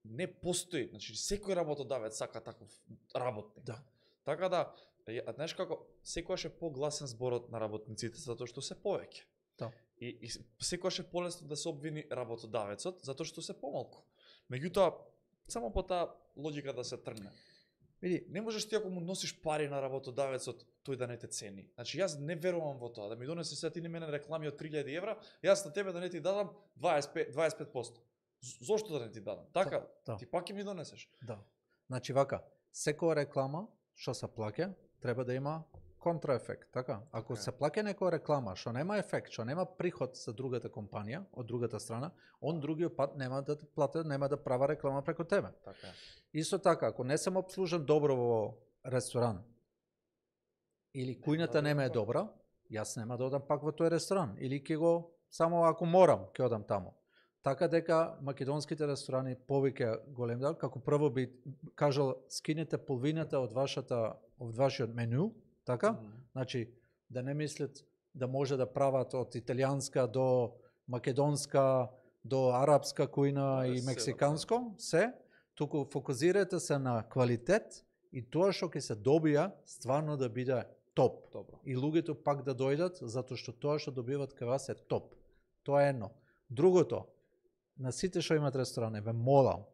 Не постои, значи секој работодавец сака таков работник. Да. Така да, знаеш како, секојаш е погласен зборот на работниците затоа што се повеќе. Да. И секојаш е полесно да се обвини работодавецот затоа што се помалку. Меѓутоа, само по таа логика да се тргне. Види, не можеш ти ако му носиш пари на работодавецот, тој да не те цени. Значи јас не верувам во тоа, да ми донесе сега ти не мене реклами од 3000 евра, јас на тебе да не ти дадам 25%. Зошто да не ти дадам? Така, да. Ти пак ќе ми донесеш. Да. Значи вака, секоја реклама што се плаќа, треба да има контраефект, така? Ако се плаќа некоја реклама што нема ефект, што нема приход за другата компанија, од другата страна, он другиот пат нема да плати, нема да права реклама преку тебе. Така. Исто така, ако не сум обслужен добро во ресторан или кујната нема е добра, јас нема да одам пак во тој ресторан или ќе го само ако морам ќе одам таму. Така дека македонските ресторани повеќе голем дел, како прво би кажал скинете половината од вашиот меню, Така? Значи, да не мислят да може да прават од италијанска до македонска, до арапска кујна и мексиканско, се, туку фокусирате се на квалитет и тоа што ќе се добија стварно да биде топ. Добро. И луѓето пак да дојдат, затоа што тоа што добиват кај вас е топ. Тоа е едно. Другото, на сите што имат ресторани, ве молам,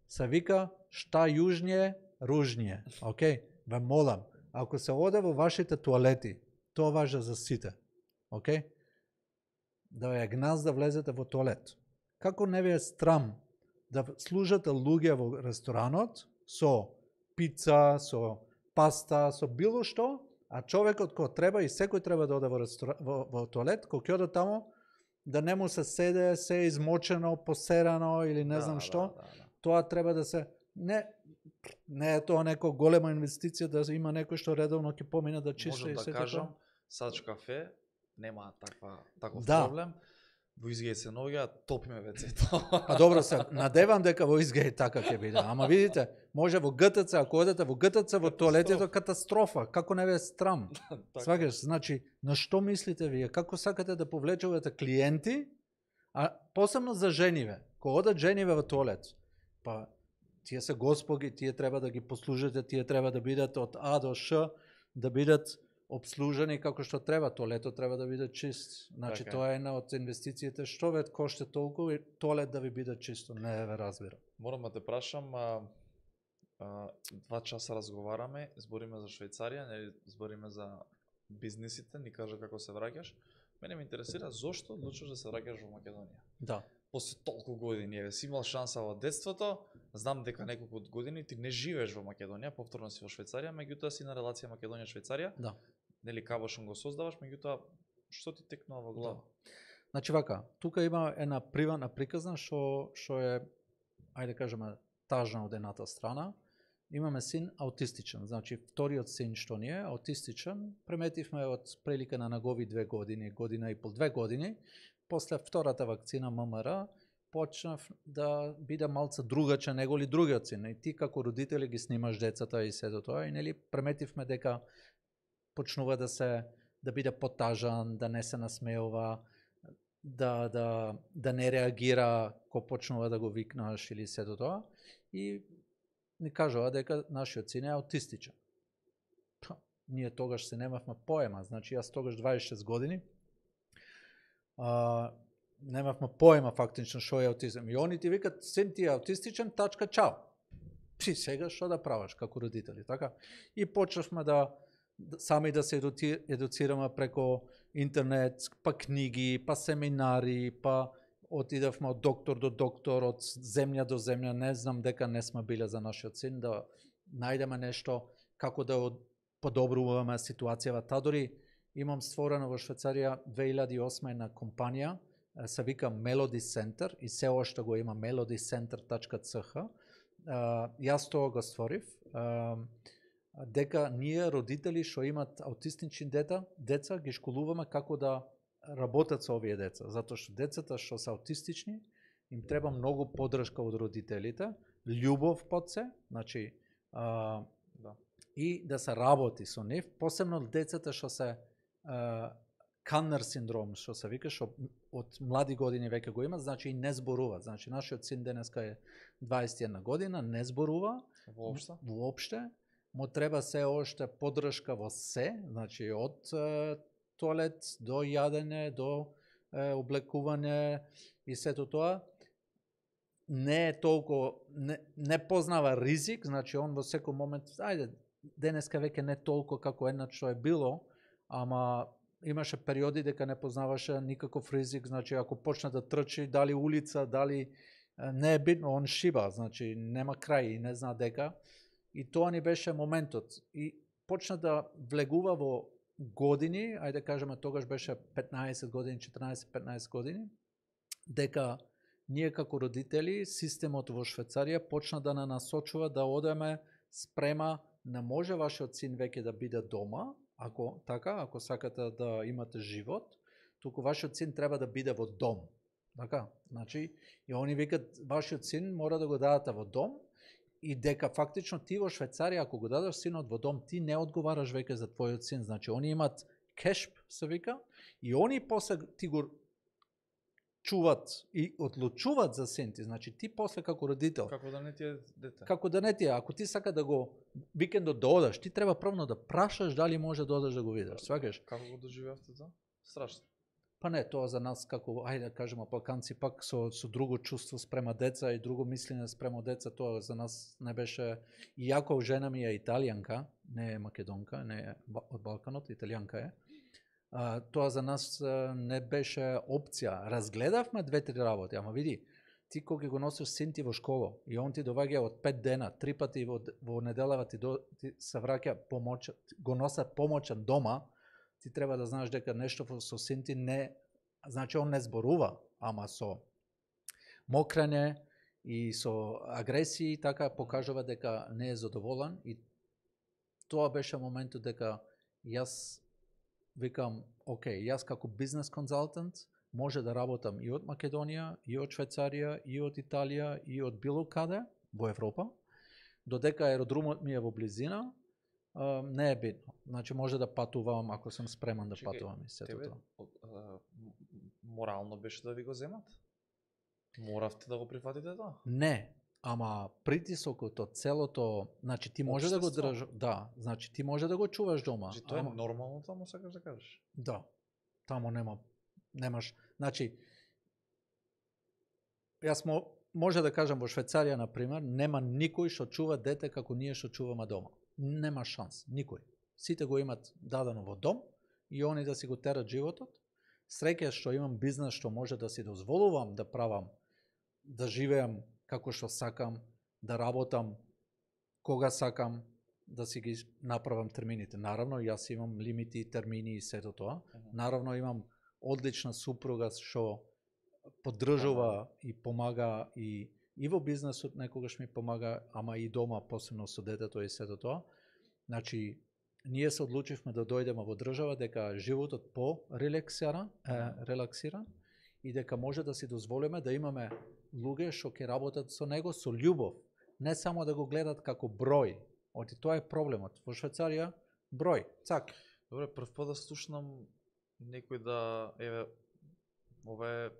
се вика шта јужнije, ружнije. Океј? Ве молам, ако се оде во вашите туалети, тоа важи за сите. Океј? Да ја гназ да влезете во туалет. Како не ви е страм да служате луѓе во ресторанот со пица, со паста, со било што, а човекот кој треба и секој треба да оде во туалет, кој ќе оде тамо, да не му се седе, се измочено, посерано или не знам што, тоа треба да се... Не е тоа нека голема инвестиција да има некој што редовно ќе помине да чиста и сето. Можам да кажам, Сач кафе нема таков проблем. Во Изгеј се наоѓа, топиме вецето. А добро се, надевам дека во Изгеј така ќе биде. Ама видите, може во ГТЦ, ако одете во ГТЦ во туалетите, катастрофа, како не ве страм. Сваќаш, значи, на што мислите вие? Како сакате да повлечувате клиенти, а посебно за жениве. Кога одат жениве во туалет, па тие се господи, тие треба да ги послужите, тие треба да бидат од А до Ш, да бидат обслужени како што треба, туалетот треба да биде чист. Значи, тоа е една од инвестициите, што ве коште толку и туалет да ви биде чисто, не ве разбира. Морам да те прашам, 2 часа разговараме, збориме за Швајцарија, нели збориме за бизнисите, ни кажа како се враќаш. Мене ме интересира зошто одлучиш да се враќаш во Македонија? Да. После толку години, еве си имал шанса во детството, знам дека неколку години ти не живееш во Македонија, повторно си во Швајцарија, меѓутоа си на релација Македонија-Швајцарија. Да. Нели кабошон го создаваш, меѓутоа што ти текнува во глава? Да. Значи вака, тука има една приватна приказна што е, ајде кажеме, тажна од едната страна. Имаме син аутистичен, значи вториот син што ни е аутистичен, преметивме од прилика на негови 2 години, година и пол, 2 години, после втората вакцина ММР, почнав да биде малце другаче него ли другиот син. И ти како родители ги снимаш децата и сето тоа, и нели преметивме дека почнува да биде потажан, да не се насмеува, да не реагира кога почнува да го викнаш или сето тоа. И ни кажува дека нашиот син е аутистичен. Ние тогаш се немавме поема, значи јас тогаш 26 години, немавме поема фактично што е аутизм. И они ти викат, син ти е аутистичен, тачка, чао. Ти сега што да правиш како родители, така? И почнавме сами да се едуцираме преко интернет, па книги, па семинари, па отидавме од доктор до доктор, од земја до земја, не знам дека не сме биле за нашиот син, да најдеме нешто како да подобруваме ситуацијава. Та дори имам створено во Швајцарија 2008 една компанија, се вика Melody Center и се оште го има melodycenter.ch. Јас тоа го створив, дека ние родители што имат аутистични деца ги школуваме како да работат со овие деца, затоа што децата што се аутистични им треба многу поддршка од родителите, љубов под се, значи и да се работи со нив, посебно децата што се Каннер синдром, што се вика, што од млади години веќе го имат, значи и не зборуваат. Значи нашиот син денеска е 21 година, не зборува воопште, му треба се оште поддршка во се, значи од туалет до јадење, до облекување и сето тоа. Не е толку, не познава ризик, значи он во секој момент, ајде, денеска веќе не толку како еднаш што е било, ама имаше периоди дека не познаваше никаков ризик, значи ако почне да трчи, дали улица, дали не е битно, он шиба, значи нема крај и не зна дека. И тоа ни беше моментот. И почна да влегува во години, ајде кажеме тогаш беше 15 години, 14-15 години, дека ние како родители, системот во Швајцарија почна да на насочува да одеме спрема, не може вашиот син веќе да биде дома, ако сакате да имате живот, туку вашиот син треба да биде во дом. Така, значи, и они викат, вашиот син мора да го дадете во дом, и дека фактично ти во Швајцарија ако го дадеш синот во дом, ти не одговараш веќе за твојот син. Значи они имат кешп, се вика, и они после ти го чуват и одлучуват за син ти. Значи ти после како родител, Како да не ти е дете? како да не ти е, ако ти сака да го викендот да одаш, ти треба првно да прашаш дали може да одаш да го видиш. Сваќаш? Како го доживеавте тоа? Страшно. Па не, тоа за нас како, ајде да кажеме, Балканци пак со друго чувство спрема деца и друго мислење спрема деца, тоа за нас не беше, иако жена ми е италијанка, не е македонка, не е од Балканот, италијанка е, тоа за нас не беше опција. Разгледавме 2-3 работи, ама види, ти кога го носиш син ти во школа и он ти доваѓа од 5 дена, 3 пати во неделава ти се враќа го носат помоќан дома, ти треба да знаеш дека нешто со син ти не, значи он не зборува, ама со мокрење и со агресии така покажува дека не е задоволен и тоа беше моментот дека јас викам, окей, јас како бизнес консултант може да работам и од Македонија, и од Швајцарија, и од Италија, и од било каде во Европа, додека аеродромот ми е во близина, не е битно. Значи може да патувам ако сум спреман да патувам и сето тоа. Морално беше да ви го земат? Моравте да го прифатите тоа? Не, ама притисокот од целото, значи ти може да го држаш, да, значи ти може да го чуваш дома. Значи тоа е нормално таму сакаш да кажеш? Да. Таму немаш, значи јас може да кажам во Швајцарија на пример, нема никој што чува дете како ние што чуваме дома. Нема шанс, никој. Сите го имат дадено во дом и они да си го терат животот. Среќа што имам бизнес што може да си дозволувам да правам, да живеам како што сакам, да работам кога сакам, да си ги направам термините. Наравно, јас имам лимити, термини и сето тоа. Наравно, имам одлична супруга што поддржува и помага и во бизнесот некогаш ми помага, ама и дома, посебно со детето и сето тоа. Значи, ние се одлучивме да дојдеме во држава дека животот релаксиран и дека може да си дозволиме да имаме луѓе што ќе работат со него со љубов, не само да го гледат како број. Оти тоа е проблемот. Во Швајцарија број, цак. Добре, прв пат да слушнам некој да ова е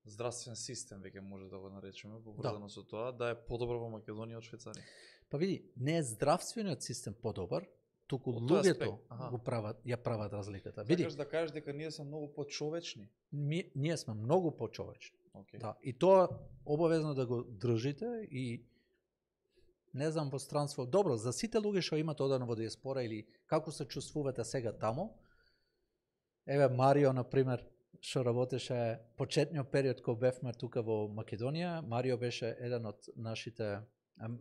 здравствен систем, веќе може да го наречеме, поврзано со тоа, да е подобро во Македонија од Швајцарија. Па види, не е здравствениот систем подобар, туку луѓето го ја прават разликата. Види, сакаш да кажеш дека ние сме многу почовечни? Ние сме многу почовечни. Okay. Да, и тоа обавезно да го држите и не знам во странство. Добро, за сите луѓе што имат одено во диаспора или како се чувствувате сега таму, еве Марио, например, што работеше почетниот период кога бевме тука во Македонија, Марио беше еден од нашите,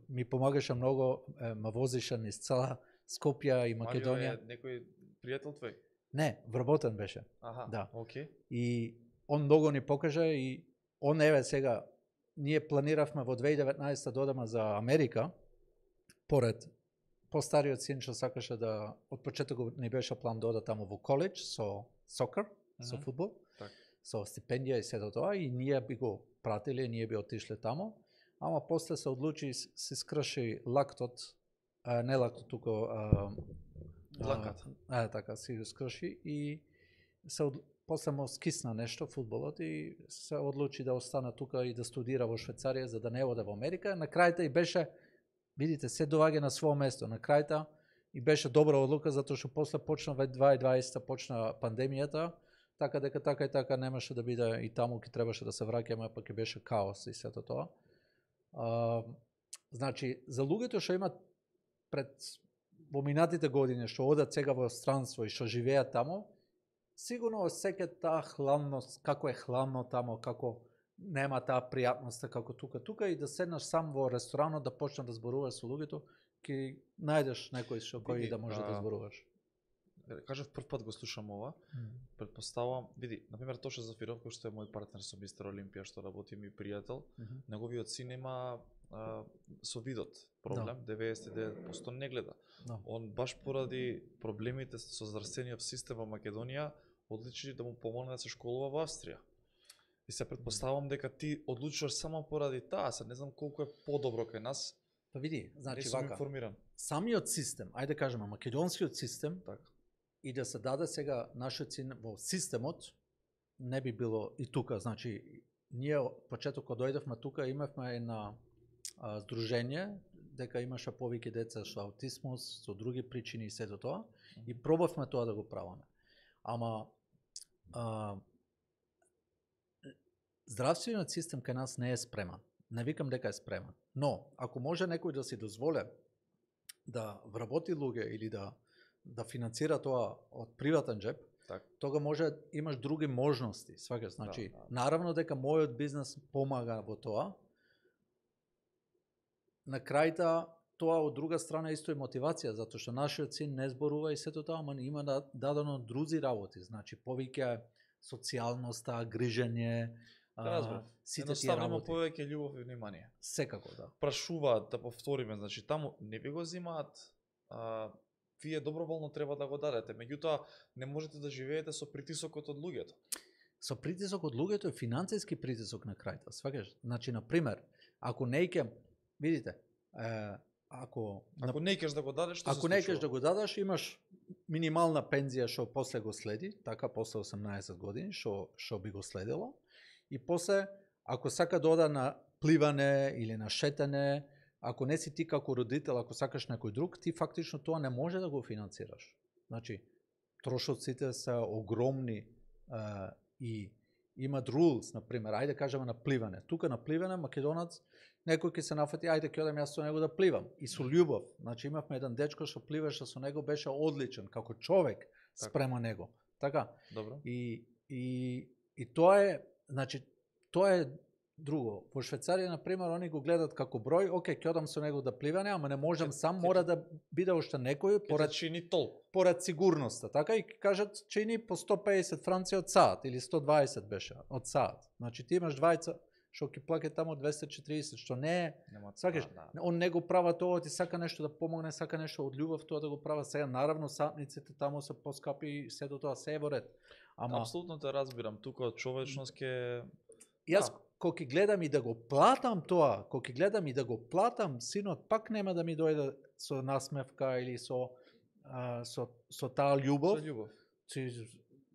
ми помагаше многу, ма возише низ цела Скопје и Македонија. Марио е некој пријател твој? Не, вработен беше. Аха, да. Okay. И он многу ни покажа и он еве сега, ние планиравме во 2019 да одеме за Америка, поред постариот син што сакаше да, од почетокот не беше план да оде таму во коледж со сокер, со фудбал, со стипендија и сето тоа, и ние би го пратиле, ние би отишле таму, ама после се одлучи, се скрши лактот, не лактот, туку дланката. Така, се го скрши и после му скисна нешто фудбалот и се одлучи да остана тука и да студира во Швајцарија за да не оде во Америка. На крајта и беше, видите, се доаѓа на своје место. На крајта и беше добра одлука затоа што после почна 2020 почна пандемијата, така дека така и така немаше да биде и таму ќе требаше да се враќаме, па ќе беше каос и сето тоа. Значи, за луѓето што имат пред во минатите години што одат сега во странство и што живеат таму, сигурно осеќаат таа хладност, како е хладно таму, како нема таа пријатност како тука и да седнеш сам во ресторанот да почнеш да зборуваш со луѓето, ќе најдеш некој со кој да може да зборуваш. Кажав прв пат го слушам ова. Предпоставувам, види, например Тоша Зафиров, кој што е мој партнер со Мистер Олимпија, што работи ми пријател, неговиот син има со видот проблем, 99% не гледа. Он баш поради проблемите со здравствениот систем во Македонија одлучи да му помогне да се школува во Австрија. И се предпоставувам дека ти одлучуваш само поради таа, се не знам колку е подобро кај нас, Па види, Не значи сум вака. информиран. Самиот систем, ајде да кажеме македонскиот систем, Така. и да се даде сега нашиот син во системот, не би било и тука, значи ние почеток кога дојдевме тука имавме една здружение дека имаше повеќе деца со аутизмус, со други причини и сето тоа, и пробавме тоа да го правиме. Ама здравствениот систем кај нас не е спреман. Не викам дека е спреман. Но, ако може некој да си дозволе да вработи луѓе или да финансира тоа од приватен джеб, Так. тога може имаш други можности, сваќаш, значи наравно дека мојот бизнес помага во тоа. На крајта тоа од друга страна исто е мотивација, затоа што нашиот син не зборува и сето тоа, ама има дадено други работи, значи повеќе социјалноста, грижење, сите тие Едноставно има работи. повеќе љубов и внимание. Секако, да. Прашуваат, да повториме, значи таму не ви го земаат, вие доброволно треба да го дадете, меѓутоа не можете да живеете со притисокот од луѓето. Со притисок од луѓето е финансиски притисок на крајта, сваќаш? Значи, на пример, ако не ќе, видите, ако не икеш да го дадеш, што се ако не икеш да го дадеш, имаш минимална пензија што после го следи, така после 18 години што би го следило, и после ако сака да ода на пливане или на шетање, ако не си ти како родител, ако сакаш некој друг, ти фактично тоа не може да го финансираш. Значи, трошоците се огромни и имат rules, например, ајде кажеме на пливане. Тука на пливане македонец некој ќе се нафати, ајде ќе одам јас со него да пливам. И со љубов. Значи имавме еден дечко што пливаше со него, беше одличен како човек спрема него. Така. Добро. И тоа е, значи тоа е друго. Во Швајцарија, на пример, они го гледат како број, окей, ќе одам со него да пливане, ама не можам сам, мора да биде уште некој порад чини тол. Порад сигурноста, така, и кажат чини по 150 франци од саат или 120 беше од саат. Значи ти имаш двајца што ќе плаќа таму 240, што не е, сакаш, он не го права тоа, ти сака нешто да помогне, сака нешто од љубов тоа да го права. Сега наравно сатниците таму се поскапи и сето тоа се е во ред. Ама апсолутно те разбирам, тука од човечност ќе јас кога ќе гледам и да го платам тоа, кога ќе гледам и да го платам, синот пак нема да ми дојде со насмевка или со таа љубов. Со љубов.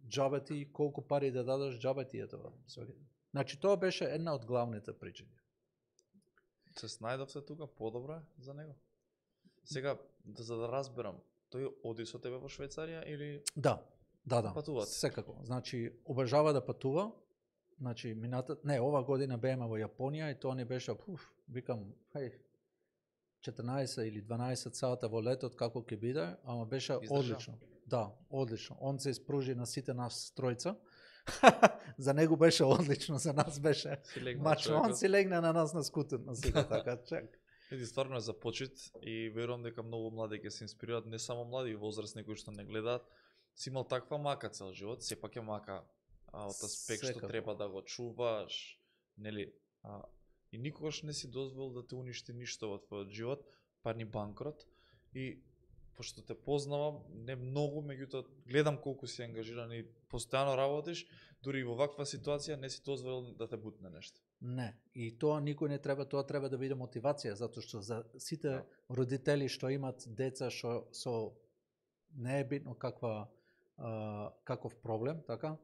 Џабе ти колку пари да дадеш, џабе ти е тоа. Значи тоа беше една од главните причини. Се снајдовте тука подобро за него? Сега, за да разберам, тој оди со тебе во Швајцарија или Да. Патувате? Секако. Значи обожава да патува. Значи ова година бееме во Јапонија и тоа ни беше, викам, 14 или 12 сата во летот како ќе биде, ама беше одлично. Да, одлично. Он се испружи на сите нас тројца. За него беше одлично, за нас беше мачо. Он си легна на нас на скутен, на сите така, чек. Еди, стварно е за почит и верувам дека многу млади ќе се инспирираат, не само млади и возрастни кои што не гледаат. Си имал таква мака цел живот, сепак е мака од аспект што треба да го чуваш, нели? И никогаш не си дозволил да те уништи ништо во твојот живот, па ни банкрот. И пошто те познавам, не многу, меѓутоа гледам колку си ангажиран и постојано работиш, дури и во ваква ситуација не си дозволил да те бутне нешто. Не, и тоа никој не треба, тоа треба да биде мотивација, затоа што за сите родители што имат деца што со не е битно каков проблем, така,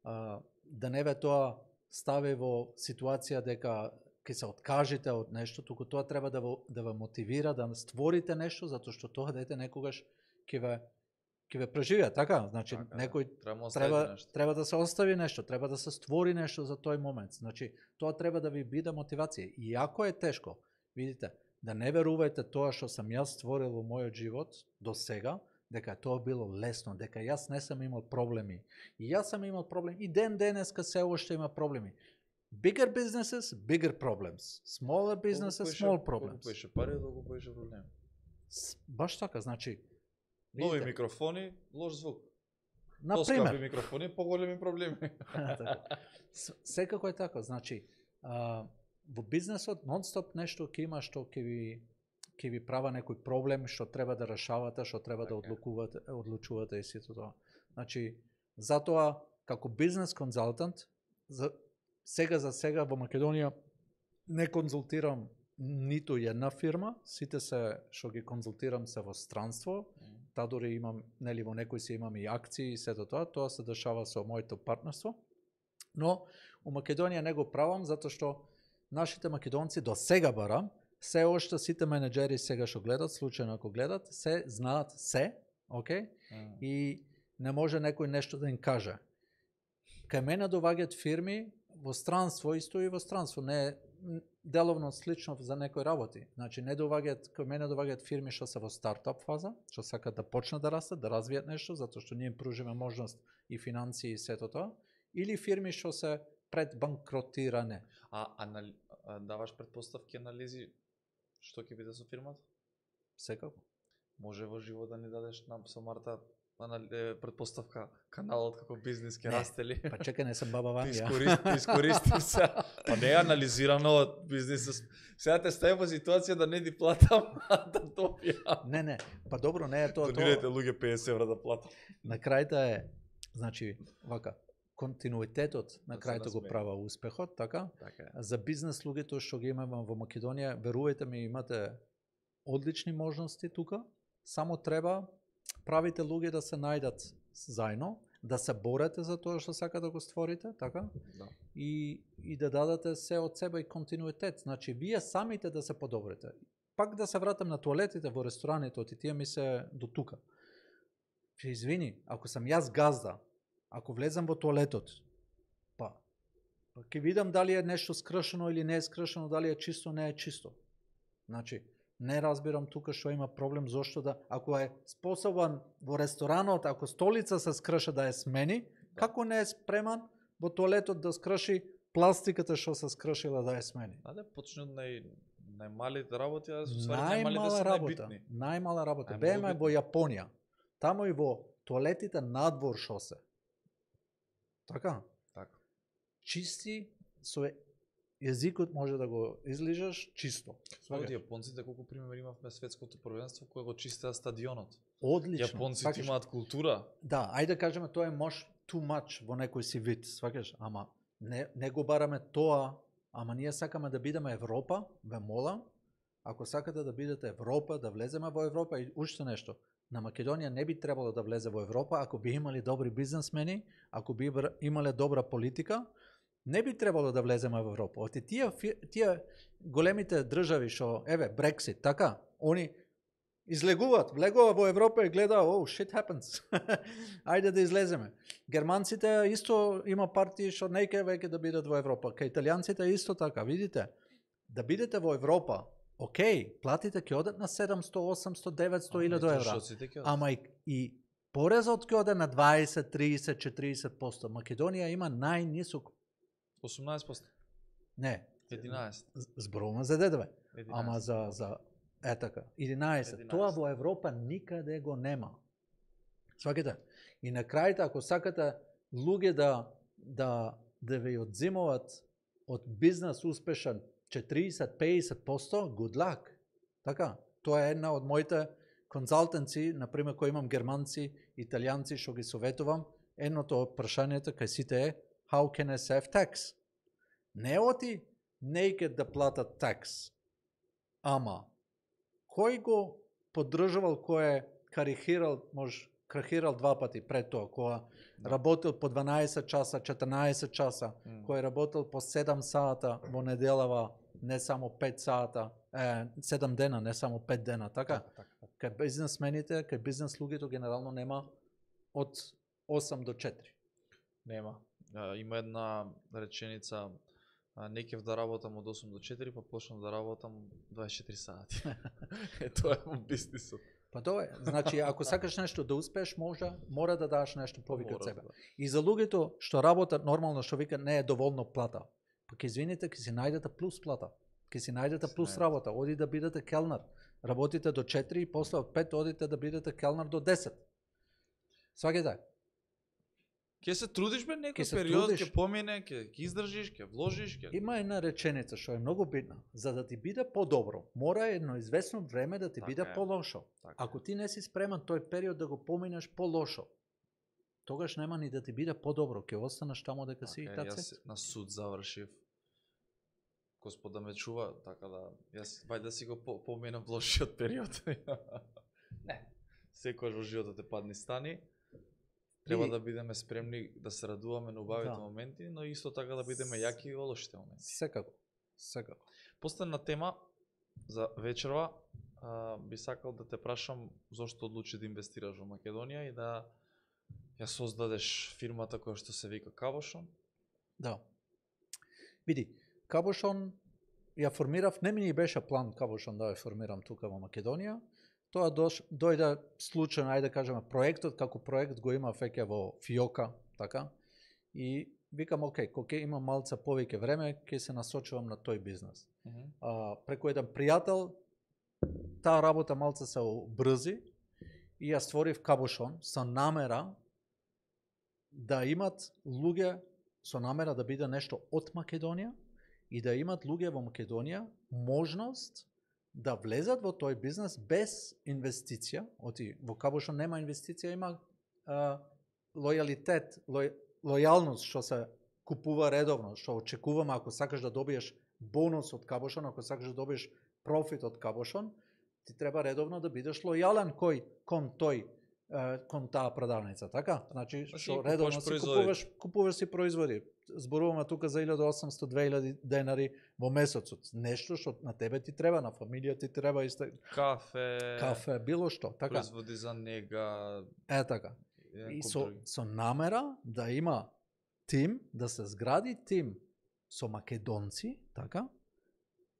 да не ве тоа стави во ситуација дека ќе се откажете од нешто, туку тоа треба да ве мотивира да створите нешто, затоа што тоа дете некогаш ќе ве преживее, така? Значи некој треба да се остави нешто, треба да се створи нешто за тој момент. Значи тоа треба да ви биде мотивација. И ако е тешко, видите, да не верувајте тоа што сам јас створил во мојот живот до сега, дека тоа било лесно, дека јас не сам имал проблеми. И јас сам имал проблеми, и денеска се уште има проблеми. Bigger businesses, bigger problems. Smaller businesses, small problems. Колку поише пари, толку поише проблеми. Баш така, значи. Нови микрофони, лош звук. Например. Поскапи микрофони, поголеми проблеми. Секако е така, значи, во бизнесот нон-стоп нешто ќе има што ќе ви права некој проблем што треба да решавате, што треба да одлучувате и сето тоа. Значи, затоа како бизнес консултант, сега во Македонија не конзултирам ниту една фирма, сите се што ги конзултирам се во странство, та дори имам, нели во некои си имам и акции и сето тоа се дешава со моето партнерство. Но у Македонија не го правам затоа што нашите македонци до сега барам, се ошто сите менеджери сега што гледат, случајно ако гледат, се знаат се, окей? И не може некој нешто да им каже. Кај мене доваѓаат фирми во странство, исто и во странство, не е деловно слично за некои работи. Значи не доваѓаат, кај мене доваѓаат фирми што се во стартап фаза, што сакаат да почнат да растат, да развијат нешто, затоа што ние им пружиме можност и финансии и сето тоа, или фирми што се пред банкротиране. Даваш предпоставки, анализи, што ќе биде со фирмата? Секако. Може во живот да ни дадеш нам со Марта предпоставка каналот како бизнес ќе расте ли? Па чекај, не сум баба Вања. Искористи се. Па не е анализирано од бизнесот. Сега те стави во ситуација да не ти платам, да добија. Не, па добро, не е тоа. Донирайте луѓе 50 евра да платам. На крајта е, значи, вака, континуитетот на крајто го права успехот, така? За бизнес луѓето што ги имаме во Македонија, верувајте ми, имате одлични можности тука, само треба правите луѓе да се најдат заедно, да се борете за тоа што сака да го створите, така? Да. И да дадете се од себе и континуитет. Значи, вие самите да се подобрите. Пак да се вратам на туалетите во рестораните, и тие ми се до тука. Извини, ако сам јас газда, ако влезам во туалетот, па ќе видам дали е нешто скршено или не е скршено, дали е чисто, не е чисто. Значи, не разбирам тука што има проблем, зошто да, ако е способен во ресторанот, ако столица се скрша да ја смени, како не е спреман во туалетот да скрши пластиката што се скршила да ја смени? Да почне од најмалите работи, а најмалите се најбитни. Најмала работа. Беме во Јапонија. Тамо и во туалетите надвор шо се. Така? Така. Чисти со јазикот може да го излижаш чисто. Од јапонците колку пример имавме светското првенство кога го чистеа стадионот. Одлично. Јапонците имаат култура. Да, ајде да кажеме тоа е мош too much во некој си вид, сваќаш, ама не го бараме тоа, ама ние сакаме да бидеме Европа, ве молам, ако сакате да бидете Европа, да влеземе во Европа и уште нешто. На Македонија не би требало да влезе во Европа ако би имали добри бизнесмени, ако би имале добра политика, не би требало да влеземе во Европа. Оти тие големите држави што еве Брексит, така, они излегуваат, влегува во Европа и гледа, oh shit happens. Ајде да излеземе. Германците исто има партии што не ќе веќе да бидат во Европа. Кај италијанците исто така, видите? Да бидете во Европа, окей, платите ќе одат на 700, 800, 900 или до евра. Ама и порезот ќе оде на 20, 30, 40%. Македонија има најнисок 18%. Не. 11. Зборуваме за ДДВ. Ама за така. 11. Тоа во Европа никаде го нема. Сваќате? И на крајта, ако сакате луѓе да ви одзимуваат од бизнес успешен 40-50%, good luck. Така, тоа е една од моите консалтенци, например, кои имам германци, италијанци, што ги советувам, едното од прашањето кај сите е how can I save tax? Не оти naked да платат tax, ама кој го поддржувал, кој е крахирал два пати пред тоа, која работил по 12 часа, 14 часа, кој работил по 7 сата во неделава, не само 5 сата, 7 дена, не само 5 дена, така? Кај бизнесмените, кај бизнес луѓето генерално нема од 8 до 4. Нема. Има една реченица, не кев да работам од 8 до 4, па почнам да работам 24 сати. Тоа е во бизнисот. Па тоа е. Значи, ако сакаш нешто да успееш, мора да даш нешто повеќе од себе. И за луѓето што работат нормално, што вика не е доволно плата. Па ќе извините, ќе си најдете плюс плата. Ќе си најдете плюс работа. Оди да бидете келнер. Работите до 4 и после од 5 одите да бидете келнер до 10. Сваќате? Ке се трудиш бе некој период, ке помине, ке издржиш, ке вложиш, ке... Има една реченица што е многу битна. За да ти биде подобро, мора едно известно време да ти биде полошо. Ако ти не си спремен тој период да го поминеш полошо, тогаш нема ни да ти биде подобро, ке останеш таму дека си и така. Јас на суд завршив Господ да ме чува, така да јас вајде да си го поменам лошиот период. Не. Секојаш во животот е падни стани. Треба да бидеме спремни да се радуваме на убавите моменти, но исто така да бидеме јаки во лошите моменти. Секако. Секако. Последна тема за вечерва, би сакал да те прашам зошто одлучи да инвестираш во Македонија и да ја создадеш фирмата која што се вика Кабошон? Да. Види, Кабошон ја формирав, не ми беше план Кабошон да ја формирам тука во Македонија. Тоа дојде случајно, ајде да кажеме, проектот како проект го има веќе во Фиока, така? И викам, окей, кога имам малце повеќе време, ќе се насочувам на тој бизнес. Преку еден пријател, таа работа малце се обрзи и ја створив Кабошон со намера да имат луѓе, со намера да биде нешто од Македонија и да имат луѓе во Македонија можност да влезат во тој бизнес без инвестиција. Оти во Кабошон нема инвестиција, има лојалитет, лојалност што се купува редовно, што очекуваме ако сакаш да добиеш бонус од Кабошон, ако сакаш да добиеш профит од Кабошон, ти треба редовно да бидеш лојален кон таа продавница, така? Значи, што редовно си купуваш си производи. Зборуваме тука за 1800-2000 денари во месецот. Нешто што на тебе ти треба, на фамилија ти треба исто. Кафе, било што, така? Производи за нега. Така. И со намера да има тим, да се згради тим со македонци, така?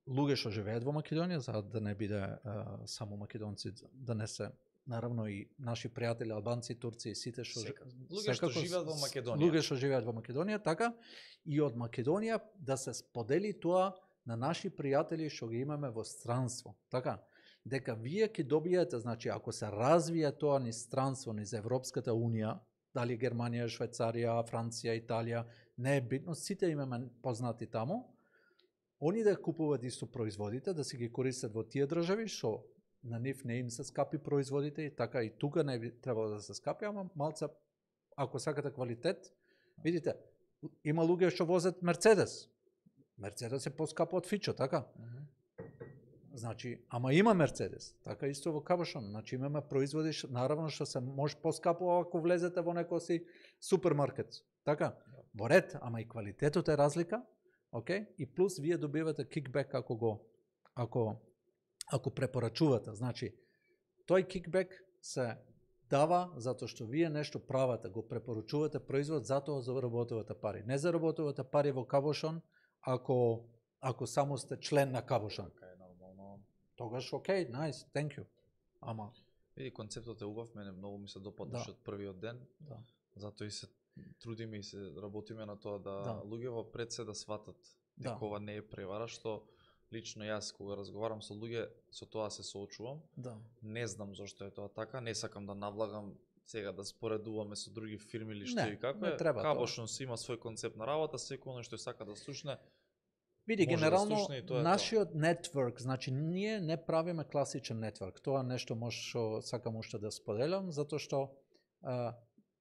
Луѓе што живеат во Македонија, за да не биде само македонци, да не се наравно и наши пријатели албанци, турци и сите што луѓе што живеат во Македонија. Луѓе што живеат во Македонија, така? И од Македонија да се сподели тоа на наши пријатели што ги имаме во странство, така? Дека вие ќе добиете, значи ако се развие тоа низ странство, низ Европската унија, дали Германија, Швајцарија, Франција, Италија, не е битно, сите имаме познати таму, они да купуваат исто производите, да си ги користат во тие држави, што на нив не им се скапи производите, и така и тука не би требало да се скапи, ама малце, ако сакате квалитет, видите, има луѓе што возат Мерцедес. Мерцедес е поскапо од Фичо, така? Значи, ама има Мерцедес, така исто во Кабошон, значи имаме производи, наравно што се може поскапо ако влезете во некој си супермаркет, така? Во ред, ама и квалитетот е разлика, окей? И плюс вие добивате кикбек ако препорачувате. Значи, тој кикбек се дава затоа што вие нешто правите, го препорачувате производ, затоа заработувате пари. Не заработувате пари во Кабошон ако само сте член на Кабошон. Тогаш окей, nice, thank you. Ама види, концептот е убав, мене многу ми се допадаше од првиот ден. Затоа и се трудиме и се работиме на тоа да луѓе во пред се да сватат дека ова не е превара, што лично јас кога разговарам со луѓе, со тоа се соочувам. Не знам зошто е тоа така, не сакам да навлагам сега да споредуваме со други фирми или што и како е. Кабошон си има свој концепт на работа, секој што сака да слушне. Види, генерално, нашиот нетворк, значи ние не правиме класичен нетворк. Тоа нешто што сакам уште да споделам, затоа што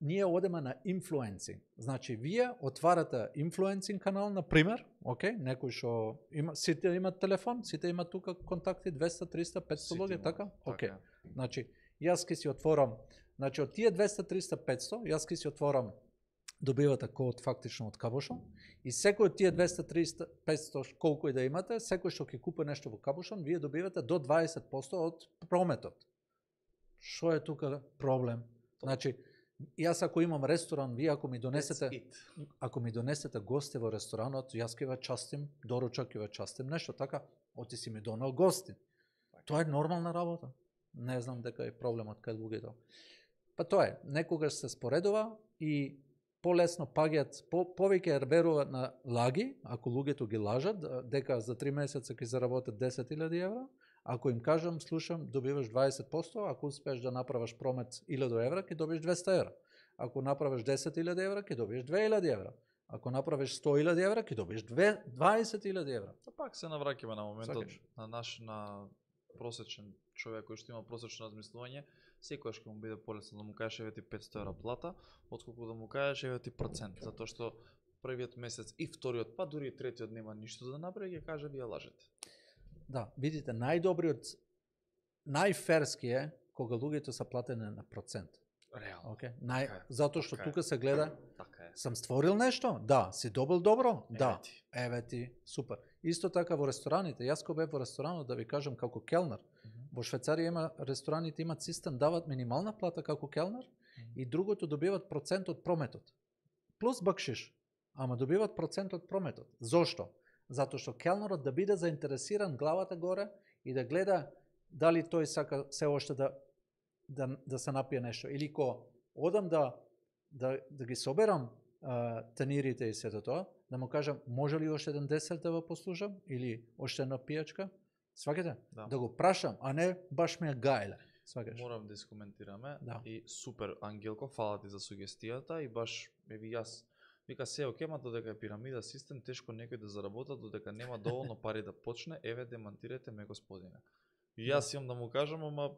ние одеме на инфлуенци. Значи, вие отварате инфлуенцинг канал, например, окей, некој што има, сите имат телефон, сите имат тука контакти, 200, 300, 500 луѓе, така? Окей. Значи, јас ке си отворам, значи, од тие 200, 300, 500, јас ке си отворам, добивате код фактично од Кабошон и секој од тие 200, 300, 500 колку и да имате, секој што ќе купи нешто во Кабошон, вие добивате до 20% од прометот. Што е тука проблем? Значи, јас ако имам ресторан, вие ако ми донесете гости во ресторанот, јас ќе ве частим, доручак ќе ве частим, нешто така, оти си ми донел гости. Тоа е нормална работа. Не знам дека е проблемот кај луѓето. Па тоа е, некогаш се споредува и полесно паѓаат, повеќе веруваат на лаги, ако луѓето ги лажат, дека за 3 месеца ќе заработат 10.000 евра, ако им кажам, слушам, добиваш 20%, ако успееш да направиш промет 1000 евра, ќе добиеш 200 евра. Ако направиш 10.000 евра, ќе добиеш 2000 евра. Ако направиш 100.000 евра, ќе добиеш 20.000 евра. Пак се навраќаме на моментот на просечен човек кој што има просечно размислување, секојаш ќе му биде полесно да му кажеш еве ти 500 евра плата, отколку да му кажеш еве ти процент, затоа што првиот месец и вториот, па дури и третиот нема ништо да направи, ќе каже вие лажете. Да, видите, најферски е кога луѓето се платени на процент. Реално. Okay? Така е, Затоа што така е. тука се гледа, Така е. сам створил нешто? Да. Си добил добро? Да. ти. Еве ти, супер. Исто така во рестораните, јас кога бев во ресторанот, да ви кажам како келнер, во Швајцарија има рестораните имаат систем, дават минимална плата како келнер и другото добиват процент од прометот. Плюс бакшиш, ама добиват процент од прометот. Зошто? Затоа што келнерот да биде заинтересиран главата горе и да гледа дали тој сака се уште да се напие нешто. Или ко одам да ги соберам тенирите и сето тоа, да му кажам, може ли уште еден десерт да го послушам? Или уште една пијачка? Сваќате? Да го прашам, а не баш ме гајле. Сваќаш? Морам да искоментираме. Да. И супер, Ангелко, фала ти за сугестијата и баш, еви јас, вика се оке, ма додека е пирамида систем, тешко некој да заработа, додека нема доволно пари да почне, еве демантирете ме, господине. И јас имам да му кажам, ама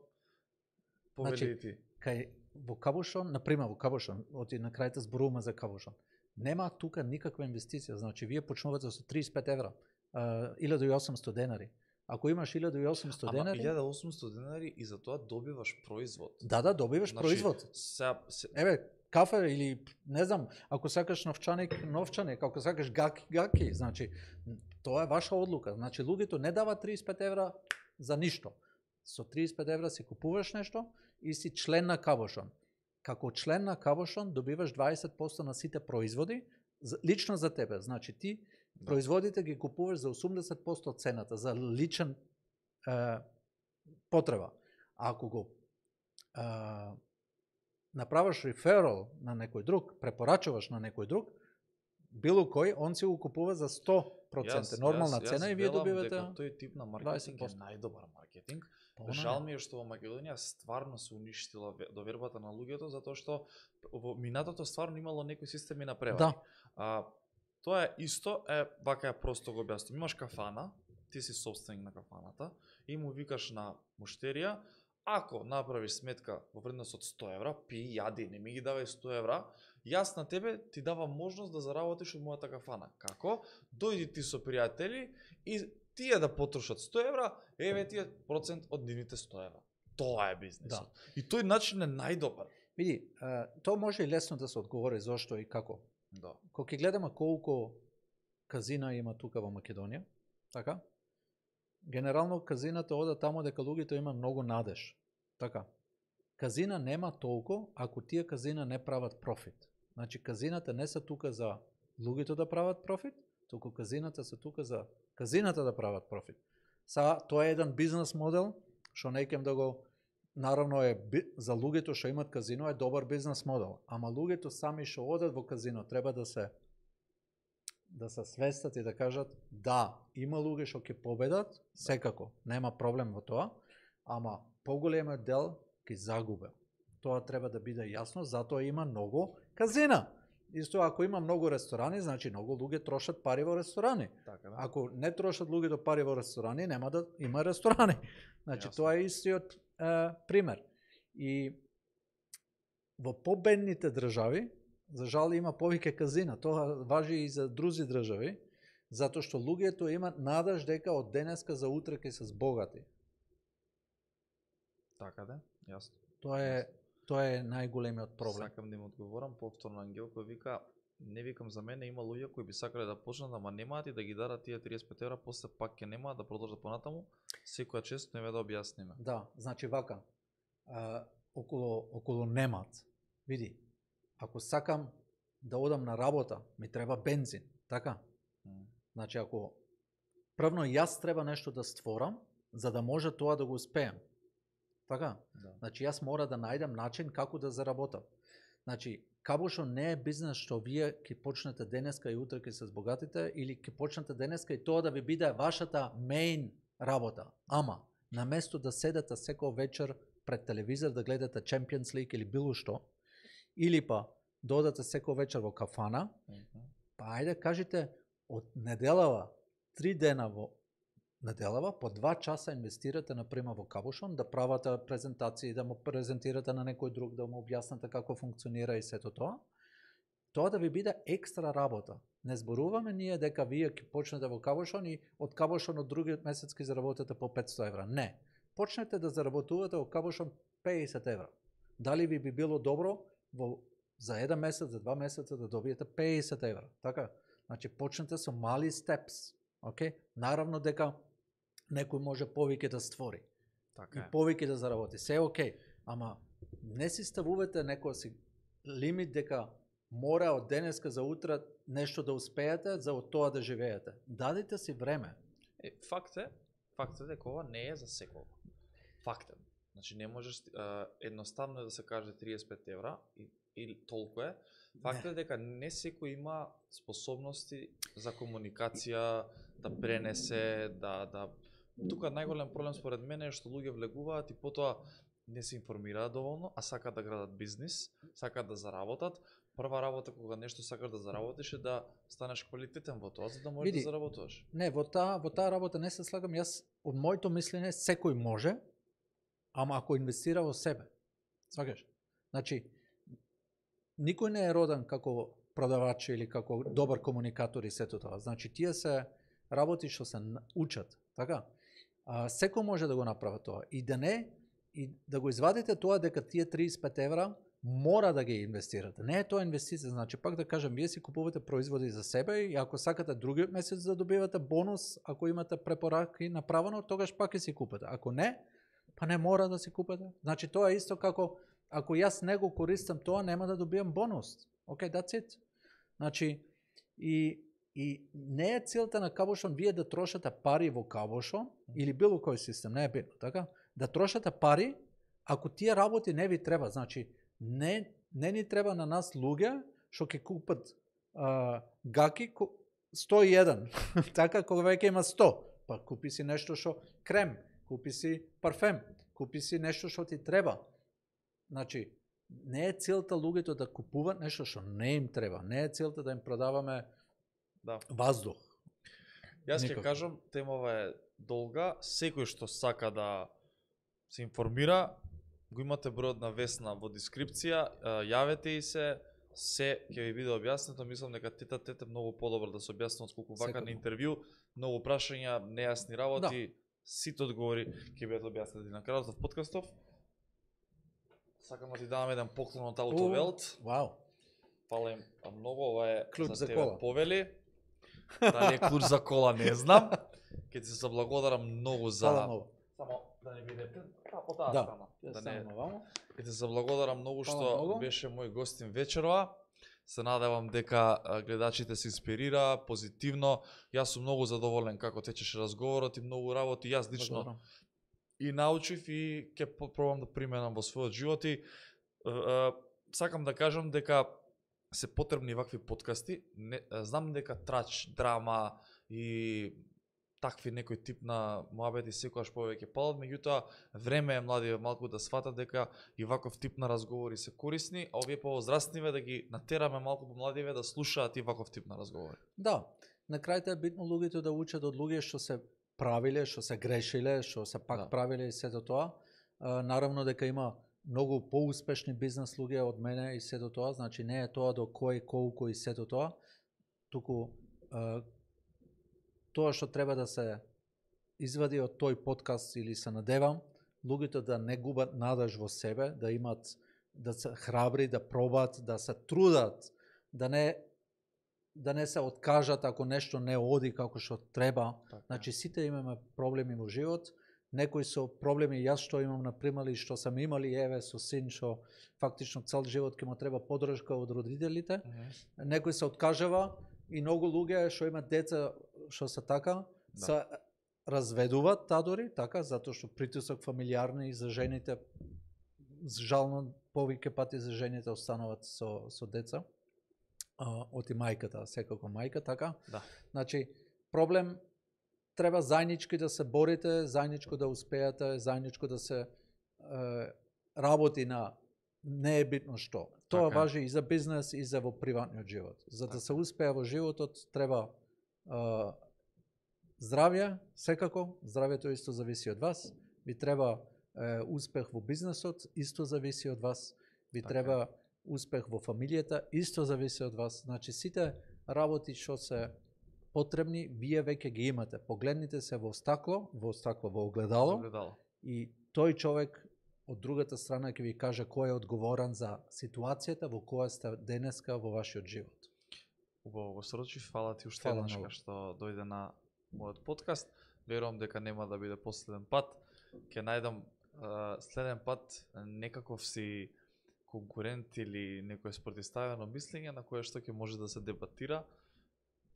повели ти. Кај во Кабушон, например во Кабушон, оти на крајта зборуваме за Кабушон. Нема тука никаква инвестиција, значи вие почнувате со 35 евра, 1800 денари. Ако имаш 1800 денари... Ама 1800 денари и за тоа добиваш производ. Да, добиваш Значи, производ. Еве, кафе или, не знам, ако сакаш новчаник, ако сакаш гаки, значи, тоа е ваша одлука. Значи, луѓето не дават 35 евра за ништо. Со 35 евра си купуваш нешто и си член на Кабушон. Како член на Кабушон добиваш 20% на сите производи, лично за тебе. Значи, ти производите ги купуваш за 80% од цената, за личен потреба. А ако го направаш реферал на некој друг, препорачуваш на некој друг, било кој, он си го купува за 100% нормална цена и вие добивате 20%. Тој тип на маркетинг е најдобар маркетинг. Жал ми е што во Македонија стварно се уништила довербата на луѓето, затоа што во минатото стварно имало некои системи на превари. Да. Тоа е исто, вака ја просто го објаснувам. Имаш кафана, ти си собственик на кафаната и му викаш на муштерија, ако направиш сметка во вредност од 100 евра, пи, јади, не ми ги давај 100 евра, јас на тебе ти давам можност да заработиш од мојата кафана. Како? Дојди ти со пријатели и тие да потрошат 100 евра, еве тие процент од нивните 100 евра. Тоа е бизнисот. Да. И тој начин е најдобар. Види, тоа може и лесно да се одговори зошто и како. Да. Кога ќе гледаме колку казина има тука во Македонија, така? Генерално казината ода таму дека луѓето има многу надеж. Така. Казина нема толку ако тие казина не прават профит. Значи казината не се тука за луѓето да прават профит, туку казината се тука за казината да прават профит. Тоа е еден бизнес модел што не кем да го наравно е за луѓето што имат казино е добар бизнес модел, ама луѓето сами што одат во казино треба да се свестат и да кажат да, има луѓе што ќе победат, секако, нема проблем во тоа, ама поголемиот дел ќе загубе. Тоа треба да биде јасно, затоа има многу казина. Исто ако има многу ресторани, значи многу луѓе трошат пари во ресторани. Така, да. Ако не трошат луѓето пари во ресторани, нема да има ресторани. Значи Јасно. тоа е истиот пример. И во победните држави, за жал има повеќе казина, тоа важи и за други држави, затоа што луѓето имаат надеж дека од денеска за утре ќе се збогати. Така да, јасно. Тоа е најголемиот проблем. Сакам да им одговорам повторно Ангелко вика, не викам за мене, има луѓе кои би сакале да почнат, ама немаат и да ги дарат тие 35 евра, после пак ќе немаат да продолжат понатаму, секоја чест не ве да објасниме. Да, значи вака, околу немаат, види, ако сакам да одам на работа, ми треба бензин, така? Значи ако првно јас треба нешто да створам, за да може тоа да го успеам. Така? Да. Значи јас мора да најдам начин како да заработам. Значи, Кабушон не е бизнес што вие ќе почнете денеска и утре ќе се збогатите или ќе почнете денеска и тоа да ви биде вашата мејн работа. Ама, наместо да седете секој вечер пред телевизор да гледате Champions League или било што, или па да одате секој вечер во кафана, па ајде кажете од неделава 3 дена во неделава, по 2 часа инвестирате, например, во Кабушон, да правате презентации, да му презентирате на некој друг, да му објасните како функционира и сето тоа. тоа да ви биде екстра работа. Не зборуваме ние дека вие ќе почнете во Кабошон и од Кабошон од другиот месец ќе заработите по 500 евра. Не. Почнете да заработувате во Кабошон 50 евра. Дали ви би било добро за 1 месец, за 2 месеца да добиете 50 евра. Така? Значи, почнете со мали степс. Okay? Наравно дека некој може повеќе да створи. Така и повеќе да заработи. Се окей. Ама не си ставувате некој си лимит дека мора од денеска за утре нешто да успеете за од тоа да живеете. Дадете си време. Факт е дека ова не е за секој. Факт е. Значи не можеш едноставно да се каже 35 евра или толку е. Факт е дека не секој има способности за комуникација, да пренесе, да тука најголем проблем според мене е што луѓе влегуваат и потоа не се информираат доволно, а сакаат да градат бизнис, сакаат да заработат. Прва работа кога нешто сакаш да заработиш е да станеш квалитетен во тоа, за да можеш да заработуваш. Не, во таа работа не се слагам. Јас од моето мислење секој може, ама ако инвестира во себе. Сваќаш? Значи никој не е роден како продавач или како добар комуникатор и сето тоа. Значи тие се работи што се учат, така? Секој може да го направи тоа и да го извадите тоа дека тие 35 евра мора да ги инвестирате. Не е тоа инвестиција, значи пак да кажам, вие си купувате производи за себе и ако сакате другиот месец да добивате бонус, ако имате препораки направено, тогаш пак ќе си купите. Ако не, па не мора да си купите. Значи тоа е исто како ако јас не го користам тоа, нема да добиам бонус. Okay, that's it. Значи и не е целта на Кабошон вие да трошате пари во Кабошон или било кој систем, не е битно, така? Да трошате пари ако тие работи не ви треба, значи не ни треба на нас луѓе што ќе купат гаки 101, така кога веќе има 100, па купи си нешто што крем, купи си парфем, купи си нешто што ти треба. Значи не е целта луѓето да купуваат нешто што не им треба, не е целта да им продаваме ваздух. Јас ќе кажам, темава е долга, секој што сака да се информира, го имате бројот на Весна во дескрипција, јавете и се ќе ви биде објаснето. Мислам дека тета многу подобро да се објасни отколку вака на интервју, многу прашања, нејасни работи, сите одговори ќе бидат објаснети на крајот од подкастов. Сакам да ти давам еден поклон од Аутовелт. Вау. Фала им многу, ова е клуч за тебе тебе, Повели. Дали е клуч за кола, не знам. Ќе ти се заблагодарам многу за... Фала многу. Само да не биде по таа страна. Ќе ти се заблагодарам многу што беше мој гостин вечерова. Се надевам дека гледачите се инспирира позитивно. Јас сум многу задоволен како течеше разговорот и многу работи јас лично и научив и ќе пробам да применам во својот живот и сакам да кажам дека се потребни вакви подкасти. Знам дека трач, драма и такви некој тип на муабети секогаш повеќе палат, меѓутоа време е младиве малку да сватат дека и ваков тип на разговори се корисни, а овие повозрастниве да ги натераме малку помладиве да слушаат и ваков тип на разговори. Да, на крајот е битно луѓето да учат од луѓе што се правиле, што се грешиле, што се пак правиле и сето тоа. Наравно дека има многу поуспешни бизнес луѓе од мене и сето тоа, значи не е тоа до кој колку и сето тоа, туку тоа што треба да се извади од тој подкаст или се надевам, луѓето да не губат надеж во себе, да имат, да се храбри, да пробат, да се трудат, да не се откажат ако нешто не оди како што треба. Така. Значи сите имаме проблеми во живот, некои со проблеми јас што имам например и што сам имали еве со син што фактично цел живот ќе му треба поддршка од родителите. Некој се откажава и многу луѓе што имаат деца што се така, се разведуваат тадори, така, затоа што притисок фамилиарни и за жените, жално повеќе пати за жените остануваат со деца, оти мајката, секако мајка, така. Да. Значи, проблем треба заеднички да се борите, заедничко да успеете, заедничко да се работи на не е битно што. Тоа важи и за бизнес и за во приватниот живот. За да се успее во животот треба здравје, секако, здравјето исто зависи од вас. Ви треба успех во бизнесот, исто зависи од вас. Ви треба успех во фамилијата, исто зависи од вас. Значи, сите работи што се потребни, вие веќе ги имате. Погледнете се во огледало, и тој човек од другата страна ќе ви каже кој е одговорен за ситуацијата во која сте денеска во вашиот живот. Убаво го срочи, фала ти уште еднаш што дојде на мојот подкаст. Верувам дека нема да биде последен пат. Ќе најдам следен пат некаков си конкурент или некој спротивставено мислење на кое што ќе може да се дебатира.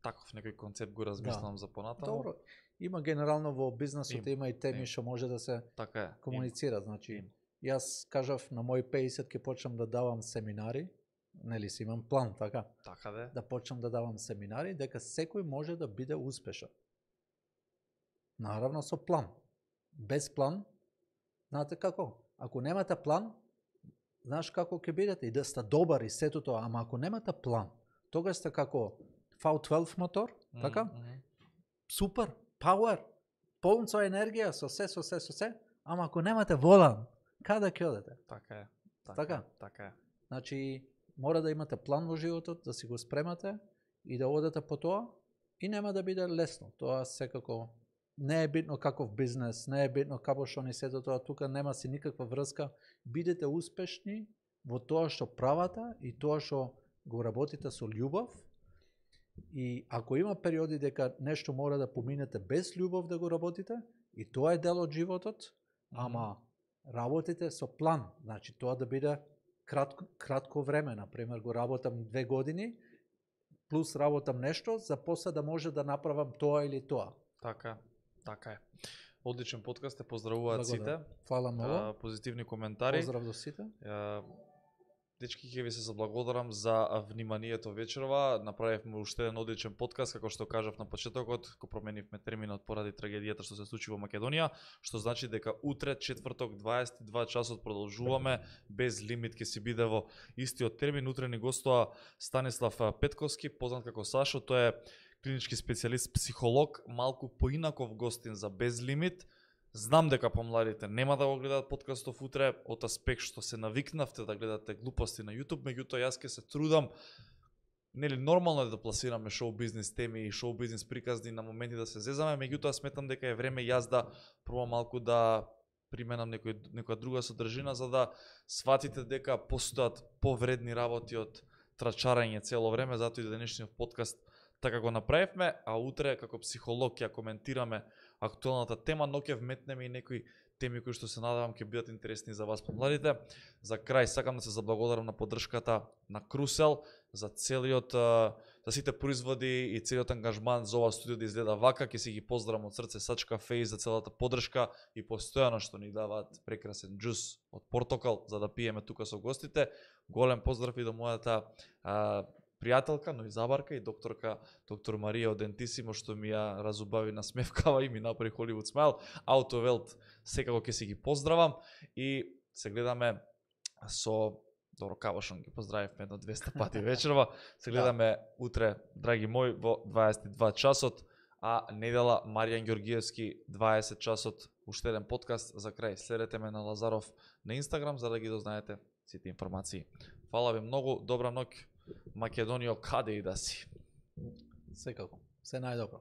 Таков некој концепт го размислам за понатаму. Добро. Има генерално во бизнесот има и теми што може да се комуницира. Значи, јас кажав на мој 50 ќе почнам да давам семинари, нели си имам план, така? Така де. Да почнам да давам семинари, дека секој може да биде успешен. Наравно со план. Без план, знаете како? Ако немате план, знаеш како ќе бидете и да сте добар и сето тоа, ама ако немате план, тогаш сте како V12 мотор, така? Супер, power, полн со енергија, со се, ама ако немате волан, каде ќе одете? Така е. Така е. Значи, мора да имате план во животот, да си го спремате и да одете по тоа и нема да биде лесно. Тоа секако не е битно каков бизнес, не е битно како што ни сето тоа, тука нема си никаква врска. Бидете успешни во тоа што правите и тоа што го работите со љубов. И ако има периоди дека нешто мора да поминете без љубов да го работите, и тоа е дел од животот, ама работите со план. Значи тоа да биде кратко време, например го работам 2 години, плюс работам нешто, за после да може да направам тоа или тоа. Така е. Одличен подкаст, те поздравуваат сите. Фала многу. Позитивни коментари. Поздрав до сите. Дечки, ќе ви се заблагодарам за вниманието вечерова. Направивме уште еден одличен подкаст, како што кажав на почетокот, го променивме терминот поради трагедијата што се случи во Македонија, што значи дека утре, четврток, 22 часот продолжуваме, без лимит ќе си биде во истиот термин. Утре ни гостува Станислав Петковски, познат како Сашо, тој е клинички специјалист, психолог, малку поинаков гостин за без лимит. Знам дека помладите нема да го гледаат подкастов утре, од аспект што се навикнавте да гледате глупости на YouTube, меѓутоа јас ќе се трудам, нели нормално е да пласираме шоу бизнес теми и шоу бизнес приказни на моменти да се зезаме, меѓутоа сметам дека е време јас да пробам малку да применам некоја друга содржина за да сватите дека постојат повредни работи од трачарање цело време, затоа и денешниот подкаст така го направивме, а утре како психолог ќе коментираме актуелната тема, но ќе вметнеме и некои теми кои што се надевам ќе бидат интересни за вас помладите. За крај сакам да се заблагодарам на поддршката на Крусел за целиот за сите производи и целиот ангажман за ова студио да изгледа вака. Ќе си ги поздравам од срце Сачка Фейс за целата поддршка и постојано што ни даваат прекрасен џус од портокал за да пиеме тука со гостите. Голем поздрав и до мојата пријателка, но и забарка и доктор Марија од Дентисимо што ми ја разубави на смевкава и ми направи Холивуд смайл. Аутовелт секако ќе си ги поздравам и се гледаме со Добро Кавошон ги поздравивме едно 200 пати вечерва. Се гледаме утре, драги мои, во 22 часот, а недела Маријан Ѓоргиевски 20 часот, уште еден подкаст за крај. Следете ме на Лазаров на Инстаграм за да ги дознаете сите информации. Фала ви многу, добра ноќ. Македонијо, каде и да си? Секако. Се најдобро.